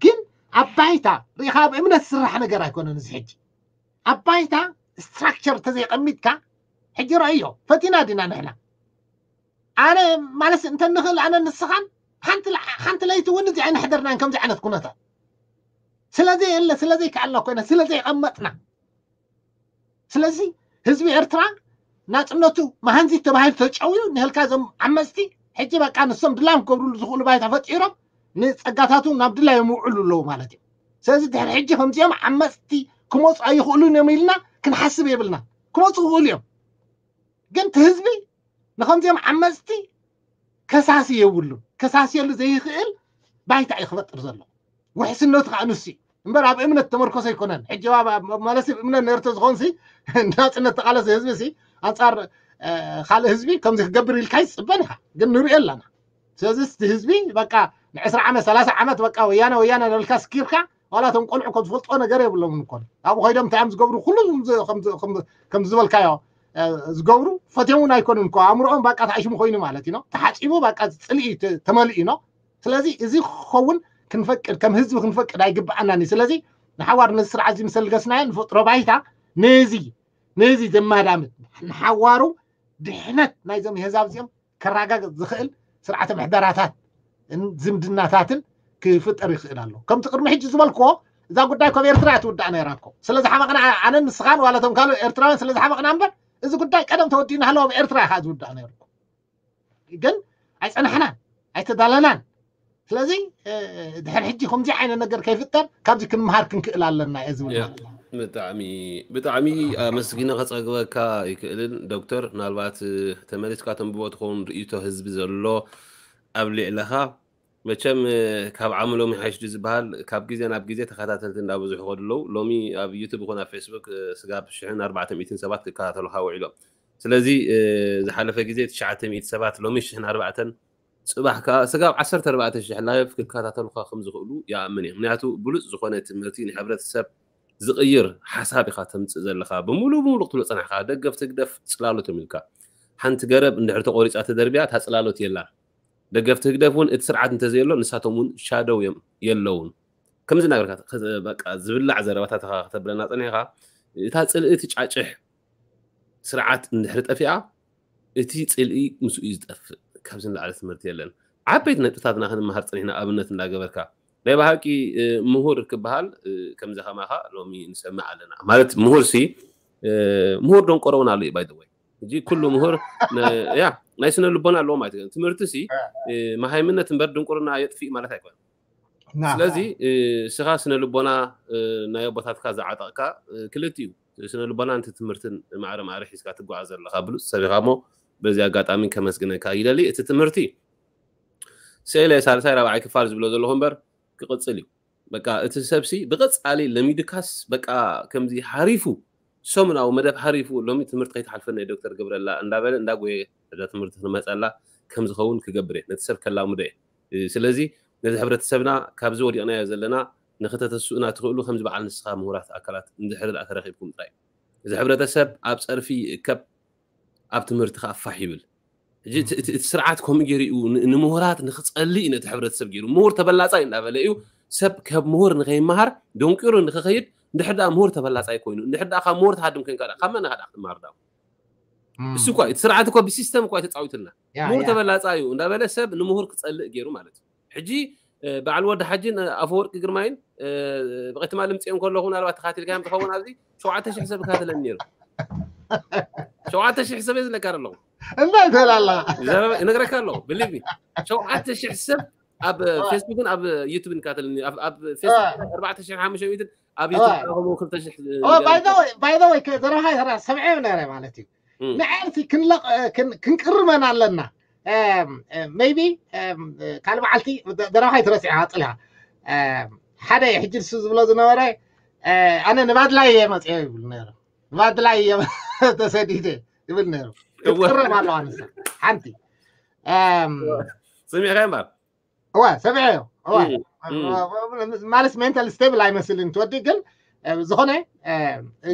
ግን ኣብ ባይታ ርኢኻ ኣብ እምነት ዝስራሕ ነገር ኣይኮነን እዚ ሕጂ። ኣብ ባይታ ስትራክቸር ተዘይቐሚጥካ ሕጂ ረእዮ ፈቲና ዲና ንሕና ኣነ ማለት እንተ ንኽእል ኣነ ንስኻን ሓንቲ ለይቲ እውን እዚ ኣይንሕደርናን ከምዚ ዓይነት ኩነታት ስለዘይ የለ ስለዘይ ከኣልና ኮይና ስለዘይ ቀመጥና ስለዚ ህዝቢ ኤርትራ ናፅነቱ መሃንዚ ተባሂሉ ተጨውዩ ንህልካ ዞም ዓመፅቲ ሕጂ በቃ ንሶም ድላዮም ክገብርሉ ዝኽእሉ ባይታ ፈጢሮም ንፀጋታቱ ናብ ድላዮም ይውዕሉ ኣለዉ ማለት እዩ። ስለዚ ድሕሪ ሕጂ ከምዚኦም ዓመፅቲ ክመፁ ኣይኽእሉን እዮም ኢልና ክንሓስብ የብልና። ክመፁ ክኽእሉ እዮም። ግን እቲ ህዝቢ ንከምዚኦም ዓመፅቲ ከሳሲ የብሉን። ከሳስየሉ ዘይኽእል ባይታ እዩ ክፈጥር ዘሎ። ውሕስነቱ ከዓ ንሱ እዩ እምበር ኣብ እምነት ተመርኮሰ ኣይኮነን። ሕጂ ማለት እምነት ነርተ ዝኾንሲ ናፅነት ተቃለሰ ህዝቢ ሲ ኣንፃር ካልእ ህዝቢ ከምዚ ክገብር ኢልካ ይፅበን ኢኻ። ግን ንሪኦ ኣለና። ስለዚ እቲ ህዝቢ በቃ ንዕስራ ዓመት ሰላሳ ዓመት በቃ ወያነ ወያነ ነልካ ስኪርካ ዋላ እቶም ቆልዑ ከም ዝፈልጥዎ ነገር የብሎምን እኮ ኣብኡ ኮይዶም እንታይ እዮም ዝገብሩ ኩሉ ከም ዝበልካዮ ዝገብሩ ፈትዮም እውን ኣይኮኑን እኮ ኣእምሮኦም በቃ ተዓሽሙ ኮይኑ ማለት እዩ ተሓፂቡ በቃ ፅልኢ ተመሊኡ ነው። ስለዚ እዚ ክኸውን ክንፈቅድ ከም ህዝቢ ክንፈቅድ ኣይግብኣናን እዩ። ስለዚ ንሓዋር ነዚ ስርዓት እዚ ምስ ኣልገስናዮ ንፈጥሮ ባይታ ነዚ ነዚ ዘማዳምት ንሓዋሩ ድሕነት ናይዞም የህዛብ እዚኦም ከረጋግፅ ዝኽእል ስርዓተ ምሕደራታት ዝምድናታትን ክፍጠር ይኽእል ኣሎ። ከምቲ ቅድሚ ሕጂ ዝበልክዎ እዛ ጉዳይ ካብ ኤርትራ እያ ትውዳእ ነይራ እኮ። ስለ ዝሓመቕና ኣነን ንስኻን ዋላ እቶም ካልእ ኤርትራውያን ስለ ዝሓመቕና እምበር እዚ ጉዳይ ቀደም ተወዲኡ እናሃለወ ኣብ ኤርትራ ኢኻ ዝውዳእ ነይሩ እኮ። ግን ኣይጸናሕናን ኣይተዳለናን። ስለዚ ድሕር ሕጂ ከምዚ ዓይነት ነገር ከይፍጠር ካብዚ ክንምሃር ክንክእል ኣለና እየ ዝብል። ብጣዕሚ ብጣዕሚ ኣመስጊነ ከፀግበካ ይክእልን ዶክተር፣ ምናልባት ተመሊስካ ተንብቦ ትኸውን ርእይቶ ህዝቢ ዘሎ ኣብ ልዕለኻ መቸም ካብ ዓሚ ሎሚ ሓይሽ ድዩ ዝበሃል ካብ ግዜ ናብ ግዜ ተኸታተልቲ እንዳበዝሑ ይኸዱ ኣለዉ። ሎሚ ኣብ ዩቱብ ይኹን ኣብ ፌስቡክ ስጋብ ሽሕን ኣርባዕተ ሚእትን ሰባት ክከታተሉኻ ውዒሎም። ስለዚ ዝሓለፈ ግዜ ትሽዓተ ሚእቲ ሰባት ሎሚ ሽሕን ኣርባዕተን ፅባሕ ከዓ ስጋብ ዓሰርተ ኣርባዕተ ሽሕ ላይፍ ክከታተሉኻ ከም ዝኽእሉ ይኣምን እየ። ምክንያቱ ብሉፅ ዝኾነ ትምህርቲ ንሕብረተሰብ ዝቕይር ሓሳብ ኢኻ ተምፅእ ዘለኻ። ብምሉእ ብምሉእ ክትብሎ ፀናሕካ ደገፍ ትግደፍ ፅላሎት እዮም ኢልካ። ሓንቲ ገረብ እንድሕር ተቆሪፃ ተደርቢያ እታ ፅላሎት የላን። ደገፍቲ ህግደፍ እውን እቲ ስርዓት እንተዘየሎ ንሳቶም እውን ሻደው እዮም የለውን። ከምዚ እናበልካ በቃ ዝብላዕ ዘረባታት ኢኻ ከተብለና ፀኒሕካ። እታ ፅልኢ ትጫጭሕ ስርዓት እንድሕር ጠፊኣ እቲ ፅልኢ ምስኡ እዩ ዝጠፍእ። ካብዚ ንላዕሊ ትምህርቲ የለን። ዓበይቲ ነጥብታትና ክንመሃር ፀኒሕና ኣብነት እንዳገበርካ ናይ ብሃቂ ምሁር ክበሃል ከምዚ ከማኻ ሎሚ ንሰምዕ ኣለና። ማለት ምሁር ሲ ምሁር ደንቆሮ እውን ኣሎ እዩ ባይደወይ። ሕጂ ኩሉ ምሁር ያ ናይ ስነ ልቦና ኣለዎ ማለት እዩ። ትምህርቲ ሲ መሃይምነት እምበር ድንቁርና የጥፊእ ማለት ኣይኮነን። ስለዚ እስኻ ስነ ልቦና ናይ ኣቦታትካ ዝዓጠቕካ ክልቲኡ ስነ ልቦና ነቲ ትምህርትን ማዕረ ማዕረ ሒዝካ ትጓዓዝ ዘለኻ ብሉፅ ሰብ ኢኻ እሞ በዚ ኣጋጣሚ ከመስግነካ ይደሊ። እቲ ትምህርቲ ስእለ ሳልሳይ ራብዓይ ክፋል ዝብሎ ዘለኹ እምበር ክቕፅል እዩ። በቃ እቲ ሰብሲ ብቐፃሊ ለሚድካስ በቃ ከምዚ ሓሪፉ ሰሙናዊ መደብ ሓሪፉ ሎሚ ትምህርቲ ከይትሓልፈና ዶክተር ገብረላ እንዳበለ እንዳጎየ እዛ ትምህርቲ ክንመፀላ ከም ዝኸውን ክገብር እየ። ነቲ ሰብ ከላምዶ እየ። ስለዚ ነዚ ሕብረተሰብና ካብዚ ወዲቕናዮ ዘለና ንክተተስኡና ትኽእሉ ከምዚ በዓል ንስኻ ምሁራት ኣካላት እንድሕር ደኣ ተረኺብኩም ጥራይ እዚ ሕብረተሰብ ኣብ ፀርፊ ይእከብ ኣብ ትምህርቲ ከዓ ፋሕ ይብል። ሕጂ እቲ እቲ- እቲ ስርዓት ከምኡ ገይሩ እዩ ን- ንምሁራት ንክፀልእ እዩ ነቲ ሕብረተሰብ ገይሩ። ምሁር ተበላፃይ እንዳበለ እዩ ሰብ ካብ ምሁር ንከይመሃር ደንቂሩ ንክኸይድ። እንድሕር ደኣ ምሁር ተበላፃይ ኮይኑ፣ እንድሕር ደኣ ካብ ምሁር ትሃድም ኮይንካ ደኣ ካብ መን ኢኻ ደኣ ክትመሃር ደኣ? እም፣ እሱ እኳ እቲ ስርዓት እኮ ብሲስተም እኳ እዩ ተፃዊቱልና። ያ፣ ምሁር ያ። ተበላፃይ እዩ እንዳበለ ሰብ ንምሁር ክፀልእ ገይሩ ማለት እዩ። ሕጂ እ፣ በዓል ወዲ ሓጅን እ፣ ኣፈወርቂ ግርማይን እ፣ ብቐትማ ልምፅኦም ከለኹ ምናልባት ተኻቲልካዮም ትኸውን ኣብዚ ሸውዓተ ሽሕ ሰብ ይከታተለኒ ነይሩ። ሸውዓተ ሽሕ ሰብ እየ ዝለካ ኣለኹ። እንታይ ትብል ኣላ? ዘረባ እነግረካ ኣለኹ ብሊቭ ሚ። ሸውዓተ ሽሕ ሰብ ኣብ እ፣ ፌስቡክን ኣብ ዩቱብን ይከታተለኒ። ኣብ ኣብ ፌስቡክ ኣርባዕተ ሽሕ ሓሙሽተ ሚእትን ኣብ እዋ። ዩቱብ ከማኡ ክልተ ሽሕ እ፣ Oh, by the way, by the way, ከ- ዘረባኻ ይሰራ ሰምዐዮ ነረ ማለት እዩ። እም። ንዓይ ክንለቕ እ፣ ክን- ክንቅርመን ኣለና። ሜቢ ካልእ በዓልቲ ዘረባኻ ይትረስዕ ኣፅልኻ። ሓደ ሕጂ ንሱ ዝብሎ ዝነበረ እ፣ ኣነ ንባድላይ እየ መፅኦ ይብል ነይሩ። ንባድላይ እየ ተሰዲደ ይብል ነይሩ። እወ። ክትቅረም ኣለዋ ንሳ። ሓንቲ እም፣ ሰሚዕካ እምበር እዋ ሰሚዐዮ እዋ እም፣ እም። ማለት ሜንታል ስቴብል ኣይመስልን ትወዲ ግን እ፣ ዝኾነ እ፣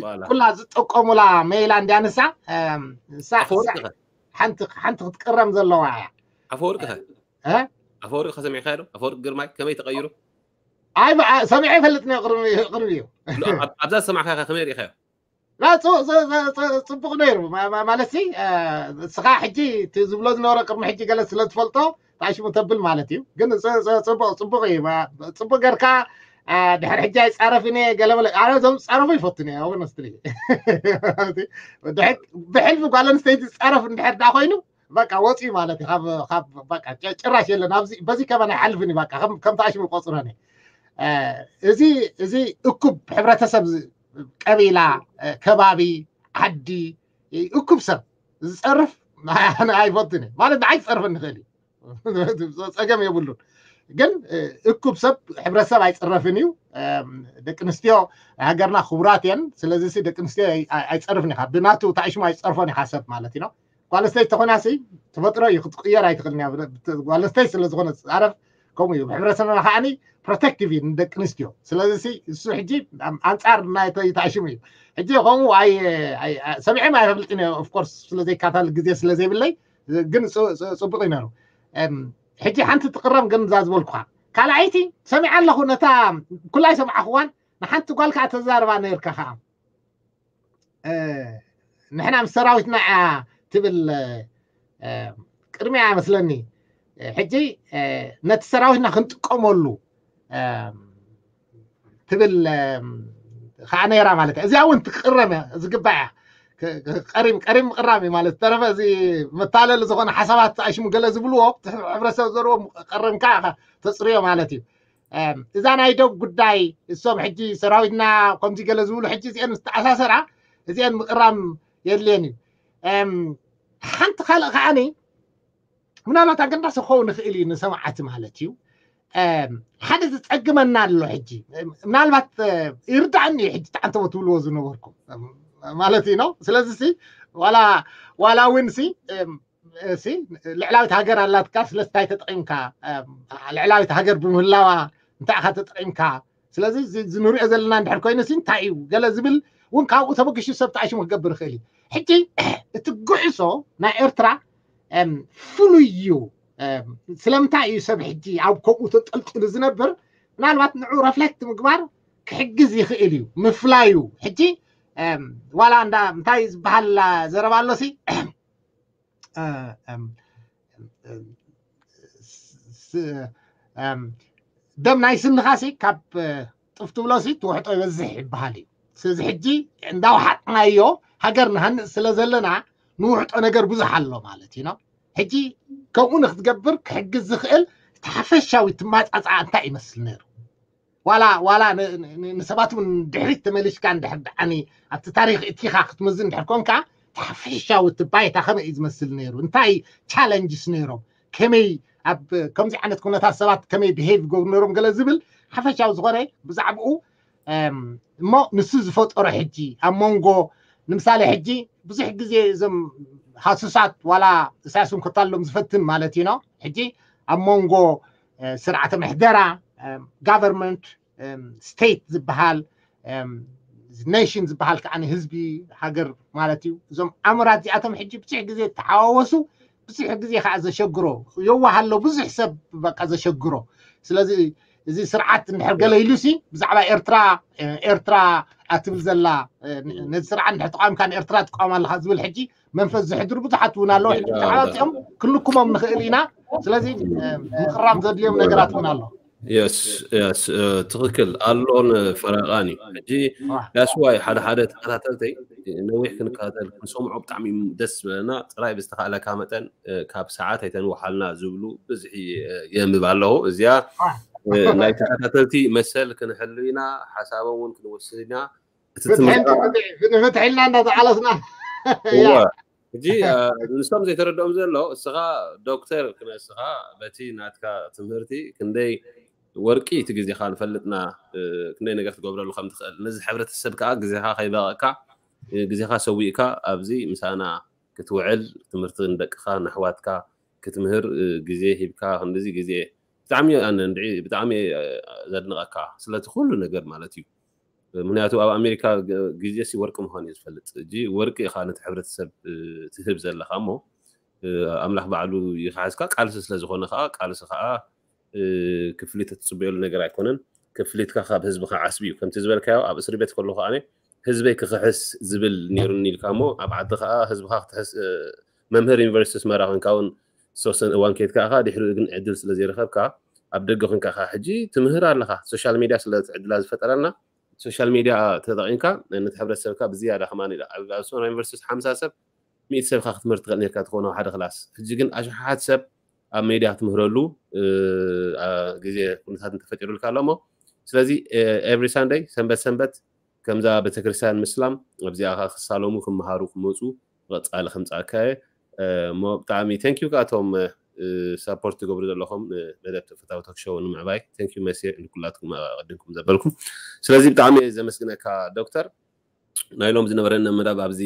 በላ። ኩላ ዝጠቀሙላ ሜላ እንዲያ ንሳ እም፣ ንሳ- ኣፈወርቂ ንሳ ኸ? ሓንቲ ሓንቲ ክትቅረም ዘለዋ እያ። ኣፈወርቂ ኸ? እ? ኣፈወርቂ ከሰሚዕካ ዶ? ኣፈወርቂ ግርማይ ከመይ ተቐይሩ? ኣይ ብ- ኣ- ሰሚዐ ይፈልጥ ነ ቅርብ ቅርብ እዩ። ኣብ- ኣብዛ ዝሰማዕካ ከ ከመይ ርኢኻዮ? ላ፣ ጽ- ጽ- ጽ- ጽ- ጽቡቕ ነይሩ ማ- ማ- ማለት ሲ እ፣ እስኻ ሕጂ እቲ ዝብሎ ዝነበረ ቅድሚ ሕጂ ገለ ስለ ትፈልጦ ታሽሙ ተብል ማለት እዩ። ግን ጽ- ጽ- ጽቡቕ ጽቡቕ እዩ ማ- ጽቡቕ ጌርካ እ፣ ድሕሪ ሕጂ ኣይጻረፍን እየ ገለ መለ ኣነ እዞም ዝጻረፉ ይፈቱን እየ ሆነስትሊ። ብሕልፊ ጓል ኣንስተይቲ ዝጻረፍ እንድሕር ዳ ኮይኑ በቃ ወፂኡ ማለት እዩ። ካብ ካብ በቃ ጭ- ጭራሽ የለን ኣብዚ በዚ ከመን ኣይሓልፍን እዩ። በቃ ከም ከም ታሽሙ ቆፅረን እየ። እ፣ እዚ እዚ እኩብ ሕብረተሰብ ዝ- ቀቢላ እ፣ ከባቢ ዓዲ እ፣ እኩብ ሰብ ዝፀርፍ ኣነ ኣይፈትን እየ ማለት ንዓይ ክፀርፈኒ ይኽእል እዩ። ፀገም የብሉን። ግን እ፣ እኩብ ሰብ ሕብረተሰብ ኣይፅረፍን እዩ። እም፣ ደቂ ኣንስትዮ ሃገርና ክቡራት እየን። ስለዚ ሲ ደቂ ኣንስትዮ ኣይ- ኣይ- ኣይፀርፍን ኢኻ ብናቱ ታሽሙ ኣይፀርፎን ኢኻ ሰብ ማለት እዩ። ጓል ኣንስተይቲ ተኾይና ሲ ተፈጥሮ እዩ ክትቅየር ኣይትኽእልን እያ። ብ- ብ- ጓል ኣንስተይቲ ስለ ዝኾነ ዝፃረፍ ከምኡ እዩ። ብሕብረተሰብና ከዓኒ ፕሮቴክቲቭ እዩ ንደቂ ኣንስትዮ። ስለዚ ሲ እሱ ሕጂ ኣም- ኣንፃር ናይ ተ- ተኣሽሙ እዩ። ሕጂ ከምኡ ኣይ ኣይ- ኣይ- ሰሚዐም ኣይፈልጥን እየ ኦፍኮርስ ስለ ዘይከታተል ግዜ ስለ ዘይብለይ ግን ጽ- ጽ- ጽቡቕ እዩ ነሩ። እም፣ ሕጂ ሓንቲ ትቕረም ግን እዛ ዝበልኩኻ ካልኣይቲ ሰሚዐ ኣለኹ ነታ ኩላይ ሰምዓኽዋን ንሓንቲ ጓል ከዓ ተዛርባ ነርካ ከዓ እ፣ ንሕና ምስ ሰራዊትና እያ ትብል እ፣ ቅድሚያ መስለኒ እ፣ ሕጂ እ፣ ነቲ ሰራዊትና ክንጥቀመሉ እ፣ ትብል እ፣ ከዓ ነይራ ማለት እያ። እዚኣ እውን ትቅረም እያ ዝግባእ እያ። ክ- ክ- ቀሪም ቀሪም ምቅራም እዩ ማለት ተረፈ እዚ መታለሊ ዝኾነ ሓሳባት ኣሽሙ ገለ ዝብልዎ እቲ ሕብረተሰብ ዘርዎ ቀረምካ ኢኻ ተፅርዮ ማለት እዩ። እም፣ እዛ ናይ ዶብ ጉዳይ እሶም ሕጂ ሰራዊትና ከምዚ ገለ ዝብሉ ሕጂ እዚአን ዝተኣሳሰራ እዚአን ምቅራም የድልየን እዩ። እም፣ ሓንቲ ካልእ ከዓኒ ምናልባት ኣገዳሲ ክኸውን ይኽእል እዩ ንሰማዓቲ ማለት እዩ። እም፣ ሓደ ዝፀግመና ኣሎ ሕጂ እም፣ ምናልባት እ፣ ይርዳእኒ እዩ ሕጂ ተዓንተቦ ትብልዎ ዝነበርኩም እም፣ ማለት እዩ ነው። ስለዚ ሲ ዋላ ዋላ እውን ሲ እም፣ ሲ ልዕላዊት ሃገር ኣላትካ ስለስታይ ተጠቂምካ እም፣ ልዕላዊት ሃገር ብምህላዋ እንታይ ኢኻ ተጠቂምካ? ስለዚ እዚ እዚ ንሪኦ ዘለና እንድሕር ኮይኑ ሲ እንታይ እዩ ገለ ዝብል እውን ካብኡ ተበግሹ ሰብ ተኣሽሙ ክገብር ይኽእል እዩ። ሕጂ እቲ ጉዕዞ ናይ ኤርትራ እም፣ ፍሉይ እዩ። እም፣ ስለምንታይ እዩ ሰብ ሕጂ ኣብ ከምኡ ተጠልጢሉ ዝነብር? ምናልባት ንዑ ረፍሌክት ምግባር ክሕግዝ ይኽእል እዩ ምፍላዩ። ሕጂ እም፣ ዋላ እንዳ እንታይ ዝበሃል ዘረባ ኣሎ ሲ እ፣ እም፣ እም፣ ስ- እም፣ ደም ናይ ስንኻ ሲ ካብ እ፣ ጥፍ ትብሎ ሲ ትውሕጦ ይበዝሕ ይበሃል እዩ። ስለዚ ሕጂ እንዳውሓጥናዮ ሃገር ንሃንፅ ስለ ዘለና ንውሕጦ ነገር ብዙሕ ኣሎ ማለት እዩ ነው። ሕጂ ከምኡ ንክትገብር ክሕግዝ ዝኽእል እቲ ሓፈሻዊ ትማፃፃኣ እንታይ ይመስል ነይሩ? ዋላ ዋላ ን- ን- ን- ንሰባት እውን ድሕሪት ተመሊስካ እንድሕር ደዓኒ ኣብቲ ታሪክ እቲኻ ክትምዝ እንድሕር ኮንካ እቲ ሓፈሻዊ እቲ ባይታ ከመይ እዩ ዝመስል ነይሩ? እንታይ ቻለንጅስ ነይሮም? ከመይ ኣብ ከምዚ ዓይነት ኩነታት ሰባት ከመይ ብሄቭ ይገብሩ ነይሮም ገለ ዝብል ሓፈሻዊ ዝኾነ ብዛዕባኡ እም፣ እሞ ንሱ ዝፈጠሮ ሕጂ ኣብ መንጎ ንምሳሌ ሕጂ ብዙሕ ግዜ እዞም ሃሱሳት ዋላ እሳያስ እውን ከታልሎም ዝፈትን ማለት እዩ ነው። ሕጂ ኣብ መንጎ እ፣ ስርዓተ ምሕደራ ጋቨርንመንት ስቴት ዝበሃል ኔሽን ዝበሃል ከዓ ህዝቢ ሃገር ማለት እዩ። እዞም ኣምራት እዚኣቶም ሕጂ ብዙሕ ግዜ ተሓዋወሱ ብዙሕ ግዜ ከዓ ዘሸግሮ የዋህ ኣሎ፣ ብዙሕ ሰብ በቃ ዘሸግሮ። ስለዚ እዚ ስርዓት እንድሕር ገለ ኢሉ ሲ ብዛዕባ ኤርትራ ኤርትራ ኣትብል ዘላ ነዚ ስርዓት እንድሕር ተቃዊምካ ንኤርትራ ትቃወም ኣለካ ዝብል ሕጂ መንፈስ ዝሕድሩ ብዙሓት እውን ኣለዉ። ሕጂ ብዛዕባ እዚኦም ክንልኩሞም ንኽእል ኢና። ስለዚ ምቕራም ዘድልዮም ነገራት እውን ኣሎ። የስ የስ ትኽክል ኣሎን ፈረቓን እዩ። ሕጂ that's why ሓደ ሓደ ተኸታተልተይ ነዊሕ ክንከታተል ክንሰምዖ ብጣዕሚ ደስ ዝብለና ጥራይ ብዝተኻእለካ መጠን ካብ ሰዓት ኣይተንውሓልና ዝብሉ ብዝሒ የንብብ ኣለኹ። እዚኣ ናይ ተኸታተልቲ መሰል ክንሕሉ ኢና፣ ሓሳቦም እውን ክንወስድ ኢና። እቲ ትምህርቲ ንፍትሒ ኢልና እንዳተቃለስና ሕጂ ንሶም ዘይተረድኦም ዘሎ እስኻ ዶክተር ክነስኻ በቲ ናትካ ትምህርቲ ክንደይ ወርቂ እቲ ግዜኻ ንፈልጥና ክንደይ ነገር ትገብረሉ ከም ትኽእል ነዚ ሕብረተሰብ ከዓ ግዜኻ ከይበቐካ ግዜኻ ሰዊእካ ኣብዚ ምሳና ክትውዕል ትምህርቲ ንደቅኻ ንኣሕዋትካ ክትምህር ግዜ ሂብካ ክንድዚ ግዜ ብጣዕሚ ኣነ እንድዒ ብጣዕሚ ዘድንቐካ ስለቲ ኩሉ ነገር ማለት እዩ። ምክንያቱ ኣብ ኣሜሪካ ግዜ ሲ ወርቂ ምዃኑ እዩ ዝፈልጥ። እጂ ወርቂ ኢኻ ነቲ ሕብረተሰብ ትህብ ዘለኻ እሞ ኣምላኽ ባዕሉ ይኽሓዝካ። ቃልሲ ስለ ዝኾነ ከዓ ቃልሲ ከዓ ክፍሊት እትፅበየሉ ነገር ኣይኮነን። ክፍሊትካ ካብ ህዝብኻ ዓስቢ እዩ። ከምቲ ዝበልካዮ ኣብ እስሪ ቤት ከለኹ ኣነ ህዝበይ ክኽሕስ ዝብል ነይሩኒ ኢልካ እሞ ኣብ ዓዲ ከዓ ህዝብኻ ክትሕስ መምህር ዩኒቨርሲቲ ኣስመራ ኮንካ እውን ዝተወሰነ እዋን ከይድካ ኢኻ። ድሕሪኡ ግን ዕድል ስለ ዘይረኸብካ ኣብ ደገ ኮንካ ኢኻ ሕጂ ትምህር ኣለኻ። ሶሻል ሚድያ ስለ ዕድላ ዝፈጠረልና ሶሻል ሚድያ ተጠቒምካ ነቲ ሕብረተሰብካ ብዝያዳ ከማን ኢላ ኣብ ኣስመራ ዩኒቨርሲቲ ሓምሳ ሰብ ሚእቲ ሰብ ኢኻ ክትምህር ትኽእል ነርካ ትኾነ ሓደ ክላስ። ሕጂ ግን ኣሽሓት ሰብ ኣብ ሜድያ ክትምህረሉ ግዜ ኩነታት እንተፈጢሩልካ ኣሎ እሞ ስለዚ every Sunday ሰንበት ሰንበት ከምዛ ቤተክርስትያን ምስላም ኣብዚኣ ክሳለሙ ክመሃሩ ክመፁ ብቐፃሊ ከምፃእካ እየ። እሞ ብጣዕሚ thank you ካቶም support ትገብሩ ዘለኹም መደብ ተፈታዊ ቶክ ሾው ንምዕባይ thank you መሴ ንኩላትኩም ኣቐድምኩም ዘበልኩም። ስለዚ ብጣዕሚ ዘመስግነካ ዶክተር። ናይ ሎም ዝነበረና መደብ ኣብዚ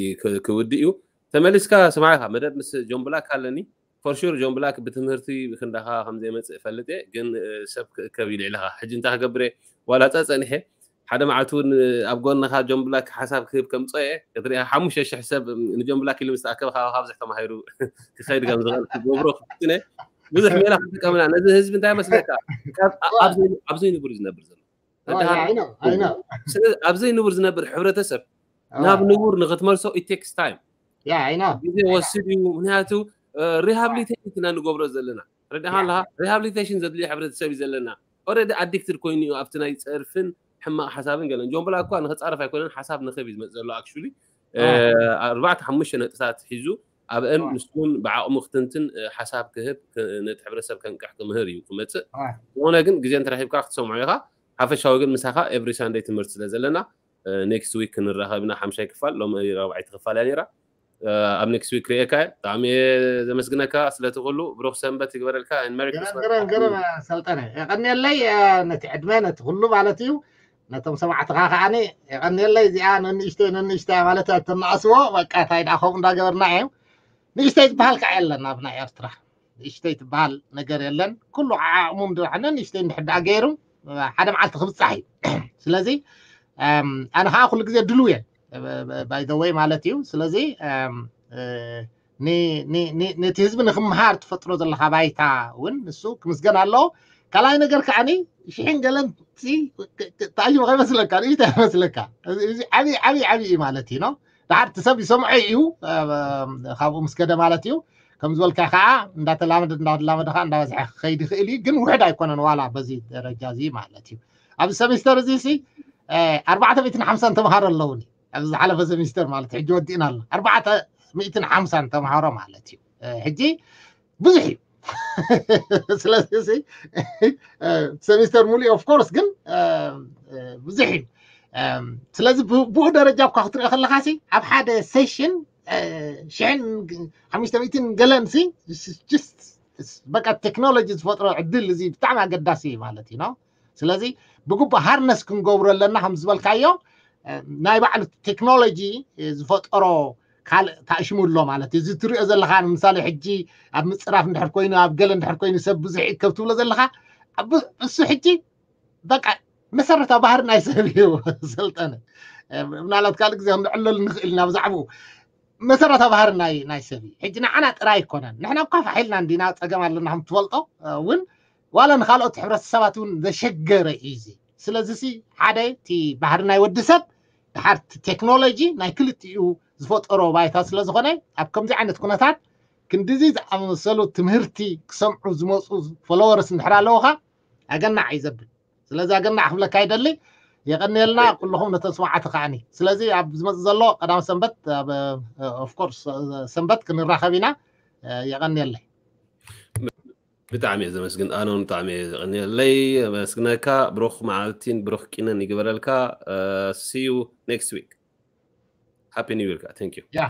ክውድእ እዩ። ተመሊስካ ስማዕካ መደብ ምስ ጆን ብላክ ኣለኒ። For sure ጆን ብላክ ብትምህርቲ ክንዳኻ ከምዘይመፅእ እፈልጥ እየ፣ ግን ሰብ ክእከብ እዩ ልዕልኻ። ሕጂ እንታይ ክገብር እየ ዋላ ፀፀኒሐ ሓደ መዓልቲ እውን ኣብ ጎንኻ ጆን ብላክ ሓሳብ ክህብ ከምፅኦ እየ ክትሪኣ ሓሙሽተ ሽሕ ሰብ ንጆን ብላክ ኢሉ ምስ ተኣከበ ካብካ ብዙሕ ተማሂሩ ክኸይድ ከም ዝኽእል ክገብሮ ክፍትን እየ። ብዙሕ ሜላ ክንጥቀምና ነዚ ህዝቢ እንታይ መስለካ ኣብ ዘይንቡር ዝነብር ዘሎ ኣብ ዘይንቡር ዝነብር ሕብረተሰብ ናብ ንቡር ንክትመልሶ it takes time ግዜ ወስድ እዩ። ምክንያቱ rehabilitation ኢና ንገብሮ ዘለና ረዳኻ ኣለካ rehabilitation ዘድልዮ ሕብረተሰብ እዩ ዘለና። Already addicted ኮይኑ እዩ ኣብቲ ናይ ፀርፍን ሕማቕ ሓሳብን ገለን። ጆን ብላክ እኳ ንክፃረፍ ኣይኮነን ሓሳብ ንክብ እዩ ዝመፅ ዘሎ actually ኣርባዕተ ሓሙሽተ ነጥብታት ሒዙ ኣብአን ንሱን ብዓቕሙ ክትንትን ሓሳብ ክህብ ነቲ ሕብረተሰብ ከንቅሕ ክምህር እዩ ክመፅእ። ዝኾነ ግን ግዜ እንተረኪብካ ክትሰምዖ ኢኻ። ሓፈሻዊ ግን ምሳኻ every Sunday ትምህርቲ ስለ ዘለና next week ክንራኸብ ኢና። ሓምሻይ ክፋል ሎም ራብዓይቲ ክፋል እያ ነይራ። ኣብ next week ክርእየካ እየ። ብጣዕሚ እየ ዘመስግነካ ስለቲ ኩሉ። ብሩኽ ሰንበት ይግበረልካ። Merry Christmas። ገረም ሰልጠነ የቐንየለይ። ነቲ ዕድመ ነቲ ኩሉ ማለት እዩ። ነቶም ሰማዕትኻ ከዓኒ የቐንየለይ። እዚኣ ነንእሽተይ ነንእሽተይ ማለት እያ ተናኣስዎ። በቃ እንታይ ደኣ ከምኡ እንዳገበርና እዩ። ንእሽተይ ዝበሃል ከዓ የለን ኣብ ናይ ኤርትራ። ንእሽተይ ትበሃል ነገር የለን። ኩሉ ዓቕሙ እንድሕር ነንእሽተይ እንድሕር ደኣ ገይሩ ሓደ መዓልቲ ክብፃሕ እዩ። ስለዚ ኣነ ከዓ ኩሉ ግዜ ድልው እየ። By the way ማለት እዩ። ስለዚ ነቲ ህዝቢ ንክምሃር ትፈጥሮ ዘለካ ባይታ እውን ንሱ ክምስገን ኣለዎ። ካልኣይ ነገር ከዓኒ ሽሕን ገለን ተኣይቡ ከይመስለካ ንእሽተይ ይመስለካ። ዓብይ ዓብይ ዓብይ እዩ ማለት እዩ ነው። ድሓር እቲ ሰብ ይሰምዖ እዩ ካብኡ ምስ ከደ ማለት እዩ። ከም ዝበልካ ከዓ እንዳተላመደ እንዳተላመደ ከዓ እንዳበዝሐ ክኸይድ ይኽእል እዩ። ግን ውሕድ ኣይኮነን ዋላ በዚ ደረጃ እዚ ማለት እዩ። ኣብዚ ሰሚስተር እዚ ሲ ኣርባዕተ ሚእትን ሓምሳን ተምሃሮ ኣለውኒ። ኣብዚ ዝሓለፈ ሰሚስተር ማለት ሕጂ ወዲእና ኣሎ ኣርባዕተ ሚእትን ሓምሳን ተምሃሮ ማለት እዩ። ሕጂ ብዙሕ እዩ። ስለዚ ሰሚስተር ሙሉእ of course ግን ብዙሕ እዩ። ስለዚ ብኡ ደረጃ እኳ ክትሪኦ ከለካ ሲ ኣብ ሓደ ሴሽን ሽሕን ሓሙሽተ ሚእትን ገለን ሲ በቃ ቴክኖሎጂ ዝፈጥሮ ዕድል እዚ ብጣዕሚ ኣገዳሲ እዩ ማለት እዩ ነው። ስለዚ ብግቡእ ሃርነስ ክንገብሮ ኣለና ከም ዝበልካዮ ናይ ባዕሉ ቴክኖሎጂ ዝፈጠሮ ካልእ ታእሽሙ ኣሎ ማለት እዩ። እዚ ትሪኦ ዘለካ ንምሳሌ ሕጂ ኣብ ምፅራፍ እንድሕር ኮይኑ ኣብ ገለ እንድሕር ኮይኑ ሰብ ብዙሕ ይእከብ ትብሎ ዘለካ እሱ ሕጂ በቃ መሰረታዊ ባህሪ ናይ ሰብ እዩ ሰልጠነ። ምናልባት ካልእ ግዜ ክንዕለሉ ንኽእል ኢና ብዛዕባኡ። መሰረታዊ ባህሪ ናይ ናይ ሰብ እዩ። ሕጂ ንዓና ጥራይ ኣይኮነን። ንሕና እኳ ፋሕ ኢልና እንዲና ጸገም ኣለና ከም ትፈልጦ፣ እ፣ እውን ዋላ ንኻልኦት ሕብረተሰባት እውን ዘሸገረ እዩ እዚ። ስለዚ ሲ ሓደ እቲ ባህሪ ናይ ወዲ ሰብ ድሓር እቲ ቴክኖሎጂ ናይ ክልቲኡ ዝፈጠሮ ባይታ ስለ ዝኾነ ኣብ ከምዚ ዓይነት ኩነታት ክንድዚ ዝኣመሰሉ ትምህርቲ ክሰምዑ ዝመፁ ፎሎወርስ እንድሕር ኣለውኻ ኣገናዕ እዩ ዘብል። ስለዚ ኣገናዕ ክብለካ ይደሊ። የቐንየልና ኩልኹም ነተን ስማዓቲ ከዓኒ። ስለዚ ኣብ ዝመጽእ ዘሎ ቀዳም ሰንበት ኣብ ኦፍኮርስ ሰንበት ክንራኸብ ኢና። የቐንየለይ። ብጣዕሚ እየ ዘመስግን ኣኖን፣ ብጣዕሚ እየ ዘቐንየለይ። ኣመስግነካ። ብሩኽ መዓልቲን ብሩኽ ቂነን ይግበረልካ። See you next week. Happy New Year. Thank you. Yeah.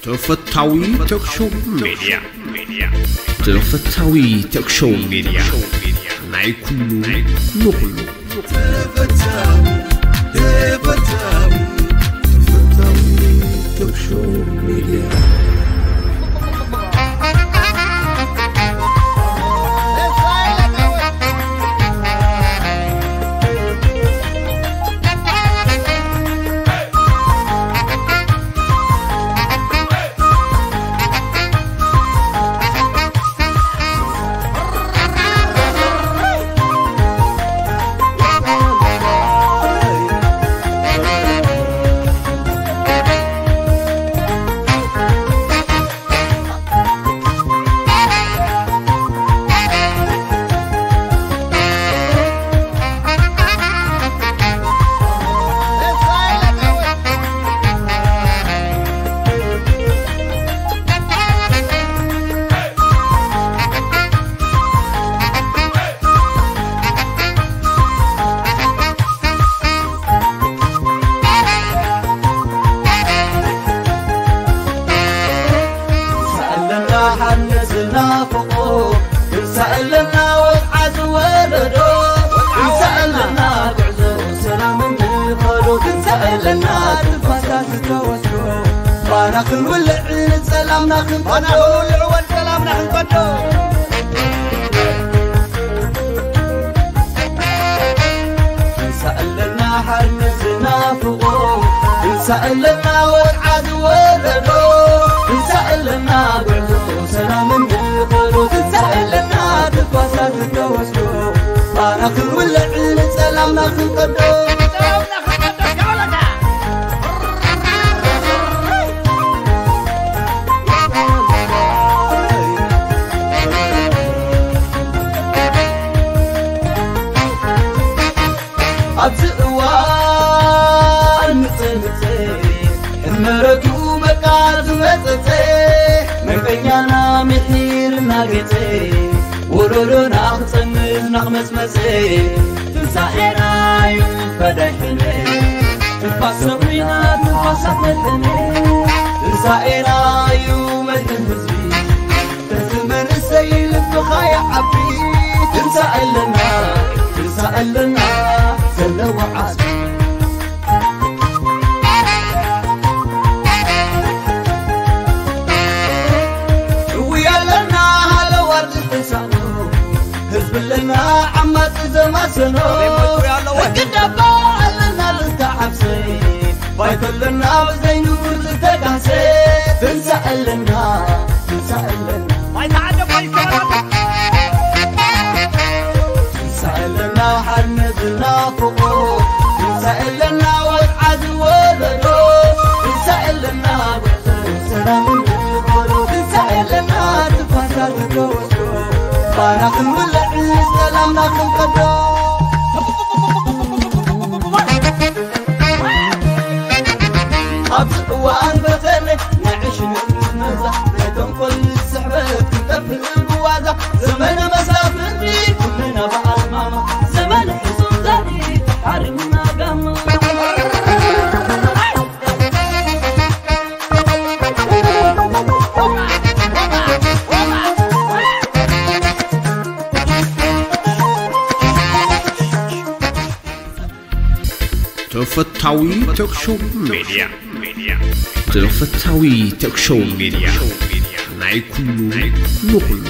ተፈታዊ ቶክሾው ሜድያ። ተፈታዊ ቶክሾው ሜድያ፣ ናይ ኩሉ ንኹሉ። ተፈታዊ፣ ተፈታዊ፣ ተፈታዊ ቶክሾው ሜድያ። ትንሳኤ ኣለና ሓርነት ዝናፍቆ፣ ትንሳኤ ኣለና ወግዓ ዝወለዶ፣ ትንሳኤ ኣለና ጉዕዞ ሰላም እንኸዶ፣ ትንሳኤ ኣለና ትንፋሳ ዝተወስዶ፣ ባና ክንውልዕ ንጸላምና ክንቀዶ፣ ባና ክንውልዕ ወድ ሰላምና ክንቀዶ። ትንሳኤ ኣለና ሓርነት ዝናፍቆ፣ ትንሳኤ ኣለና ወግዓ ዝወለዶ፣ ትንሳኤ ኣለና ጉዕዞ ሰላም እንኸዶ፣ ትንሳኤ ኣለና ትንፋሳ ዝተወስዶ፣ ባና ክንውልዕ ንጸላምና ክንቀዶ። ኣብዚ እዋን ምጽእ ምጽእ ሕመረቱ በቃ ዝመጸጸ፣ መርበኛና ምሒር እናገጸ፣ ወለዶና ክጸንት ናኽመጽመጸ፣ ትንሳኤና እዩ ፈዳይ ሕነ፣ ትንፋስ ሰብሪና ትንፋሳት መድሕነ፣ ትንሳኤና እዩ መድሕን ህዝቢ። እዚ መንእሰይ ልብኻ ይዓቢ፣ ትንሳኤ ኣለና፣ ትንሳኤ ኣለና ዘለዎ ዓስቢ። እውይ ኣለና ሃለዋት ዝተሳእኖ፣ ህዝቢ ኣለና ዓማጺ ዘማሰኖ፣ ሕጊ ዳባ ኣለና ዝተዓብሰ። ባይቶ ኣለና ብዘይ ንቡር ዝተጋሰ፣ ትንሳኤ ኣለና፣ ትንሳኤ ኣለና። ትንሳኤ ኣለና ሓርነት ዝናፍቆ፣ ትንሳኤ ኣለና ወግዓ ዝወለዶ፣ ትንሳኤ ኣለና ጉዕዞ ሰላም እንኸዶ፣ ትንሳኤ ኣለና ትንፋሳ ዝተወስዶ፣ ባና ክንውልዕ ሰላምና ክንቀዶ። ኣብዚ እዋን በተለይ ናይ ዕሽነት መዛ፣ ናይ ተንኮል ስሕበት ክንጠፍእ ብዋዛ፣ ዘመነ መሳፍንቲ ኩልና ብኣልማማ፣ ዘመነ ሕሱም ዘርኢ ተሓሪምና ጋማ። ተፈታዊ ቶክሾው ሜድያ። ተፈታዊ ቶክሾው ሜድያ፣ ናይ ኩሉ ንኹሉ።